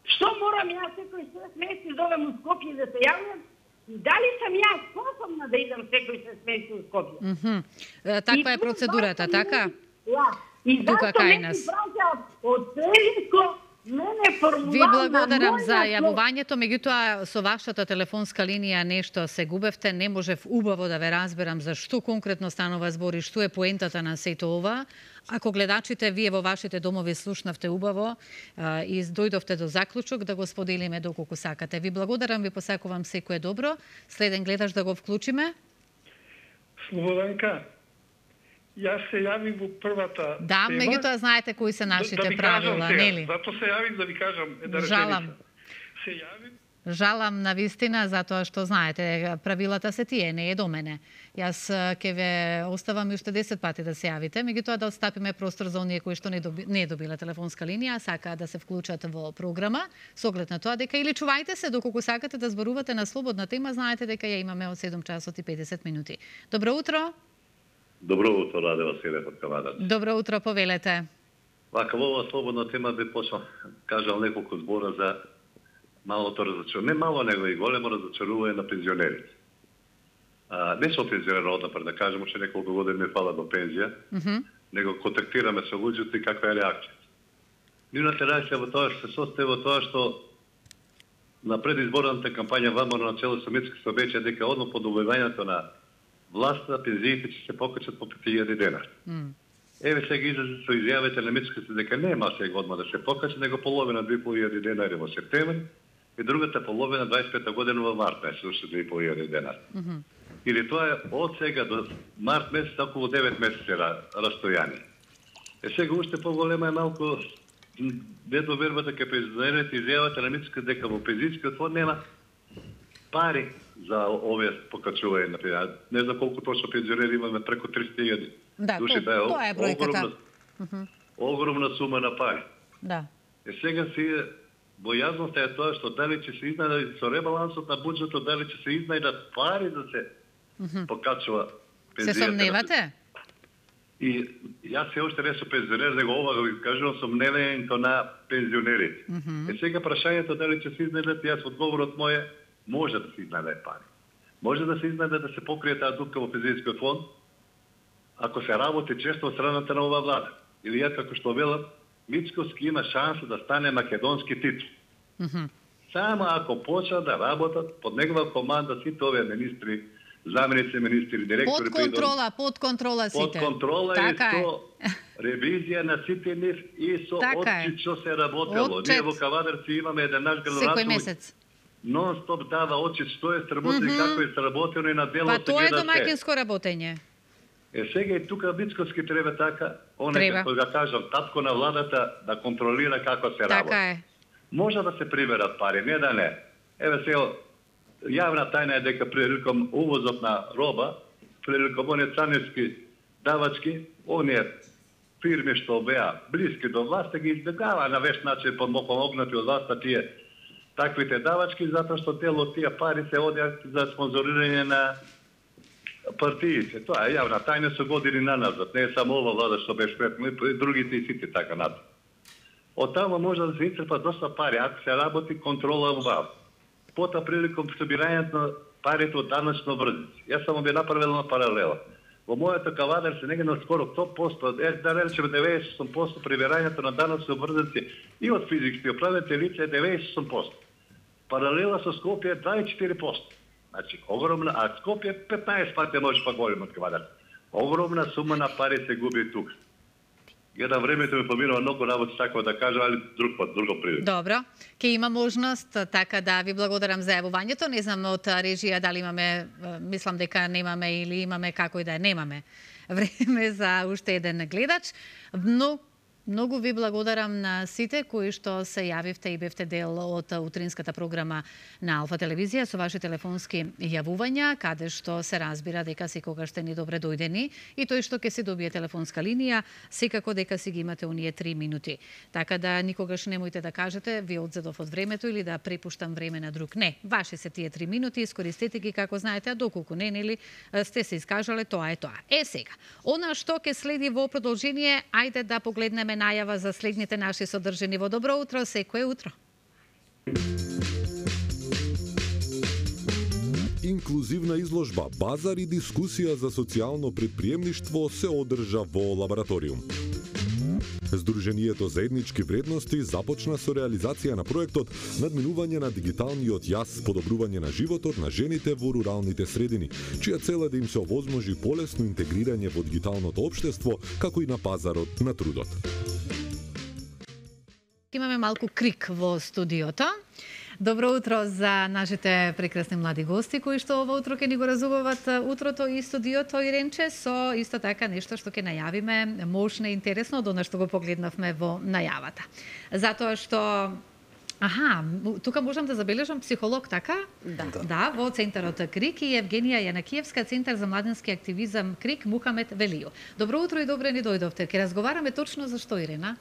Што морам јас секој шест месеци да одам у Скопје да се јавам? И дали сам јас способна да идам секој шест месеци у Скопје? Mm -hmm. Таква е процедурата, така? Да. И тука кај не нас. си праќаат од пензијско мене формулар. Ви благодарам за јавувањето, меѓутоа со вашата телефонска линија нешто се губевте, не можев убаво да ве разберам за што конкретно станува збор и што е поентата на сето ова. Ако гледачите, вие во вашите домови слушнавте убаво а, и дојдовте до заклучок да го споделиме доколку сакате. Ви благодарам, ви посакувам секое добро. Следен гледач да го вклучиме. Слободанка, јас се јавив во првата Да, тема. меѓутоа знаете кои се нашите да, да правила, нели? Зато се јавив да ви кажам една Жалам. реченица. Се јавив Жалам на вистина, затоа што знаете, правилата се тие, не е до мене. Јас ќе ве оставам уште десет пати да се јавите, меѓутоа да остапиме простор за оние кои што не, доби, не добиле телефонска линија, сакаат да се вклучат во програма, со оглед на тоа дека или чувајте се доколку сакате да зборувате на слободна тема, знаете дека ја имаме од седум часот и педесет минути. Добро утро. Добро утро, Раде Василев од Кавадац. Добро утро, повелете. Вака, во оваа слободна тема би почнал, кажал неколку збора за малото разочарување, не мало, него и големо разочарување на пензионерите. А, не со пензионер однапред, да кажем, уште неколку години не фала до пензија, Mm -hmm. него контактираме со луѓето и каква е реакцијата. Нивната реакција во тоа што се состои во тоа што на предизборната кампања ВМРО на цело Советски се обеќа дека одно по добивањето на власта пензиите ќе се покачат по пет илјади денар. Mm. Еве сега излезе со изјавите на Мицката дека нема сега одма да се покача, него половина две и пол илјади денари во септември и другата половина дваесет и пета година во март месец, уште две и пол илјади денари. Mm -hmm. Или тоа е од сега до март месец околу девет месеци растојание. Е сега уште поголема е малку недовербата кај пензионерите изјавата на Мицката дека во пензијскиот фонд нема пари за овие покачување, например. Не знам колку точно пензионери имаме, преку триста илјади. Да, души, тоа, да, тоа е бројката. Огромна, Mm -hmm. огромна сума на пари. Да. Е сега си бојазноста е тоа што дали ќе се изнајдат со ребалансот на буџетот, дали ќе се изнајдат пари да се Mm -hmm. покачува Се пензијата. сомневате? И јас се уште не сум пензионер, него ова го кажувам со мнението на пензионерите. Mm -hmm. Е сега прашањето дали ќе се изнајдат, јас одговорот мој е може да се изнајдат пари. Може да се изнајде да се покрие таа дупка во пензијскиот фонд, ако се работи често од страната на оваа влада. Или ја како што велам, Мицковски има шанса да стане македонски титул. Mm -hmm. Само ако почна да работат под негова команда сите овие министри, заменици министри, директори, Под контрола, под контрола сите. Под контрола така и е. со ревизија на сите нив и со така отчет што се работело. Отчет. Ние во Кавадарци имаме еден наш Секој градоначелник месец. нон-стоп дава отчет што е сработено Mm и -hmm. како е сработено и на дело Па се тоа е гледа се. домаќинско работење. Е, сега и тука Мицкоски треба така, оне како да кажам, татко на владата да контролира како се работи. Така е. Може да се приберат пари, не да не. Еве сега, јавна тајна е дека приликом увозот на роба, приликом оние царински давачки, оние фирми што беа блиски до власта ги избегава на веш начин помогнати од власта тие таквите давачки, затоа што дел од тие пари се одат за спонзорирање на партиите. Тоа е јавна тајна со години наназад. Не е само ова влада што беше претно, и другите и сите така над. Од тама може да се исцрпат доста пари, ако се работи контрола во. Пота приликом собирањето на парите од даначно врзици. Јас само би направил на паралела. Во мојата кавадар се негде на скоро сто проценти, е, да речеме деветдесет и осум проценти прибирањето на даначно врзици и од физички оправдати лица е деветдесет и осум проценти. Паралела со Скопје е дваесет и четири проценти. Значи, огромна, а Скопје петнаесет пати може па голем од кавадар. Огромна сума на пари се губи тук. Еден времето ми поминува многу работи, така да кажа, али друг пат, друго прилика. Добро. Ке има можност, така да ви благодарам за јавувањето. Не знам од режија дали имаме, мислам дека немаме или имаме, како и да немаме време за уште еден гледач. Но многу ви благодарам на сите кои што се јавивте и бевте дел од утринската програма на Алфа телевизија со ваши телефонски јавувања, каде што се разбира дека секогаш сте ни добре дојдени и тој што ќе се добие телефонска линија, секако дека си ги имате оние три минути. Така да никогаш немојте да кажете ви одзедов од времето или да препуштам време на друг. Не, ваши се тие три минути, искористете ги како знаете, а доколку не, нели сте се искажале, тоа е тоа. Е сега, она што ќе следи во продолжение, ајде да погледнеме најава за следните наши содржини во Добро утро, секое утро. Инклузивна изложба, базар и дискусија за социјално предприемништво се одржа во лабораториум. Сдруженијето за етнички вредности започна со реализација на проектот надминување на дигиталниот јас, подобрување на животот на жените во руралните средини, чија цел е да им се овозможи полесно интегрирање во дигиталното општество, како и на пазарот на трудот. Имаме малку крик во студиото. Добро утро за нашите прекрасни млади гости кои што ова утро ќе ни го разубават утрото и студиото и Ренче со исто така нешто што ќе најавиме мощно и интересно од она што го погледнавме во најавата. Затоа што Аха, тука можам да забележам психолог, така? Да. Да, во Центарот Крик и Евгенија Јанакиевска, Центар за младински активизам Крик, Мухамед Велио. Добро утро и добре ни дојдовте. Ке разговараме точно за што, Ирена?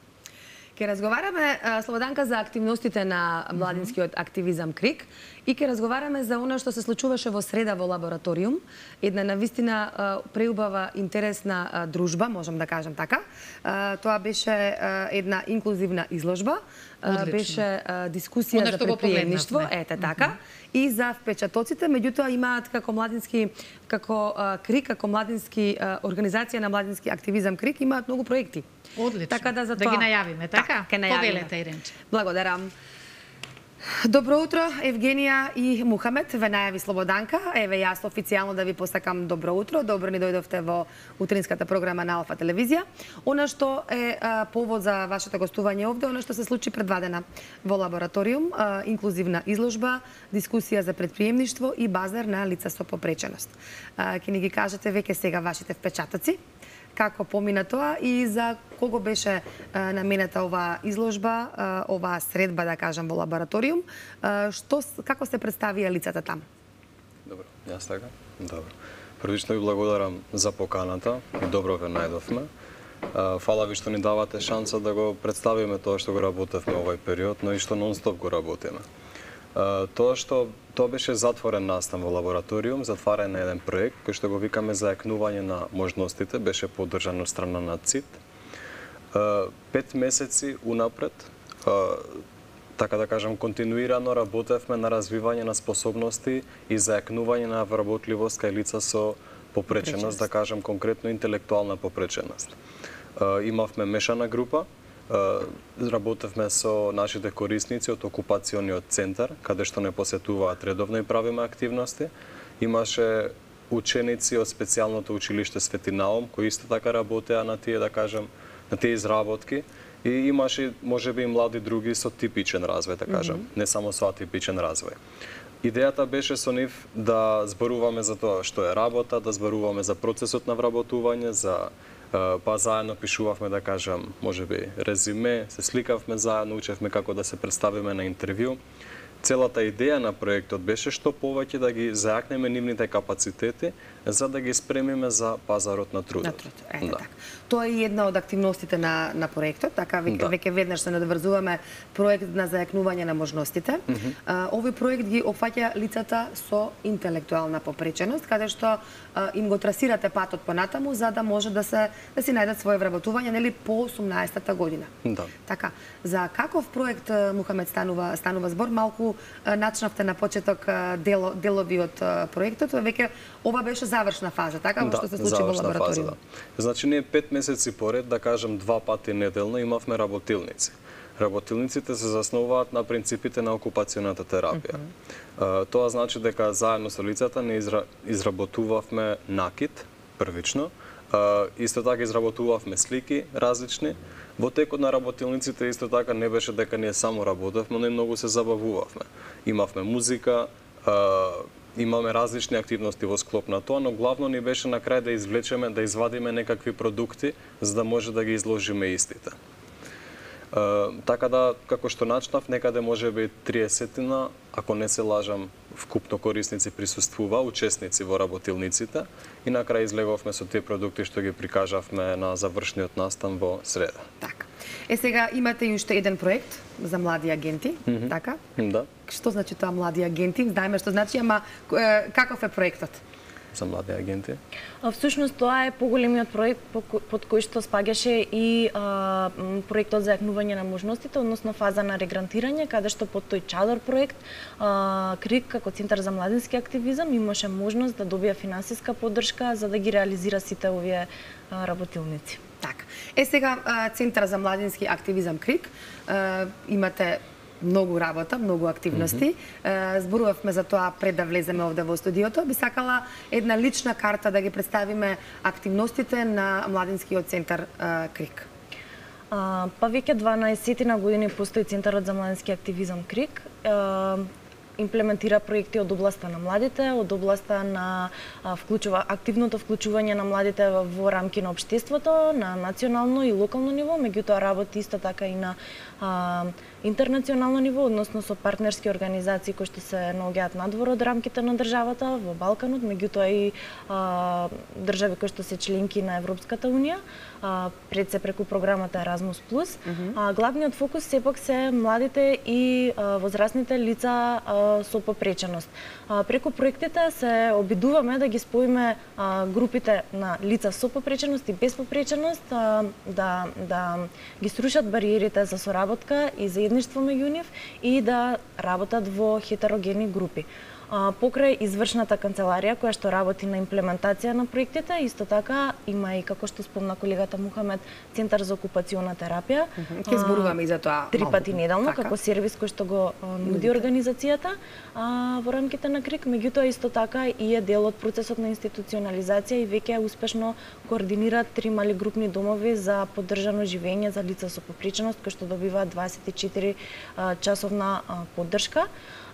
Ке разговараме, Слободанка, за активностите на младинскиот активизам Крик и ке разговараме за она што се случуваше во среда во лабораториум. Една навистина преубава интересна дружба, можам да кажам така. Тоа беше една инклузивна изложба. Одлично. Беше дискусија за предприемништво, ете така, и за впечатоците, меѓутоа имаат како младински, како Крик, како младински организација на младински активизам Крик, имаат многу проекти. Одлично. Така да за тоа... Да ги најавиме, така? Ке најавиме. Повелете, Иренче. Благодарам. Добро утро, Евгенија и Мухамед, ве најави Слободанка. Еве јас официјално да ви посакам добро утро. Добро ни дојдовте во утринската програма на Алфа телевизија. Она што е а, повод за вашето гостување овде, она што се случи пред два дена во лабораториум, а, инклузивна изложба, дискусија за предприемништво и базар на лица со попреченост. Ќе ни ги кажете веќе сега вашите впечатоци, како помина тоа и за кого беше а, наменета оваа изложба, а, оваа средба, да кажам, во лабораториум. А, што, како се представија лицата таму? Добро, јас така? Добро. Првично ви благодарам за поканата, добро ве најдовме. Фала ви што ни давате шанса да го представиме тоа што го работевме овој период, но и што нон-стоп го работиме. Тоа што тоа беше затворен настан во лабораториум, затварен на еден проект кој што го викаме зајакнување на можностите, беше поддржан од страна на ЦИТ. Пет месеци унапред, така да кажам, континуирано работевме на развивање на способности и зајакнување на вработливост кај лица со попреченост, да кажам конкретно интелектуална попреченост. Имавме мешана група, работевме со нашите корисници од окупациониот центар, каде што не посетуваат редовно и правиме активности. Имаше ученици од специјалното училиште Свети Наум, кои исто така работеа на тие, да кажам, на тие изработки. И имаше, можеби, и млади други со типичен развој, да кажам, mm -hmm. не само со атипичен развој. Идејата беше со нив да зборуваме за тоа што е работа, да зборуваме за процесот на вработување, за па заедно пишувавме, да кажам, можеби резиме, се сликавме заедно, учевме како да се представиме на интервју. Целата идеја на проектот беше што повеќе да ги зајакнеме нивните капацитети за да ги спремиме за пазарот на трудот. На труд, ете да. Така. Тоа е една од активностите на, на проектот, така веќе, да. веќе веднаш се надврзуваме проект на зајакнување на можностите. Mm -hmm. а, овој проект ги опфаќа лицата со интелектуална попреченост, каде што а, им го трасирате патот понатаму за да може да се да си најдат свое вработување нели по осумнаесетта година. Да. Така, за каков проект Мухамед станува станува збор, малку начнавте на почеток дело, делови од проектот, веќе ова беше завршна фаза, така, да, што се случи во лабораторијум. Да. Значи, ние пет месеци поред, да кажем, два пати неделно имавме работилници. Работилниците се заснуваат на принципите на окупационата терапија. Mm -hmm. Тоа значи дека заедно со лицата не изра... изработувавме накид, првично, исто така изработувавме слики различни. Во текот на работилниците исто така не беше дека ние само работевме, но и многу се забавувавме. Имавме музика, имаме различни активности во склоп на тоа, но главно ни беше на крај да извлечеме, да извадиме некакви продукти, за да може да ги изложиме истите. Uh, така да, како што начнав, некаде може би триесетина, ако не се лажам, вкупно корисници присуствува, учесници во работилниците, и на крај излеговме со тие продукти што ги прикажавме на завршниот настан во среда. Така. Е, сега имате и уште еден проект за млади агенти, mm -hmm. така? Да. Што значи тоа млади агенти? Знаеме што значи, ама каков е проектот? За млади агенти? Всушност тоа е поголемиот проект под кој што спаѓаше и а, проектот за јакнување на можностите, односно фаза на регрантирање, каде што под тој чадор проект а, КРИК како Центар за младински активизам имаше можност да добија финансиска поддршка за да ги реализира сите овие а, работилници. Така. Е, сега Центар за младински активизам КРИК имате многу работа, многу активности. Mm -hmm. Зборувавме за тоа пред да влеземе овде во студиото. Би сакала една лична карта да ги представиме активностите на младинскиот центар КРИК. А, па веќе дванаесет години постои Центарот за младински активизам КРИК. А, имплементира проекти од областа на младите, од областа на а, вклучува, активното вклучување на младите во рамки на општеството, на национално и локално ниво, меѓутоа работи исто така и на а, интернационално ниво, односно со партнерски организации кои што се наоѓаат надвор од рамките на државата, во Балканот, меѓутоа и а, држави кои што се членки на Европската унија, а, пред се преку програмата Еразмус плюс. Mm -hmm. а, главниот фокус сепак се младите и а, возрастните лица а, со попреченост. А, преку проектите се обидуваме да ги споиме а, групите на лица со попреченост и без попреченост, а, да, да ги срушат бариерите за соработка и заедништво меѓу нив и да работат во хетерогени групи. А, покрај извршната канцеларија која што работи на имплементација на проектите, исто така има и, како што спомна колегата Мухамед, Центар за окупациона терапија. Ќе зборуваме и за тоа три пати неделно, така, како сервис кој што го а, нуди организацијата а, во рамките на КРИК, меѓутоа исто така и е дел од процесот на институционализација и веќе успешно координира три мали групни домови за поддржано живење за лица со попреченост, кои што добиваат дваесет и четири а, часовна а, поддршка.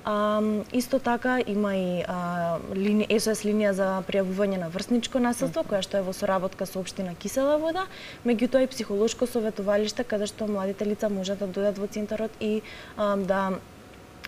А, исто така има и а, лини, ес о ес линија за пријавување на врсничко насилство, која што е во соработка со општина Кисела вода, меѓутоа и психолошко советувалиште каде што младите лица можат да дојдат во центарот и а, да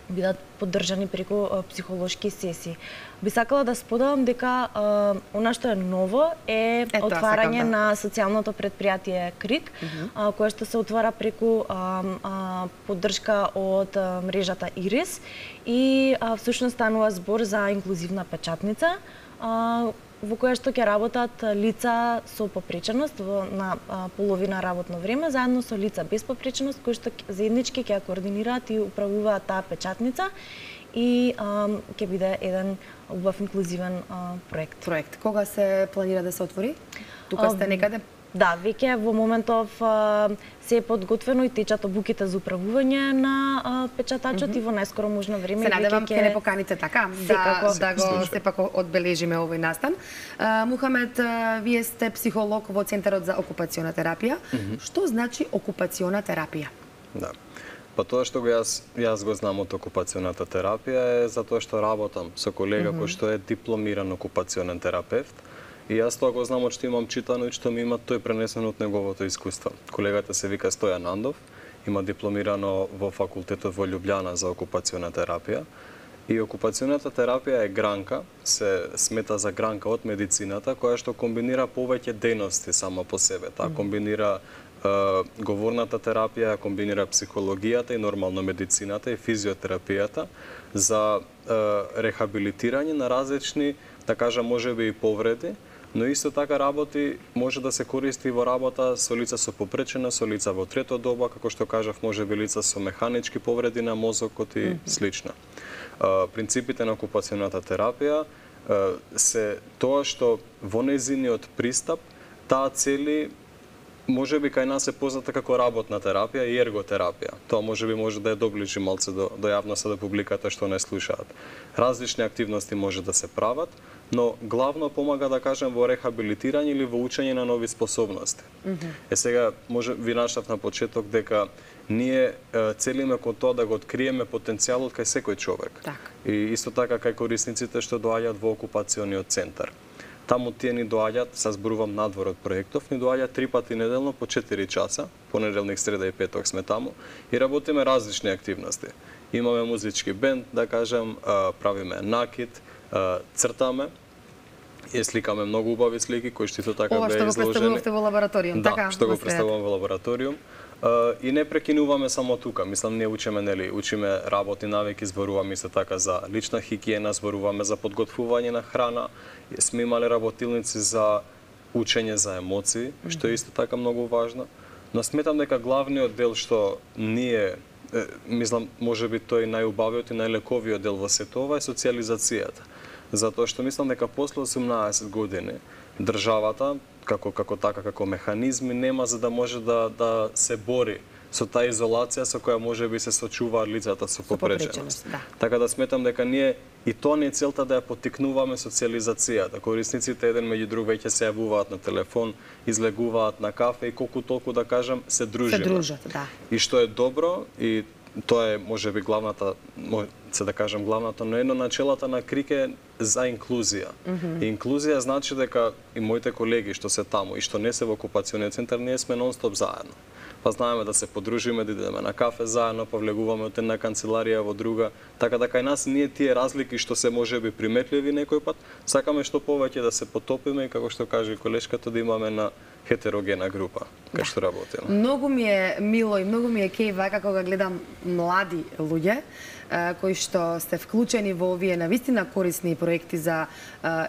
бидат поддржани преку а, психолошки сесии. Би сакала да споделам дека а, она што е ново е Ето, отварање да. на социјалното предпријатие КРИК, mm -hmm. а, кое што се отвара преку а, а, поддршка од а, мрежата Ирис и а, всушност станува збор за инклузивна печатница, а, во која што ќе работат лица со попреченост во, на а, половина работно време, заедно со лица без попреченост, кои што заеднички ќе координираат и управуваат таа печатница и а, ќе биде еден убав инклузивен а, проект. Проект. Кога се планира да се отвори? Тука сте некаде? Да, веќе во моментов а, се е подготвено и течат обуките за управување на а, печатачот mm -hmm. и во најскоро можно време се надевам ќе не поканите така да, да го сепак одбележиме овој настан. А, Мухамед, а, вие сте психолог во Центарот за окупациона терапија. Mm -hmm. Што значи окупациона терапија? Да. Па тоа што го јас јас го знам од окупационата терапија е затоа што работам со колега mm-hmm. кој што е дипломиран окупационен терапевт. И јас тоа го знам од што имам читано и што ми има тој пренесено од неговото искуство. Колегата се вика Стојан Андов, има дипломирано во факултетот во Љубљана за окупациона терапија. И окупационата терапија е гранка, се смета за гранка од медицината, која што комбинира повеќе дејности само по себе. Таа комбинира е, говорната терапија, комбинира психологијата и нормално медицината и физиотерапијата за е, рехабилитирање на различни, да кажам, можеби и повреди, но исто така работи може да се користи во работа со лица со попречена, со лица во трето доба, како што кажав, можеби лица со механички повреди на мозокот и mm-hmm. слично. Принципите на окупационата терапија се тоа што во нејзиниот пристап таа цели можеби кај нас е позната како работна терапија и ерготерапија. Тоа можеби може да ја доближи малце до, до јавноста, до публиката што не слушаат. Различни активности може да се прават, но главно помага, да кажем, во рехабилитирање или во учење на нови способности. Mm-hmm. Е сега, може ви наштав на почеток дека ние е, целиме кон тоа да го откриеме потенцијалот кај секој човек. Так. И исто така кај корисниците што доаѓаат во окупациониот центар. Таму тие ни доаѓаат, се зборувам надвор од проектов, ни доаѓаат три пати неделно по четири часа, понеделник, среда и петок сме таму, и работиме различни активности. Имаме музички бенд, да кажем, правиме накид, цртаме, и сликаме многу убави слики кои што така беа изложени. Ова што го представувавте во лабораториум, да, така? Да, што го представувам во лабораториум. Uh, и не прекинуваме само тука. Мислам, ние учиме, нели, учиме работи навики, зборуваме исто така за лична хигиена, зборуваме за подготвување на храна. Сме имале работилници за учење за емоции, mm-hmm. што е исто така многу важно. Но сметам дека главниот дел што ние, е, мислам, можеби тој најубавиот и најлековиот дел во сето ова е социализацијата. Затоа што мислам дека после осумнаесет години државата како како така како механизми нема за да може да да се бори со таа изолација со која можеби се сочуваат лицата со попреченост. Да. Така да сметам дека ние и тоа не е целта да ја поттикнуваме социализацијата. Корисниците еден меѓу друг веќе се јавуваат на телефон, излегуваат на кафе и колку толку, да кажам, се дружиме. Се дружат, да. И што е добро, и тоа е можеби главната, се да кажам главната, но едно начелата на КРИК е за инклузија. Mm-hmm. И инклузија значи дека и моите колеги што се таму и што не се во окупациониот центар, ние сме нон-стоп заедно. Па знаеме да се подружиме, да идеме на кафе заедно, па влегуваме од една канцеларија во друга. Така да кај нас ние тие разлики што се можеби приметливи некој пат, сакаме што повеќе да се потопиме и како што каже колешката да имаме на хетерогена група кај што работиме. Многу ми е мило и многу ми е кеј вака кога гледам млади луѓе кои што сте вклучени во овие навистина корисни проекти за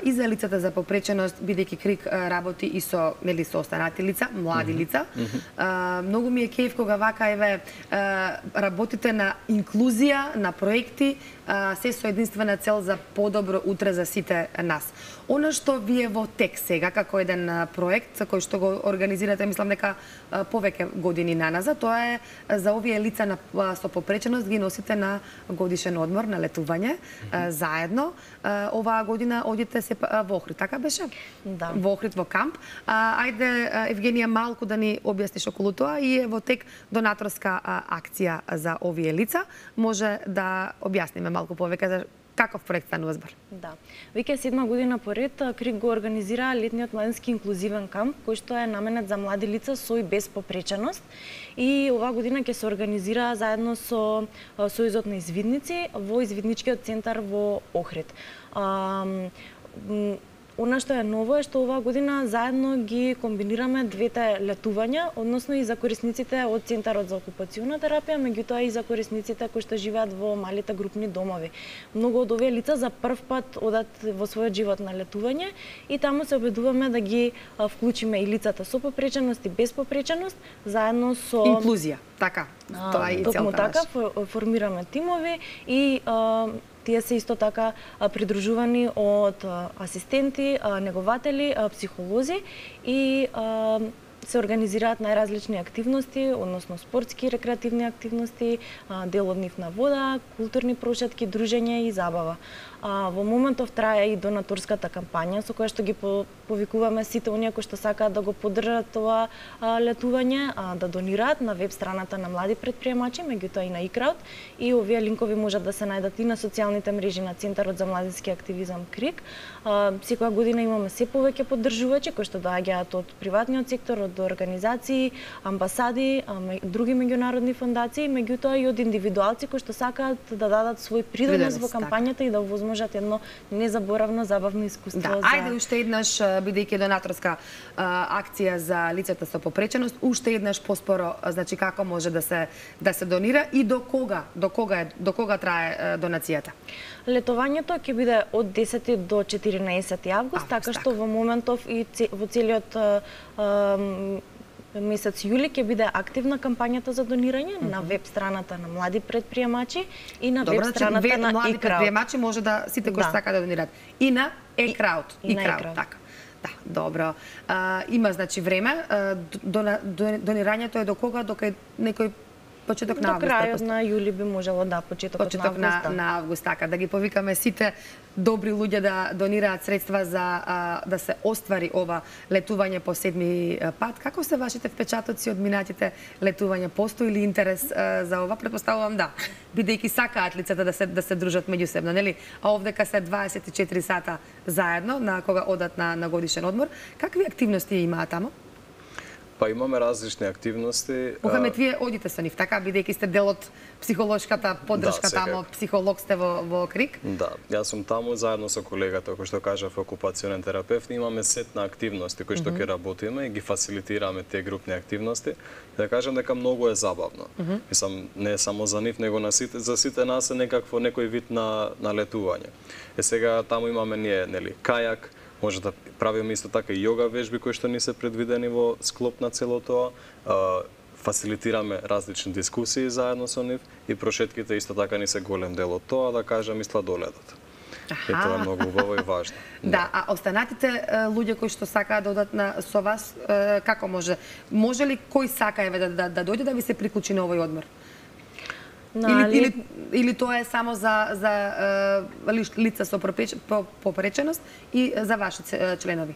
и за лицата за попреченост, бидејќи КРИК работи и со нели со останати лица, млади mm-hmm. лица. Mm-hmm. Многу ми е кејф кога вака еве работите на инклузија, на проекти, се со единствена цел за подобро утре за сите нас. Она што вие во тек сега како еден проект за кој што го организирате, мислам дека повеќе години наназад, тоа е за овие лица на со попреченост ги носите на годишен одмор, на летување mm-hmm. заедно. Оваа година одите се во Охрид, така беше? Да. Во Охрид во камп. Ајде Евгенија малку да ни објасниш околу тоа и е во тек донаторска акција за овие лица. Може да објасниме малку повеќе за каков проект станува збор? Да. Веќе седма година поред КРИК го организира летниот младински инклузивен камп, кој што е наменет за млади лица со и без попреченост. И оваа година ќе се организира заедно со Сојузот на извидници во извидничкиот центар во Охрид. Она што е ново е што оваа година заедно ги комбинираме двете летувања, односно и за корисниците од Центарот за окупациона терапија, меѓутоа и за корисниците кои што живеат во малите групни домови. Многу од овие лица за прв пат одат во својот живот на летување и таму се обидуваме да ги вклучиме и лицата со попреченост и без попреченост, заедно со инклузија. Така, тоа е и целта. Токму така формираме тимови и тие се исто така придружувани од асистенти, негователи, психолози и се организираат најразлични активности, односно спортски, рекреативни активности, дел од нив на вода, културни прошетки, дружење и забава. А, во моментов трае и донаторската кампања со која што ги повикуваме сите оние кои што сакаат да го поддржат тоа а, летување, а, да донираат на веб страната на млади претприемачи, меѓутоа и на iCrowd, и овие линкови можат да се најдат и на социјалните мрежи на Центарот за младински активизам КРИК. А, секоја година имаме се повеќе поддржувачи кои што доаѓаат од приватниот сектор, од организации, амбасади, а, други меѓународни фондации, меѓутоа и од индивидуалци кои што сакаат да дадат свој придонес во кампањата и да можат едно незаборавно забавно искуство. Да, за... ајде уште еднаш, бидејќи донаторска а, акција за лицата со попреченост, уште еднаш поспоро, значи како може да се да се донира и до кога, до кога е, до кога трае а, донацијата? Летувањето ќе биде од десети до четиринаесети август, така што во моментов и во целиот а, а, месец јули ќе биде активна кампањата за донирање mm -hmm. на веб страната на млади претприемачи и на Добре, веб страната значи, на млади iCrowd. Предприемачи може да сите кои да. сакаат да донираат и на iCrowd, и, и на iCrowd, така. Да, добро. А, има значи време, а, до, до, донирањето е до кога, до некој почеток на август. До крајот на јули би можело, да, почетокот почеток на август. На, на август, така, да ги повикаме сите добри луѓе да донираат средства за а, да се оствари ова летување по седми пат. Како се вашите впечатоци од минатите летувања? Постои ли интерес а, за ова? Претпоставувам да, бидејќи сакаат лицата да се да се дружат меѓусебно, нели? А овдека се дваесет и четири сата заедно на кога одат на, на годишен одмор. Какви активности имаат таму? Па имаме различни активности. Мухамед, вие одите со нив, така, бидејќи сте дел од психолошката поддршка да, таму, психолог сте во, во КРИК? Да, јас сум таму заедно со колегата, кој што кажав, окупационен терапевт, имаме сет на активности кои што ќе mm -hmm. работиме и ги фасилитираме тие групни активности. Да кажам дека многу е забавно. Mm -hmm. Мислам, не е само за нив, него на сите, за сите нас е некакво некој вид на на летување. Е сега таму имаме ние, нели, кајак, може да правиме исто така и јога вежби кои што ни се предвидени во склоп на цело тоа. Фасилитираме различни дискусии заедно со нив и прошетките исто така ни се голем дел од тоа, да кажам, и сладоледот. И тоа е многу убаво и важно. Да, да, а останатите луѓе кои што сакаат да одат на со вас, како може? Може ли кој сака еве да, да, да дојде да ви се приклучи на овој одмор? Или, или, или тоа е само за, за uh, лица со попреченост и за ваши членови?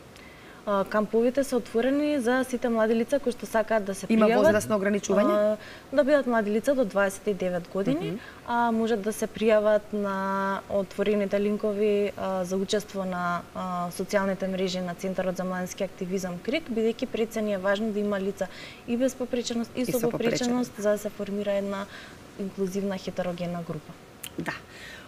Uh, камповите се отворени за сите млади лица кои што сакаат да се пријават. Има возрастно ограничување? Uh, да бидат млади лица до дваесет и девет години, mm -hmm. а можат да се пријават на отворените линкови uh, за учество на uh, социјалните мрежи на Центарот за младински активизам КРИК, бидејќи пред се ни е важно да има лица и без попреченост и, и со попреченост, за да се формира една инклузивна хетерогенна група. Да.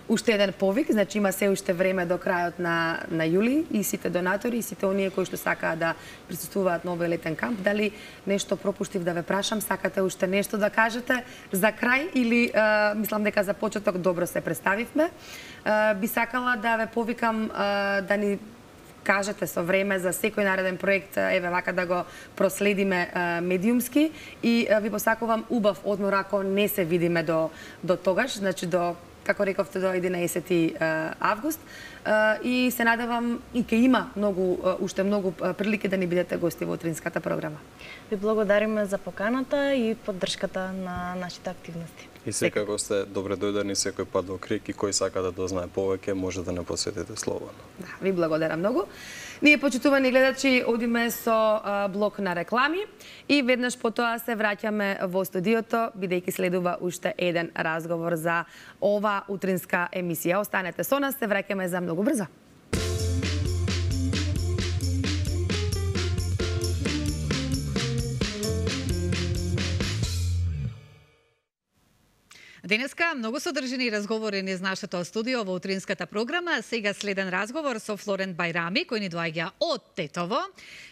Уште еден повик, значи има се уште време до крајот на на јули и сите донатори и сите оние кои што сакаат да присуствуваат на овој летен камп, дали нешто пропуштив да ве прашам, сакате уште нешто да кажете за крај или а, мислам дека за почеток добро се представивме. А, би сакала да ве повикам а, да ни кажете со време за секој нареден проект, еве вака да го проследиме а, медиумски и а, ви посакувам убав одмор ако не се видиме до до тогаш, значи до, како рековте, до единаесети август. И се надевам и ќе има многу уште многу прилики да ни бидете гости во утринската програма. Ви благодариме за поканата и поддршката на нашите активности. И секако сте добре дојдени секој пат во КРИК и кој сака да дознае повеќе може да не посетите слободно. Да, ви благодарам многу. Ние, почитувани гледачи, одиме со а, блок на реклами и веднаш потоа се враќаме во студиото, бидејќи следува уште еден разговор за ова утринска емисија. Останете со нас, се враќаме за многу брзо. Денеска многу содржини разговори низ нашето студио во утринската програма. Сега следен разговор со Флорент Бајрами, кој ни доаѓа од Тетово,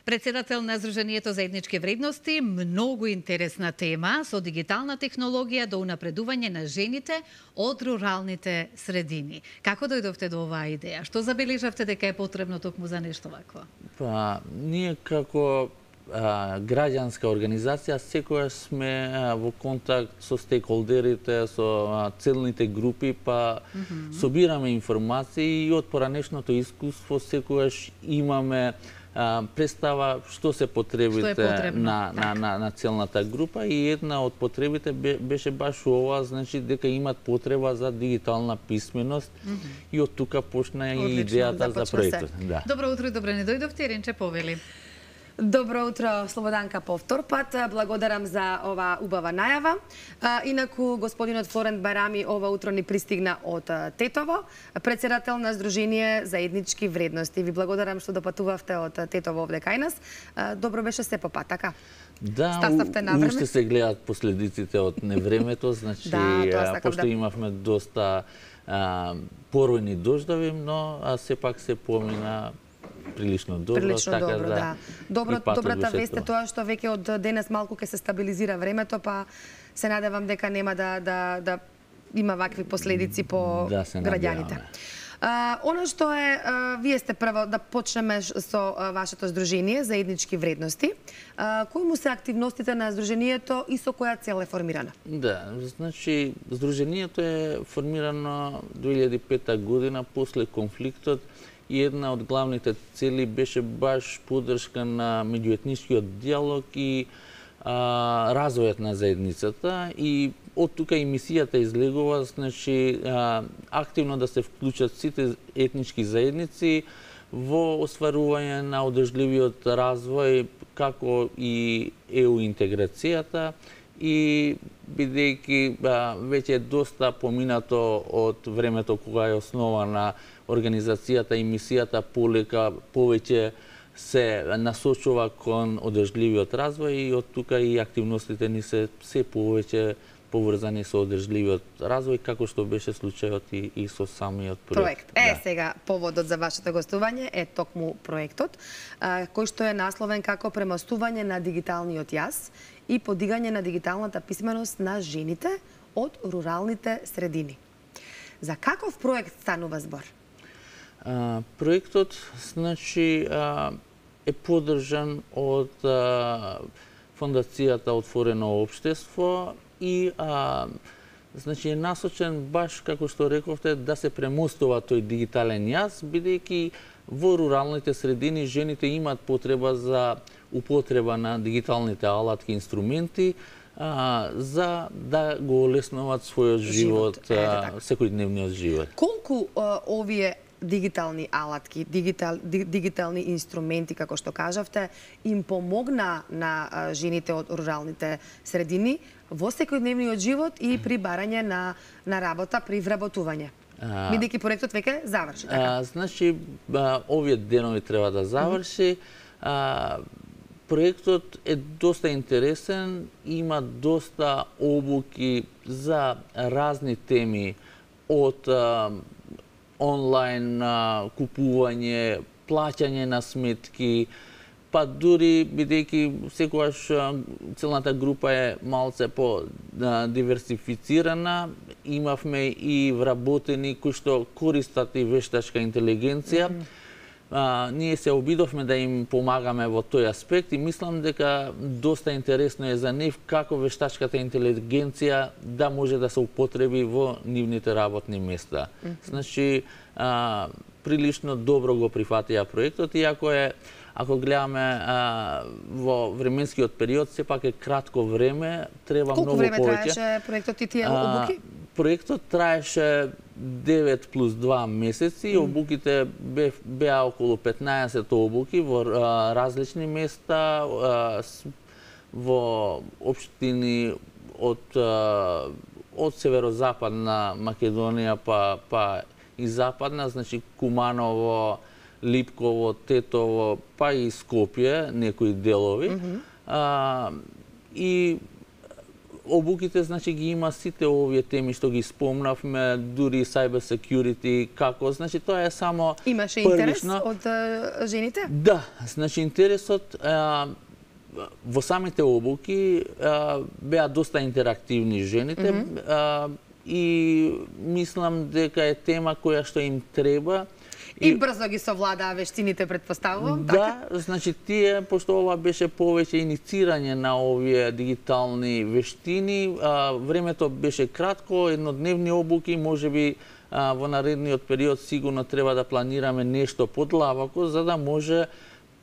председател на Сдруженијето за етнички вредности. Многу интересна тема со дигитална технологија до унапредување на жените од руралните средини. Како дојдовте до оваа идеја? Што забележавте дека е потребно токму за нешто вакво? Па, ние како А, граѓанска организација секојаш сме а, во контакт со стейкхолдерите, со а, целните групи, па mm -hmm. собираме информации и од поранешното искуство секојаш имаме представа што се потребите што на, на, на, на целната група и една од потребите беше баш ова, значи дека имат потреба за дигитална писменост mm -hmm. и од тука почна и Одлично, идејата за проектот. Да. Добро утро и добре не дојдовте, Ренче Повели. Добро утро, Слободанка, по втор пат. Благодарам за ова убава најава. Инаку, господинот Флорент Барами ова утро ни пристигна од Тетово, председател на Сдружение за етнички вредности. Ви благодарам што допатувавте од Тетово овде кај нас. Добро беше се по пат, така? Да, Стаставте на време? уште се гледат последиците од невремето, значи, да, пошто да. имавме доста а, поројни дождови, но а, сепак се помина прилично добро, прилично така добро, да. да. Добро, добрата вест е тоа што веќе од денес малку ќе се стабилизира времето, па се надевам дека нема да да да има вакви последици по да, граѓаните. Uh, она што е, uh, вие сте прво да почнеме со uh, вашето Сдружение за етнички вредности. Uh, кои му се активностите на Сдруженијето и со која цел е формирана? Да, значи Сдруженијето е формирано две илјади и пета година после конфликтот и една од главните цели беше баш поддршка на меѓуетничкиот диалог и а, развојот на заедницата и од тука и мисијата излегува, значи а, активно да се вклучат сите етнички заедници во остварување на одржливиот развој, како и е у интеграцијата и бидејќи веќе е доста поминато од времето кога е основана организацијата и мисијата, полека повеќе се насочува кон одржливиот развој и од тука и активностите ни се се повеќе поврзани со одржливиот развој, како што беше случајот и, и со самиот проект. Проект. Е, да. Сега, поводот за вашето гостување е токму проектот, а, кој што е насловен како премостување на дигиталниот јас и подигање на дигиталната писменост на жените од руралните средини. За каков проект станува збор? А, проектот, значи, а, е поддржан од а, Фондацијата Отворено општество и а, значи е насочен баш како што рековте да се премостува тој дигитален јас, бидејќи во руралните средини жените имаат потреба за употреба на дигиталните алатки и инструменти а, за да го олеснуваат својот живот, живот а, секојдневниот живот. Колку а, овие дигитални алатки, дигитал, дигитални инструменти, како што кажавте, им помогна на а, жените од руралните средини во секојдневниот живот и при барање на, на работа, при вработување? Бидејќи проектот веќе заврши, така? А, значи, а, овие денови треба да заврши. А, проектот е доста интересен, има доста обуки за разни теми, од а, онлайн а, купување, плаќање на сметки, па дури бидејќи секогаш целната група е малце по а, диверсифицирана, имавме и вработени кои што користат и вештачка интелигенција. Mm -hmm. А, ние се обидовме да им помагаме во тој аспект и мислам дека доста интересно е за нив како вештачката интелигенција да може да се употреби во нивните работни места. Mm -hmm. Значи, а, прилично добро го прифатија проектот, иако е, ако гледаме а, во временскиот период, сепак е кратко време, треба Колку многу повеќе. Колку време траеше проектот и тие обуки? Проектот траеше девет плюс два месеци, mm. обуките бе, беа околу петнаесет обуки во а, различни места, а, с, во општини од, а, од северозападна Македонија па, па и западна, значи Куманово, Липково, Тетово, па и Скопје, некои делови. Mm -hmm. а, и обуките, значи, ги има сите овие теми што ги спомнавме, дури cyber security, како, значи, тоа е само Имаше првично. интерес од а, жените? Да, значи, интересот а, во самите обуки а, беа доста интерактивни жените mm -hmm. а, и мислам дека е тема која што им треба. И, и брзо ги совладаа вештините, предпоставувам, да, така? значи тие, пошто ова беше повеќе иницирање на овие дигитални вештини, а, времето беше кратко, еднодневни обуки, можеби а, во наредниот период сигурно треба да планираме нешто подлабоко, за да може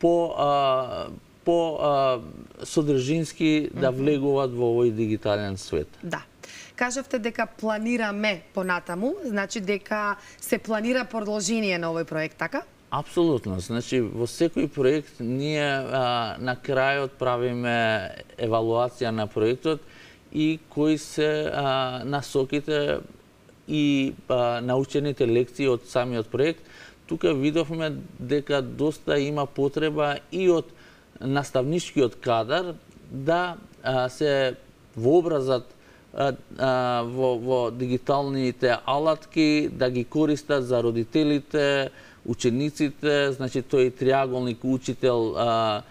по а, по а, содржински да влегуваат во овој дигитален свет. Да. Кажавте дека планираме понатаму, значи дека се планира продолжение на овој проект, така? Апсолутно. Значи, во секој проект ние а, на крајот правиме евалуација на проектот и кои се а, насоките и а, научените лекции од самиот проект. Тука видовме дека доста има потреба и од наставничкиот кадар да а, се вообразат а, а, во, во дигиталните алатки, да ги користат за родителите, учениците, значи тој триаголник учител, а,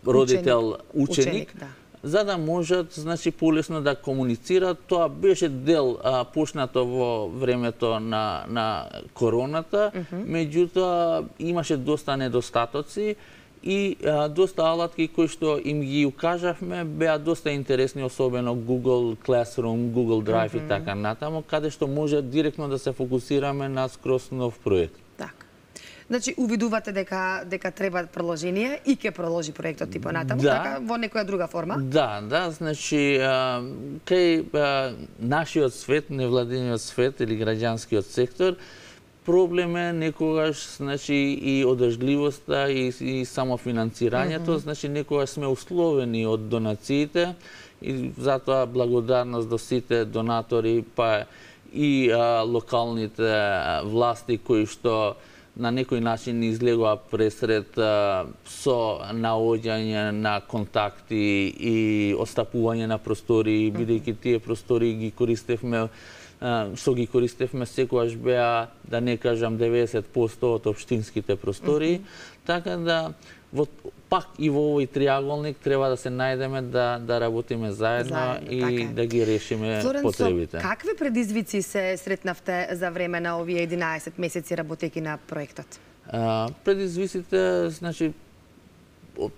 родител, ученик, ученик да. За да можат, значи, полесно да комуницират. Тоа беше дел а, почнато во времето на, на короната, uh -huh. меѓутоа имаше доста недостатоци и а, доста алатки кои што им ги укажавме беа доста интересни, особено Google Classroom, Google Drive uh -huh. и така натаму, каде што може директно да се фокусираме на скроз нов проект. Значи, увидувате дека дека треба продолжение и ќе продолжи проектот и понатаму, да. Така, во некоја друга форма? Да, да, значи, а, кај а, нашиот свет, невладениот свет или граѓанскиот сектор, проблем е некогаш, значи, и одржливоста и, и самофинансирањето, mm -hmm. значи, некогаш сме условени од донациите и затоа благодарност до сите донатори, па и а, локалните власти кои што на некој начин излегува пресред а, со наоѓање на контакти и остапување на простори, бидејќи тие простори ги користевме, а, што ги користевме секогаш беа, да не кажам деветдесет проценти од општинските простори, mm -hmm. така да во, пак и во овој триаголник треба да се најдеме да, да работиме заедно, заедно и така. Да ги решиме Флоренцо, потребите. Какви предизвици се сретнавте за време на овие единаесет месеци работејќи на проектот? А, предизвиците, значи,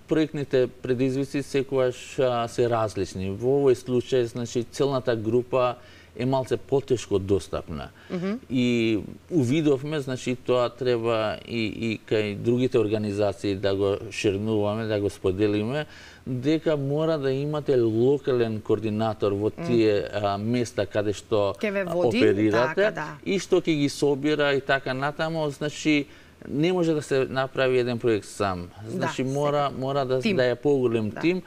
проектните предизвици секогаш а, се различни. Во овој случај, значи, целната група е малце потешко достапна. Mm -hmm. И увидовме, значи, тоа треба и, и кај другите организации да го шернуваме, да го споделиме, дека мора да имате локален координатор во тие mm. а, места каде што води, оперирате така, да. И што ќе ги собира и така натаму, значи, не може да се направи еден проект сам. Значи, да, мора, мора да, да е поголем да. Тим.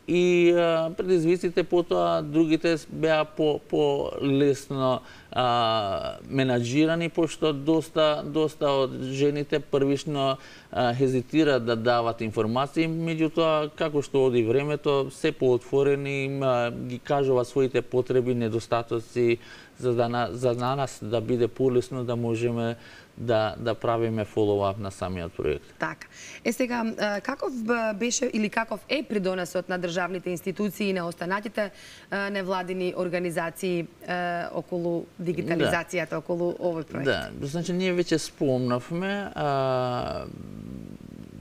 И а, предизвиците потоа другите беа по, по лесно а, менаџирани, пошто доста доста од жените првично а, хезитираат да дават информации, меѓутоа како што оди времето се поотворени, а, ги кажуваат своите потреби, недостатоци, за да на, за на нас да биде полесно да можеме да да правиме фоллоуап на самиот проект. Така. Е сега, каков беше или каков е придонесот на државните институции и на останатите невладини организации околу дигитализацијата, да. Околу овој проект? Да, значи ние веќе спомнавме, а,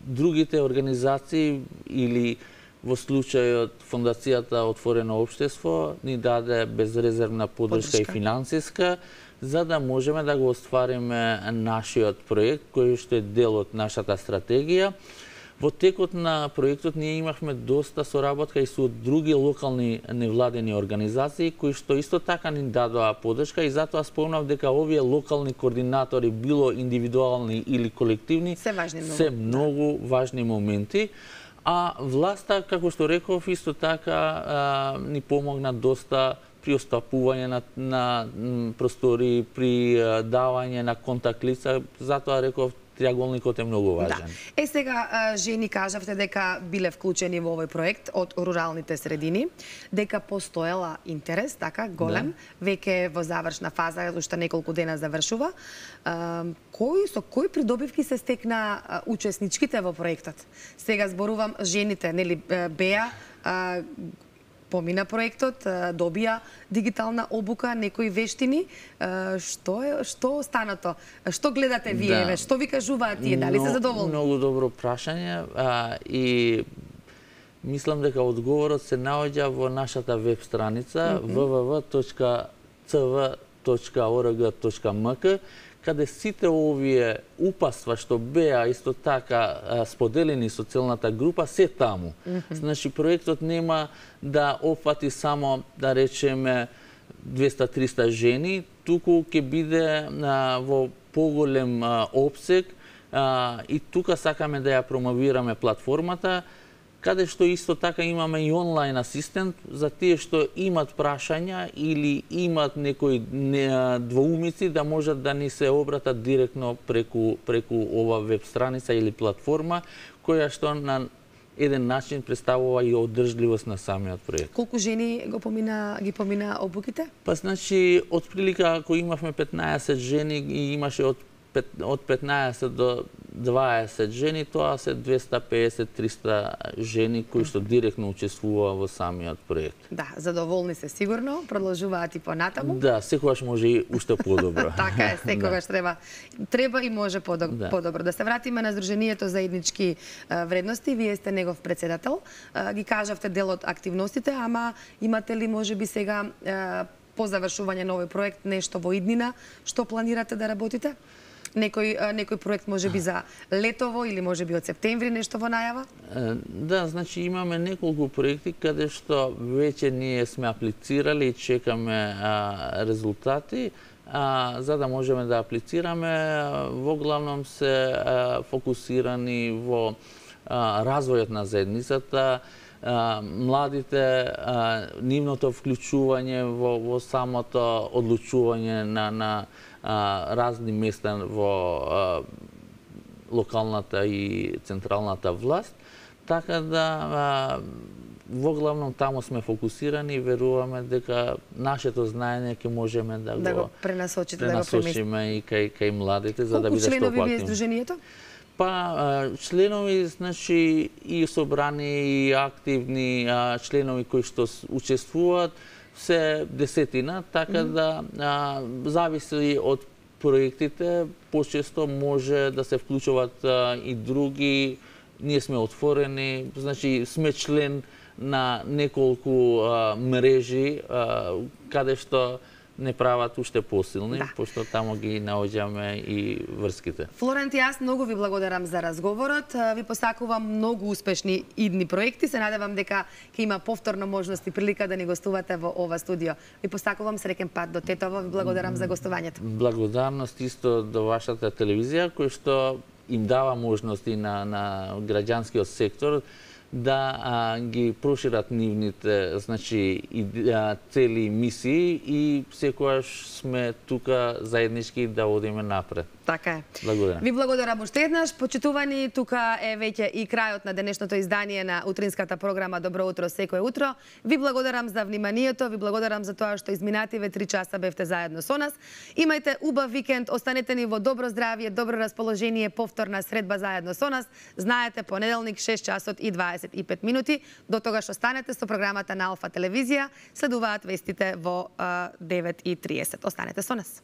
другите организации или во случајот Фондацијата Отворено општество ни даде безрезервна поддршка и финансиска, за да можеме да го оствариме нашиот проект, кој што е дел од нашата стратегија. Во текот на проектот ние имавме доста соработка и со други локални невладени организации, кои што исто така ни дадоа поддршка и затоа спомнав дека овие локални координатори, било индивидуални или колективни, се, важни многу. се многу важни моменти. А власта, како што реков, исто така а, ни помогна доста при остапување на, на простори, при а, давање на контакт лица, затоа реков триаголникот е многу важен. Да. Е сега, жени, кажавте дека биле вклучени во овој проект од руралните средини, дека постоела интерес, така, голем, да. Веќе во завршна фаза, уште неколку дена завршува. Кој, со кои придобивки се стекна учесничките во проектот? Сега зборувам жените, нели, беа, помина проектот, добија дигитална обука, некои вештини. Што е што останато? Што гледате вие? Да. Што ви кажуваат тие? Дали се задоволни? Многу добро прашање, а, и мислам дека одговорот се наоѓа во нашата веб страница mm -hmm. w w w точка c v точка o r g точка m k, каде сите овие упаства што беа исто така споделени со целната група се таму. Mm -hmm. Значи проектот нема да опфати само, да речеме, двеста до триста жени, туку ќе биде а, во поголем а, обсег а, и тука сакаме да ја промовираме платформата, каде што исто така имаме и онлайн асистент за тие што имат прашања или имат некои двоумици да можат да ни се обратат директно преку преку ова веб страница или платформа која што на еден начин представува и одржливост на самиот проект. Колку жени го помина ги помина обуките? Па значи отприлика ако имавме петнаесет жени и имаше од од петнаесет до дваесет жени, тоа се двеста и песет до триста жени кои што директно учествуваа во самиот проект. Да, задоволни се сигурно, продолжуваат и понатаму. Да, секогаш може и уште подобро. Така е, секогаш да. треба треба и може подобро. Да. подобро. Да се вратиме на Сдруженијето за етнички вредности, вие сте негов председател. Ги кажавте дел од активностите, ама имате ли можеби сега по завршување на овој проект нешто во иднина што планирате да работите? Некој некој проект можеби за летово или можеби од септември нешто во најава? Да, значи имаме неколку проекти каде што веќе ние сме аплицирали и чекаме а, резултати, а, за да можеме да аплицираме. Во главном се а, фокусирани во а, развојот на заедницата, а, младите, а, нивното вклучување во, во самото одлучување на, на а, разни места во а, локалната и централната власт, така да а, во главном таму сме фокусирани и веруваме дека нашето знаење ќе можеме да, да го, го пренасочите, пренасочиме да го и кај, кај младите, за Колку да биде што членови поактивни. вие Сдруженијето? Па, членови, значи, и собрани, и активни а, членови кои што учествуваат, се десетина, така mm -hmm. да а, зависи од проектите, почесто може да се вклучуваат а, и други. Ние сме отворени, значи сме член на неколку а, мрежи, а, каде што не прават уште посилни, да. Пошто тамо ги наоѓаме и врските. Флорент, јас многу ви благодарам за разговорот. Ви посакувам многу успешни идни проекти. Се надевам дека ќе има повторно можност и прилика да ни гостувате во ова студио. Ви посакувам среќен пат до Тетово. Ви благодарам за гостувањето. Благодарност исто до вашата телевизија, кој што им дава можности на, на граѓанскиот сектор да а, ги прошират нивните, значи, и, а, цели мисии и секогаш сме тука заеднички да одиме напред. Така е. Благодарам. Ви благодарам уште еднаш. Почитувани, тука е веќе и крајот на денешното издание на утринската програма Добро утро секое утро. Ви благодарам за вниманието, ви благодарам за тоа што изминативе три часа бевте заедно со нас. Имајте убав викенд, останете ни во добро здравје, добро расположение, повторна средба заедно со нас. Знаете, понеделник шест часот и дваесет и пет минути. До тогаш останете со програмата на Алфа телевизија. Следуваат вестите во девет и триесет. Останете со нас.